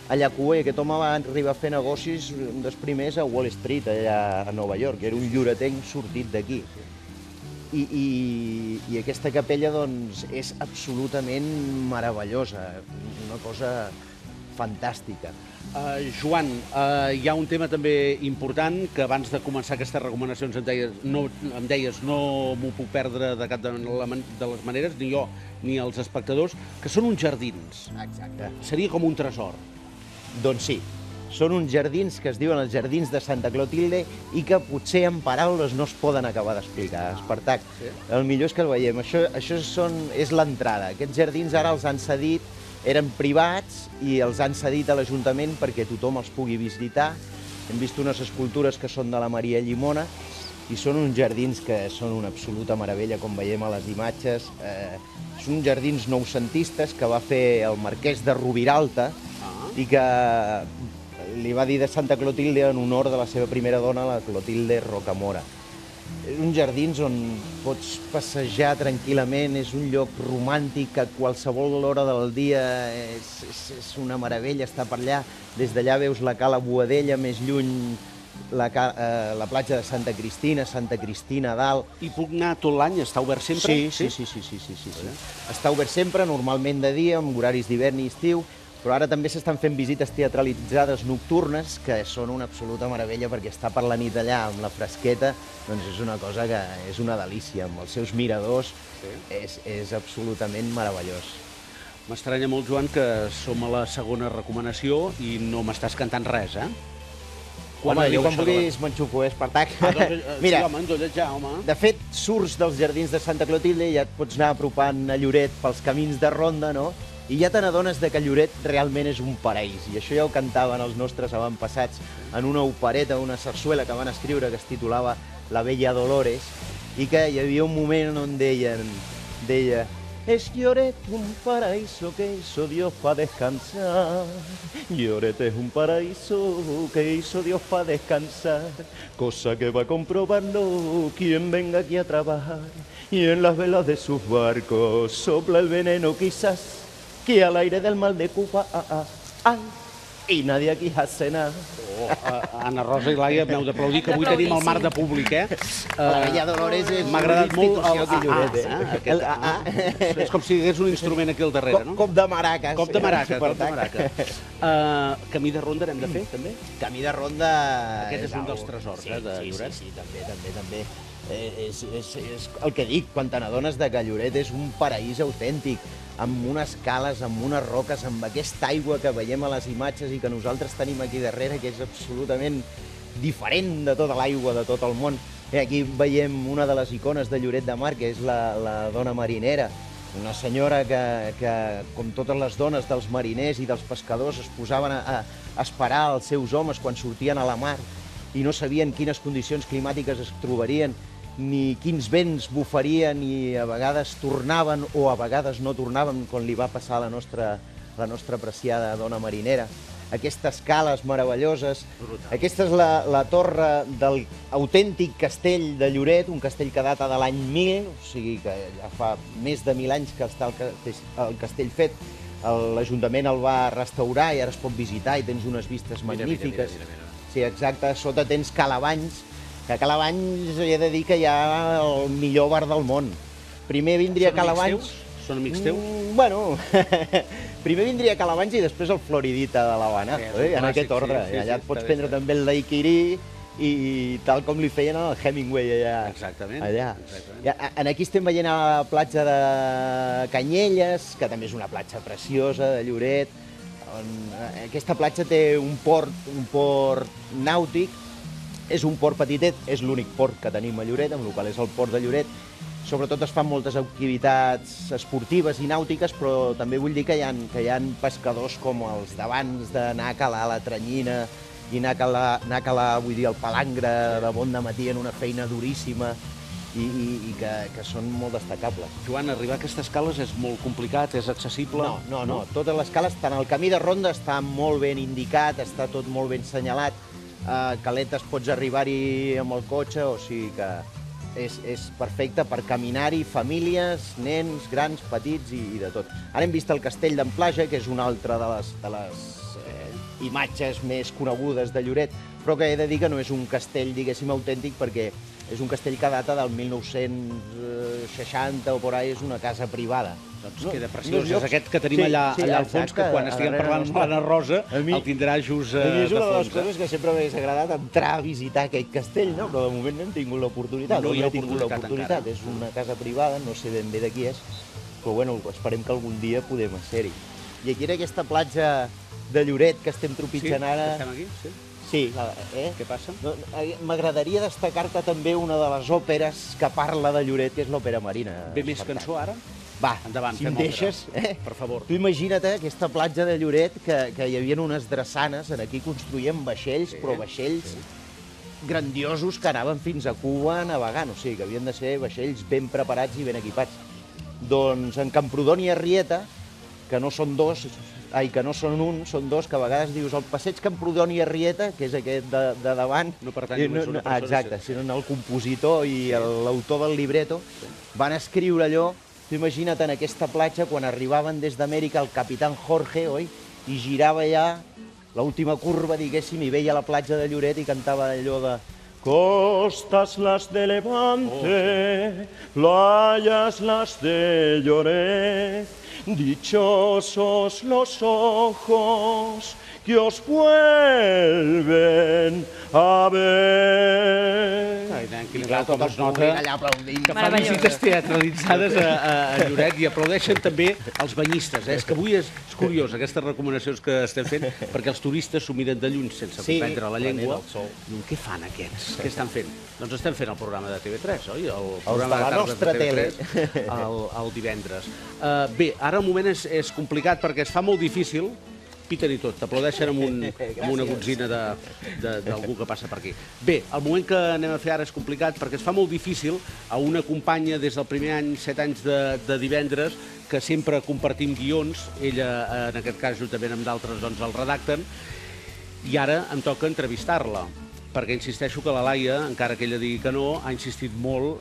a Llacue. Aquest home va arribar a fer negocis, un dels primers, a Wall Street, allà a Nova York. Era un lloretenc sortit d'aquí. I aquesta capella, doncs, és absolutament meravellosa, una cosa fantàstica. Joan, hi ha un tema també important, que abans de començar aquestes recomanacions em deies no m'ho puc perdre de cap de les maneres, ni jo ni els espectadors, que són uns jardins. Exacte. Seria com un tresor. Doncs sí, són uns jardins que es diuen els Jardins de Santa Clotilde i que potser en paraules no es poden acabar d'explicar. Espartac, el millor és que el veiem. Això és l'entrada. Aquests jardins ara els han cedit, eren privats i els han cedit a l'Ajuntament perquè tothom els pugui visitar. Hem vist unes escultures que són de la Maria Llimona i són uns jardins que són una absoluta meravella, com veiem a les imatges. Són jardins noucentistes que va fer el marquès de Rubiralta i que li va dir de Santa Clotilde en honor de la seva primera dona, la Clotilde Rocamora. Uns jardins on pots passejar tranquil·lament, és un lloc romàntic que a qualsevol hora del dia és una meravella estar per allà. Des d'allà veus la Cala Boadella, més lluny la platja de Santa Cristina a dalt. I puc anar tot l'any? Està obert sempre? Sí. Està obert sempre, normalment de dia, amb horaris d'hivern i estiu, però ara també s'estan fent visites teatralitzades nocturnes, que són una absoluta meravella, perquè estar per la nit allà amb la fresqueta doncs és una cosa que és una delícia, amb els seus miradors, és absolutament meravellós. M'estranya molt, Joan, que som a la segona recomanació i no m'estàs cantant res, eh? Home, jo quan vulguis m'enxuco, Espartac. Mira, de fet, surts dels Jardins de Santa Clotilde i ja et pots anar apropant a Lloret pels camins de ronda, no? I ja te n'adones que Lloret realment és un paraís. I això ja ho cantaven els nostres avantpassats en una opereta, una sarsuela que van escriure que es titulava La Bella Dolores, i que hi havia un moment on deia «Es Lloret un paraíso que hizo Dios para descansar. Lloret es un paraíso que hizo Dios para descansar. Cosa que va comprobando quien venga aquí a trabajar. Y en las velas de sus barcos sopla el veneno quizás que al aire del mal de Cuba, i nadie aquí hace nada». Anna Rosa i Laia, m'heu d'aplaudir, que avui tenim el mar de públic, eh? La Bella Dolores és m'ha agradat molt el és com si hi hagués un instrument aquí al darrere, no? Cop de maraques. Cop de maraques. Camí de ronda n'hem de fer, també? Camí de ronda... Aquest és un dels tresors, de Lloret. Sí, també. És el que dic, quan te n'adones que Lloret és un paraís autèntic, amb unes cales, amb unes roques, amb aquesta aigua que veiem a les imatges i que nosaltres tenim aquí darrere, que és absolutament diferent de tota l'aigua de tot el món. Aquí veiem una de les icones de Lloret de Mar, que és la dona marinera, una senyora que, com totes les dones dels mariners i dels pescadors, es posaven a esperar els seus homes quan sortien a la mar i no sabien quines condicions climàtiques es trobarien, ni quins vents bufarien, i a vegades tornaven o a vegades no tornaven, com li va passar a la nostra apreciada dona marinera. Aquestes cales meravelloses. Aquesta és la torre del autèntic castell de Lloret, un castell que data de l'any 1000, o sigui que ja fa més de 1000 anys que està el castell fet. L'Ajuntament el va restaurar i ara es pot visitar i tens unes vistes magnífiques. Sí, exacte. Sota tens Calabanys, que a Calabanys he de dir que hi ha el millor bar del món. Primer vindria Calabanys... Són amics teus? Bueno, primer vindria Calabanys i després el Floridita de l'Havana, en aquest ordre. Allà et pots prendre també el daiquiri i tal com li feien al Hemingway allà. Exactament. Aquí estem veient a la platja de Canyelles, que també és una platja preciosa de Lloret. Aquesta platja té un port nàutic. És un port petitet, és l'únic port que tenim a Lloret, amb el qual és el port de Lloret. Sobretot es fan moltes activitats esportives i nàutiques, però també vull dir que hi ha pescadors com els d'abans d'anar a calar la tranyina i anar a calar, vull dir, el palangre de bon dematí en una feina duríssima i que són molt destacables. Joan, arribar a aquestes cales és molt complicat, és accessible? No. Totes les cales, tant el camí de ronda està molt ben indicat, està tot molt ben senyalat. Caletes pots arribar-hi amb el cotxe, o sigui que és perfecte per caminar-hi, famílies, nens, grans, petits i de tot. Ara hem vist el castell d'en Plaja, que és una altra de les imatges més conegudes de Lloret, però que he de dir que no és un castell, diguéssim, autèntic, perquè és un castell que data del 1960 o por ahí, és una casa privada. Doncs queda preciós. És aquest que tenim allà al fons, que quan estiguem parlant amb l'Anna Rosa el tindrà just de fons. És una de les coses que sempre m'hagués agradat, entrar a visitar aquell castell, però de moment no hem tingut l'oportunitat. No he tingut l'oportunitat. És una casa privada, no sé ben bé de qui és, però bueno, esperem que algun dia podem ser-hi. I aquí era aquesta platja de Lloret que estem tropitjant ara. Sí, estem aquí, sí. Sí, Què passa? M'agradaria destacar-te també una de les òperes que parla de Lloret, que és l'òpera Marina. Ve més cançó ara? Va, endavant, si em deixes. Per favor. Tu imagina't aquesta platja de Lloret que hi havia unes drassanes, aquí construïen vaixells, però vaixells grandiosos que anaven fins a Cuba navegant, o sigui, que havien de ser vaixells ben preparats i ben equipats. Doncs en Camprodon i Arrieta, que no són dos, que no són un, són dos, que a vegades dius el passeig Camprodon i Arrieta, que és aquest de davant. No pertany només a una persona. Exacte, sinó el compositor i l'autor del libreto van escriure allò. Tu imagina't en aquesta platja, quan arribaven des d'Amèrica el capitán Jorge, oi? I girava allà l'última curva, diguéssim, i veia la platja de Lloret i cantava allò de costas las de Levante, playas las de Lloret, dichosos los ojos que os vuelven a ver. Quin grau com es nota que fan visites teatralitzades a Lloret i aplaudeixen també els banyistes. És que avui és curiós, aquestes recomanacions que estem fent, perquè els turistes s'ho miren de lluny sense comprendre la llengua. Què fan aquests? Què estan fent? Doncs estem fent el programa de TV3, oi? El programa de tardes de TV3 el divendres. Bé, ara el moment és complicat perquè es fa molt difícil. Piten i tot, t'aplaudeixen amb una gotzina d'algú que passa per aquí. Bé, el moment que anem a fer ara és complicat perquè es fa molt difícil a una companya des del primer any, 7 anys de divendres, que sempre compartim guions, ella, en aquest cas, juntament amb d'altres, doncs el redacten, i ara em toca entrevistar-la, perquè insisteixo que la Laia, encara que ella digui que no, ha insistit molt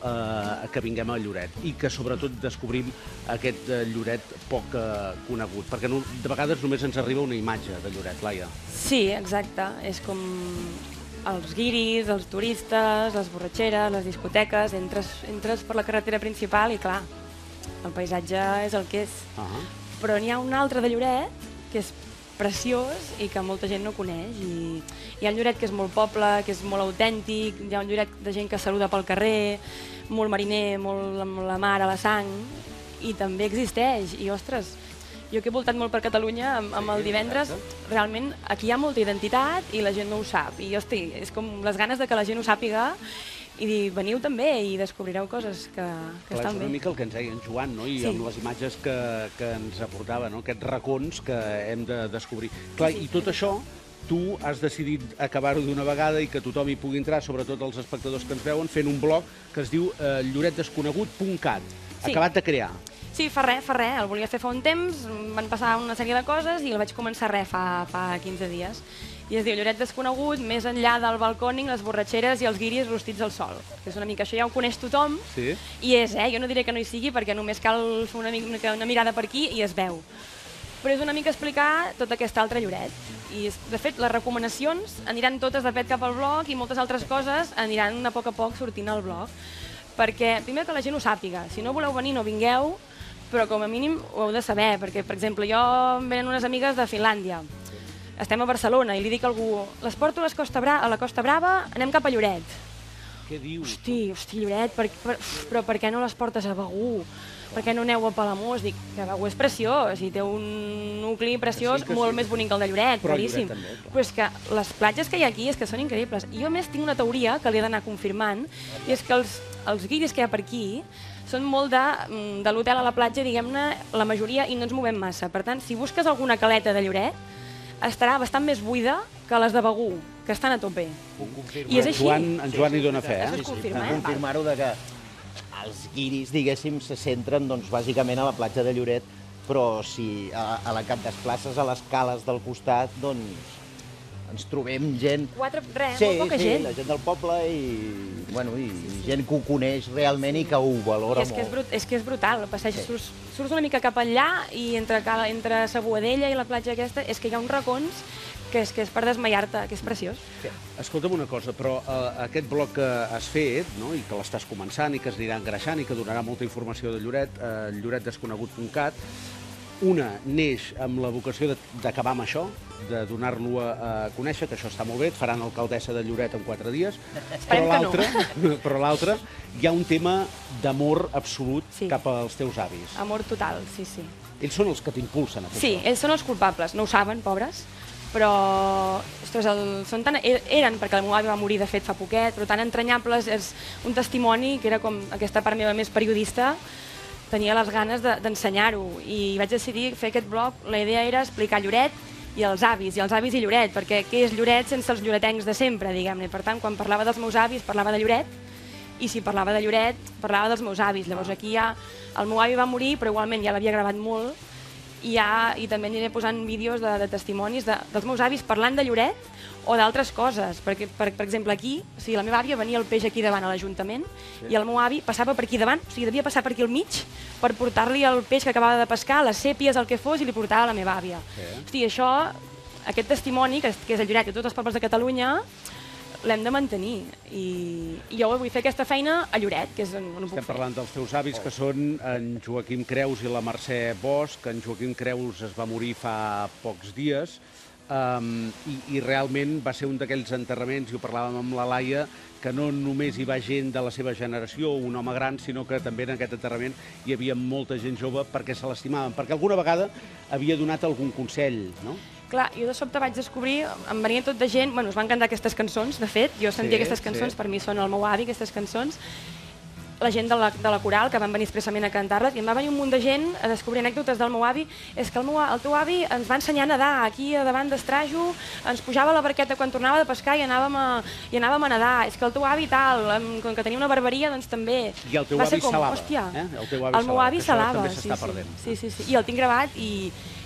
que vinguem a Lloret i que sobretot descobrim aquest Lloret poc conegut, perquè de vegades només ens arriba una imatge de Lloret, Laia. Sí, exacte. És com els guiris, els turistes, les borratxeres, les discoteques, entres per la carretera principal i, clar, el paisatge és el que és. Però n'hi ha un altre de Lloret que és preciós i que molta gent no coneix. Hi ha un Lloret que és molt poble, que és molt autèntic, hi ha un Lloret de gent que saluda pel carrer, molt mariner, molt amb la mar a la sang, i també existeix. I, ostres, jo que he voltat molt per Catalunya amb el divendres, realment aquí hi ha molta identitat i la gent no ho sap. I, hosti, és com les ganes de que la gent ho sàpiga i veniu també i descobrireu coses que estan bé. És una mica el que ens deia en Joan, no? I amb les imatges que ens aportava, no? Aquests racons que hem de descobrir. Clar, i tot això tu has decidit acabar-ho d'una vegada i que tothom hi pugui entrar, sobretot els espectadors que ens veuen, fent un blog que es diu lloretdesconegut.cat, acabat de crear. Sí, fa res, el volia fer fa un temps, van passar una sèrie de coses i el vaig començar fa 15 dies. I es diu Lloret desconegut, més enllà del balcòning, les borratxeres i els guiris rostits al sol. És una mica això, ja ho coneix tothom, i és, jo no diré que no hi sigui, perquè només cal fer una mirada per aquí i es veu. Però és una mica explicar tot aquest altre Lloret. I, de fet, les recomanacions aniran totes de pet cap al blog i moltes altres coses aniran a poc sortint al blog. Perquè, primer, que la gent ho sàpiga. Si no voleu venir, no vingueu, però com a mínim ho heu de saber, perquè, per exemple, em venen unes amigues de Finlàndia. Estem a Barcelona i li dic a algú, les porto a la Costa Brava, anem cap a Lloret. Què dius? Hosti, Lloret, però per què no les portes a Begur? Per què no aneu a Palamós? Dic que Begur és preciós i té un nucli preciós molt més bonic que el de Lloret, claríssim. Però és que les platges que hi ha aquí és que són increïbles. I jo, a més, tinc una teoria que li he d'anar confirmant, i és que els guiris que hi ha per aquí són molt de l'hotel a la platja, diguem-ne, la majoria, i no ens movem massa. Per tant, si busques alguna caleta de Lloret, estarà bastant més buida que les de Begur, que estan a tope. I és així. En Joan hi dona fe, Puc confirmar-ho que els guiris, diguéssim, se centren bàsicament a la platja de Lloret, però si a la que et desplaces a les cales del costat, doncs ens trobem gent... Molt poca gent. Sí, la gent del poble i gent que ho coneix realment i que ho valora molt. És que és brutal, el passeig, surts una mica cap allà i entre sa Boadella i la platja aquesta, és que hi ha uns racons que és per desmaiar-te, que és preciós. Escolta'm una cosa, però aquest blog que has fet, i que l'estàs començant i que es anirà engreixant i que donarà molta informació de Lloret, lloretdesconegut.cat, una neix amb la vocació d'acabar amb això, de donar-lo a conèixer, que això està molt bé, et faran alcaldessa de Lloret en 4 dies, però l'altra hi ha un tema d'amor absolut cap als teus avis. Amor total, sí. Ells són els que t'impulsen a fer això. Sí, ells són els culpables, no ho saben, pobres, però, ostres, eren, perquè el meu avi va morir, de fet, fa poquet, però tan entranyables, és un testimoni que era com aquesta part meva més periodista, tenia les ganes d'ensenyar-ho i vaig decidir fer aquest blog. La idea era explicar Lloret i els avis i Lloret, perquè què és Lloret sense els lloretencs de sempre, diguem-ne. Per tant, quan parlava dels meus avis, parlava de Lloret, i si parlava de Lloret, parlava dels meus avis. Llavors aquí ja el meu avi va morir, però igualment ja l'havia gravat molt, i també aniré posant vídeos de testimonis dels meus avis parlant de Lloret o d'altres coses, perquè, per exemple, aquí, la meva àvia venia el peix aquí davant a l'Ajuntament i el meu avi passava per aquí davant, o sigui, devia passar per aquí al mig per portar-li el peix que acabava de pescar, les sèpies, el que fos, i li portava a la meva àvia. Hosti, això, aquest testimoni, que és el Lloret i tots els pobles de Catalunya, l'hem de mantenir. I jo vull fer aquesta feina a Lloret, que és on ho puc fer. Estem parlant dels teus avis, que són en Joaquim Creus i la Mercè Bosch. En Joaquim Creus es va morir fa pocs dies i realment va ser un d'aquells enterraments, i ho parlàvem amb la Laia, que no només hi va gent de la seva generació, un home gran, sinó que també en aquest enterrament hi havia molta gent jove perquè se l'estimaven, perquè alguna vegada havia donat algun consell, no? Clar, jo de sobte vaig descobrir, em venia tot de gent, bueno, us van cantar aquestes cançons, de fet, jo sentia aquestes cançons, per mi són el meu avi, aquestes cançons, la gent de la coral, que van venir expressament a cantar-les, i em va venir un munt de gent a descobrir anècdotes del meu avi. És que el teu avi ens va ensenyar a nedar aquí davant d'Estrajo, ens pujava a la barqueta quan tornava de pescar i anàvem a nedar. És que el teu avi tal, com que tenia una barberia, doncs també. I el teu avi salava. El meu avi salava, sí. I el tinc gravat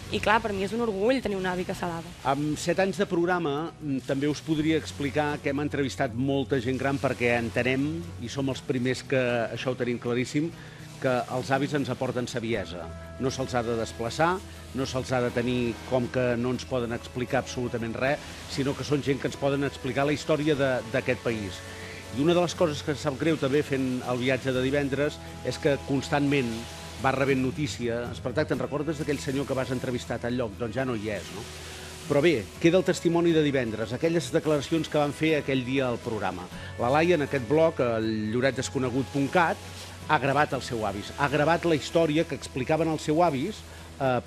i clar, per mi és un orgull tenir un avi que salava. Amb 7 anys de programa també us podria explicar que hem entrevistat molta gent gran perquè entenem, i som els primers que això ho tenim claríssim, que els avis ens aporten saviesa. No se'ls ha de desplaçar, no se'ls ha de tenir com que no ens poden explicar absolutament res, sinó que són gent que ens poden explicar la història d'aquest país. I una de les coses que sap greu també fent el viatge de divendres és que constantment vas rebent notícia. Espartac, te'n recordes d'aquell senyor que vas entrevistar a tal lloc? Doncs ja no hi és, no? Però bé, queda el testimoni de divendres, aquelles declaracions que van fer aquell dia al programa. La Laia, en aquest blog, el lloretdesconegut.cat, ha gravat els seus avis, ha gravat la història que explicaven els seus avis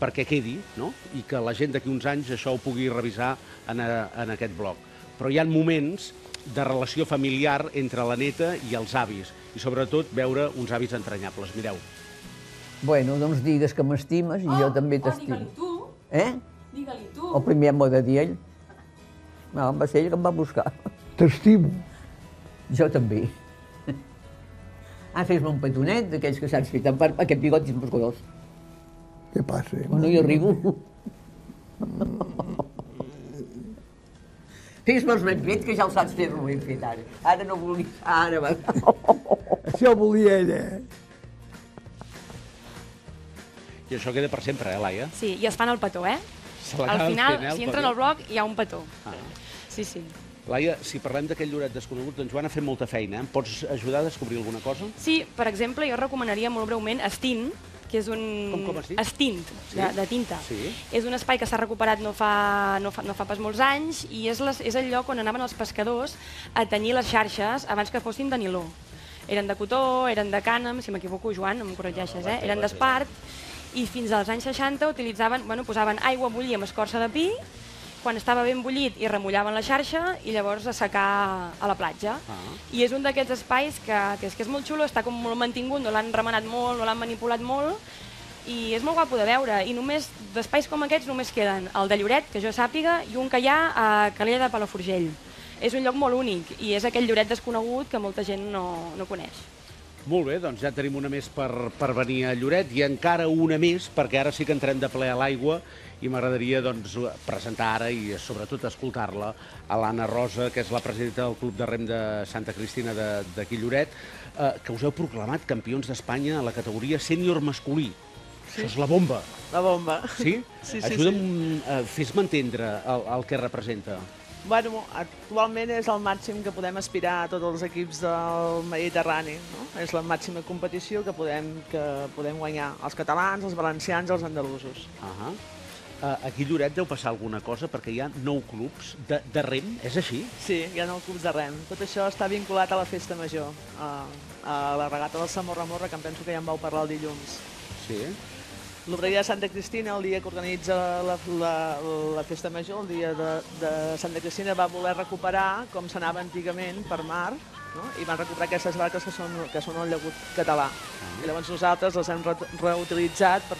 perquè quedi, no? I que la gent d'aquí uns anys això ho pugui revisar en aquest blog. Però hi ha moments de relació familiar entre la neta i els avis, i sobretot veure uns avis entranyables. Mireu. Bueno, doncs digues que m'estimes i jo també t'estimo. Digue-li tu. Digue-li tu. O primer m'ho ha de dir ell. No, va ser ell que em va buscar. T'estimo. Jo també. Fes-me un petonet d'aquells que saps fer, aquest bigot és musculós. Què passa? No hi arribo. Fes-me els ben fet, que ja el saps fer-lo ben fet ara. Ara no volia... Ara va. Això volia ella. I això queda per sempre, Laia? Sí, i es fan el petó, Al final, si entren al blog, hi ha un petó. Sí. Laia, si parlem d'aquell Lloret desconegut, doncs Joan ha fet molta feina. Em pots ajudar a descobrir alguna cosa? Sí, per exemple, jo recomanaria molt breument Estint, que és un... Com has dit? Estint, de tinta. És un espai que s'ha recuperat no fa pas molts anys i és el lloc on anaven els pescadors a tenyir les xarxes abans que fossin de niló. Eren de cotó, eren de cànem, si m'equivoco, Joan, no em corregeixes, eren d'espart, i fins als anys 60 posaven aigua a bullir amb escorça de pi, quan estava ben bullit i remullaven la xarxa i llavors a secar a la platja. I és un d'aquests espais que és molt xulo, està com molt mantingut, no l'han remenat molt, no l'han manipulat molt, i és molt guapo de veure. I només d'espais com aquests només queden el de Lloret, que jo sàpiga, i un que hi ha a Calella de Palafrugell. És un lloc molt únic i és aquell Lloret desconegut que molta gent no coneix. Molt bé, doncs ja tenim una més per venir a Lloret i encara una més, perquè ara sí que entrem de ple a l'aigua i m'agradaria presentar ara i sobretot escoltar-la a l'Anna Rosa, que és la presidenta del Club de Rem de Santa Cristina d'aquí Lloret, que us heu proclamat campions d'Espanya a la categoria sènior masculí. Això és la bomba. La bomba. Sí? Sí. Ajuda'm, fes-me entendre el que representa. Bueno, actualment és el màxim que podem aspirar a tots els equips del Mediterrani. És la màxima competició que podem guanyar els catalans, els valencians i els andalusos. Aquí a Lloret deu passar alguna cosa perquè hi ha 9 clubs de rem, és així? Sí, hi ha 9 clubs de rem. Tot això està vinculat a la festa major, a la regata del Samorra-Morra, que em penso que ja en vau parlar el dilluns. Sí. L'Obreria de Santa Cristina, el dia que organitza la festa major, el dia de Santa Cristina, va voler recuperar com s'anava antigament per mar, i van recuperar aquestes barques que són el llagut català. I llavors nosaltres les hem reutilitzat per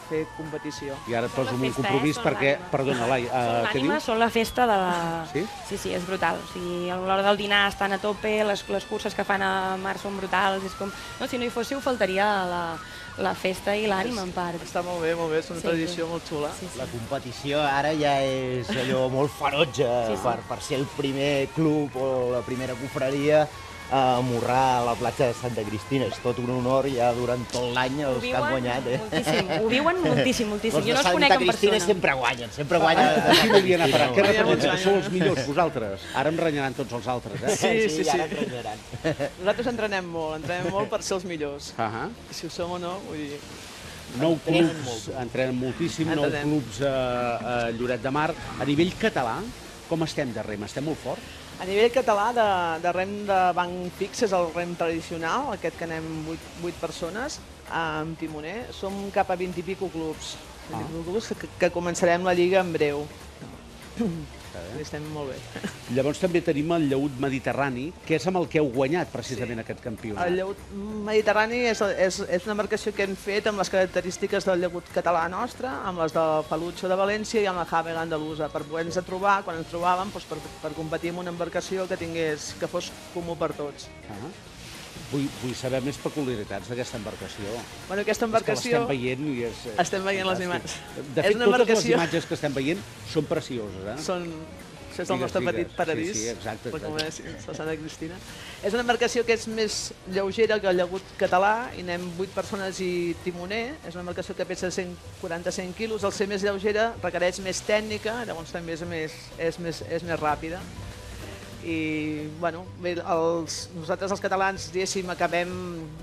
fer competició. I ara et poso un compromís perquè... Perdona, Lai, què dius? Són la festa de la... Sí? Sí, és brutal. A l'hora del dinar estan a tope, les curses que fan a mar són brutals. Si no hi fóssiu, faltaria la festa i l'ànima, en part. Està molt bé, és una tradició molt xula. La competició ara ja és allò molt ferotge per ser el primer club o la primera confraria a morrar a la platja de Santa Cristina. És tot un honor ja durant tot l'any els que han guanyat. Moltíssim, ho viuen moltíssim. Jo no els conec en persona. Els de Santa Cristina sempre guanyen, sempre guanyen. Aquí volia anar a parar. Què representa? Sou els millors, vosaltres. Ara em renyaran tots els altres, eh? Sí. Ara ens renyaran. Nosaltres entrenem molt per ser els millors. Si ho som o no, vull dir... 9 clubs, entrenen moltíssim, 9 clubs a Lloret de Mar. A nivell català, com estem de rem? Estem molt forts? A nivell català, de rem de banc fix, és el rem tradicional, aquest que anem 8 persones, amb timoner. Som cap a 20 i pico clubs, que començarem la Lliga en breu. Estem molt bé. Llavors també tenim el llaüt mediterrani, que és amb el que heu guanyat precisament aquest campionat. El llaüt mediterrani és una embarcació que hem fet amb les característiques del llaüt català nostre, amb les del Palucho de València i amb la Havela andalusa, per poder-nos trobar, quan ens trobàvem, per competir amb una embarcació que fos comú per tots. Vull saber més peculiaritats d'aquesta embarcació. Bueno, aquesta embarcació... És que l'estem veient i és... Estem veient les imatges. De fet, totes les imatges que estem veient són precioses, eh? Això és el nostre petit paradís. Sí, exacte. La Santa Cristina. És una embarcació que és més lleugera que el llaüt català, i anem 8 persones i timoner. És una embarcació que pesa 140-100 quilos. Al ser més lleugera requereix més tècnica, llavors també és més ràpida. I, bueno, nosaltres els catalans, diguéssim, acabem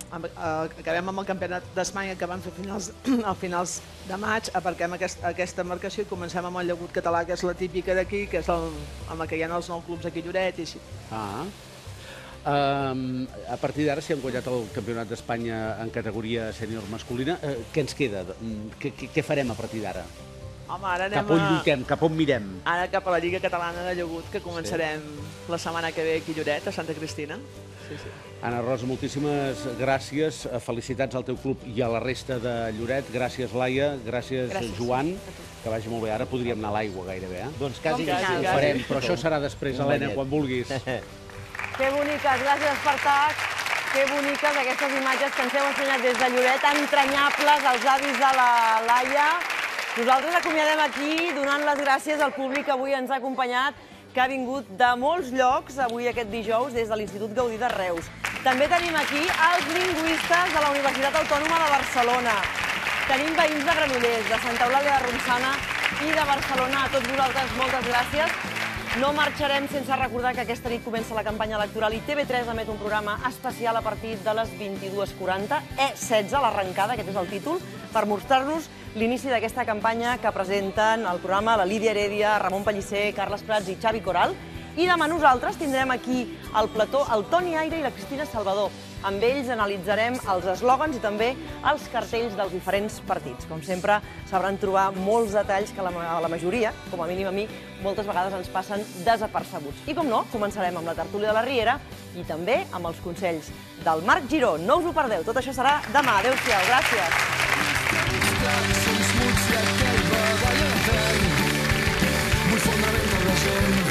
amb el campionat d'Espanya que vam fer a finals de maig, aparquem aquesta embarcació i comencem amb el llaüt català, que és la típica d'aquí, que és amb la que hi ha els 9 clubs aquí a Lloret i així. A partir d'ara, si hem guanyat el campionat d'Espanya en categoria sènior masculina, què ens queda? Què farem a partir d'ara? Home, ara cap on lluitem, cap on mirem? Ara cap a la Lliga Catalana de Llaüt, que començarem la setmana que ve aquí a Lloret, a Santa Cristina. Anna Rosa, moltíssimes gràcies, felicitats al teu club i a la resta de Lloret. Gràcies, Laia, gràcies, Joan, que vagi molt bé. Ara podríem anar a l'aigua gairebé, eh? Doncs quasi. Ho farem, però això serà després, Helena, quan vulguis. Que boniques, gràcies, Espartac. Que boniques aquestes imatges que ens heu ensenyat des de Lloret, entranyables, els avis de la Laia. Nosaltres acomiadem aquí donant les gràcies al públic que avui ens ha acompanyat, que ha vingut de molts llocs avui aquest dijous des de l'Institut Gaudí de Reus. També tenim aquí els lingüistes de la Universitat Autònoma de Barcelona. Tenim veïns de Granollers, de Santa Eulàlia de Ronçana i de Barcelona. A tots vosaltres, moltes gràcies. No marxarem sense recordar que aquesta nit comença la campanya electoral i TV3 emet un programa especial a partir de les 22:40, E16, l'arrencada, aquest és el títol, per mostrar-nos l'inici d'aquesta campanya que presenten el programa la Lídia Heredia, Ramon Pellicer, Carles Prats i Xavi Coral. I demà nosaltres tindrem aquí al plató el Toni Aire i la Cristina Salvador. Amb ells analitzarem els eslògans i també els cartells dels diferents partits. Com sempre, sabran trobar molts detalls que a la majoria, com a mínim a mi, moltes vegades ens passen desapercebuts. I com no, començarem amb la tertúlia de la Riera i també amb els consells del Marc Giró. No us ho perdeu, tot això serà demà. Adéu-siau, gràcies. Vull fondre ben per la gent.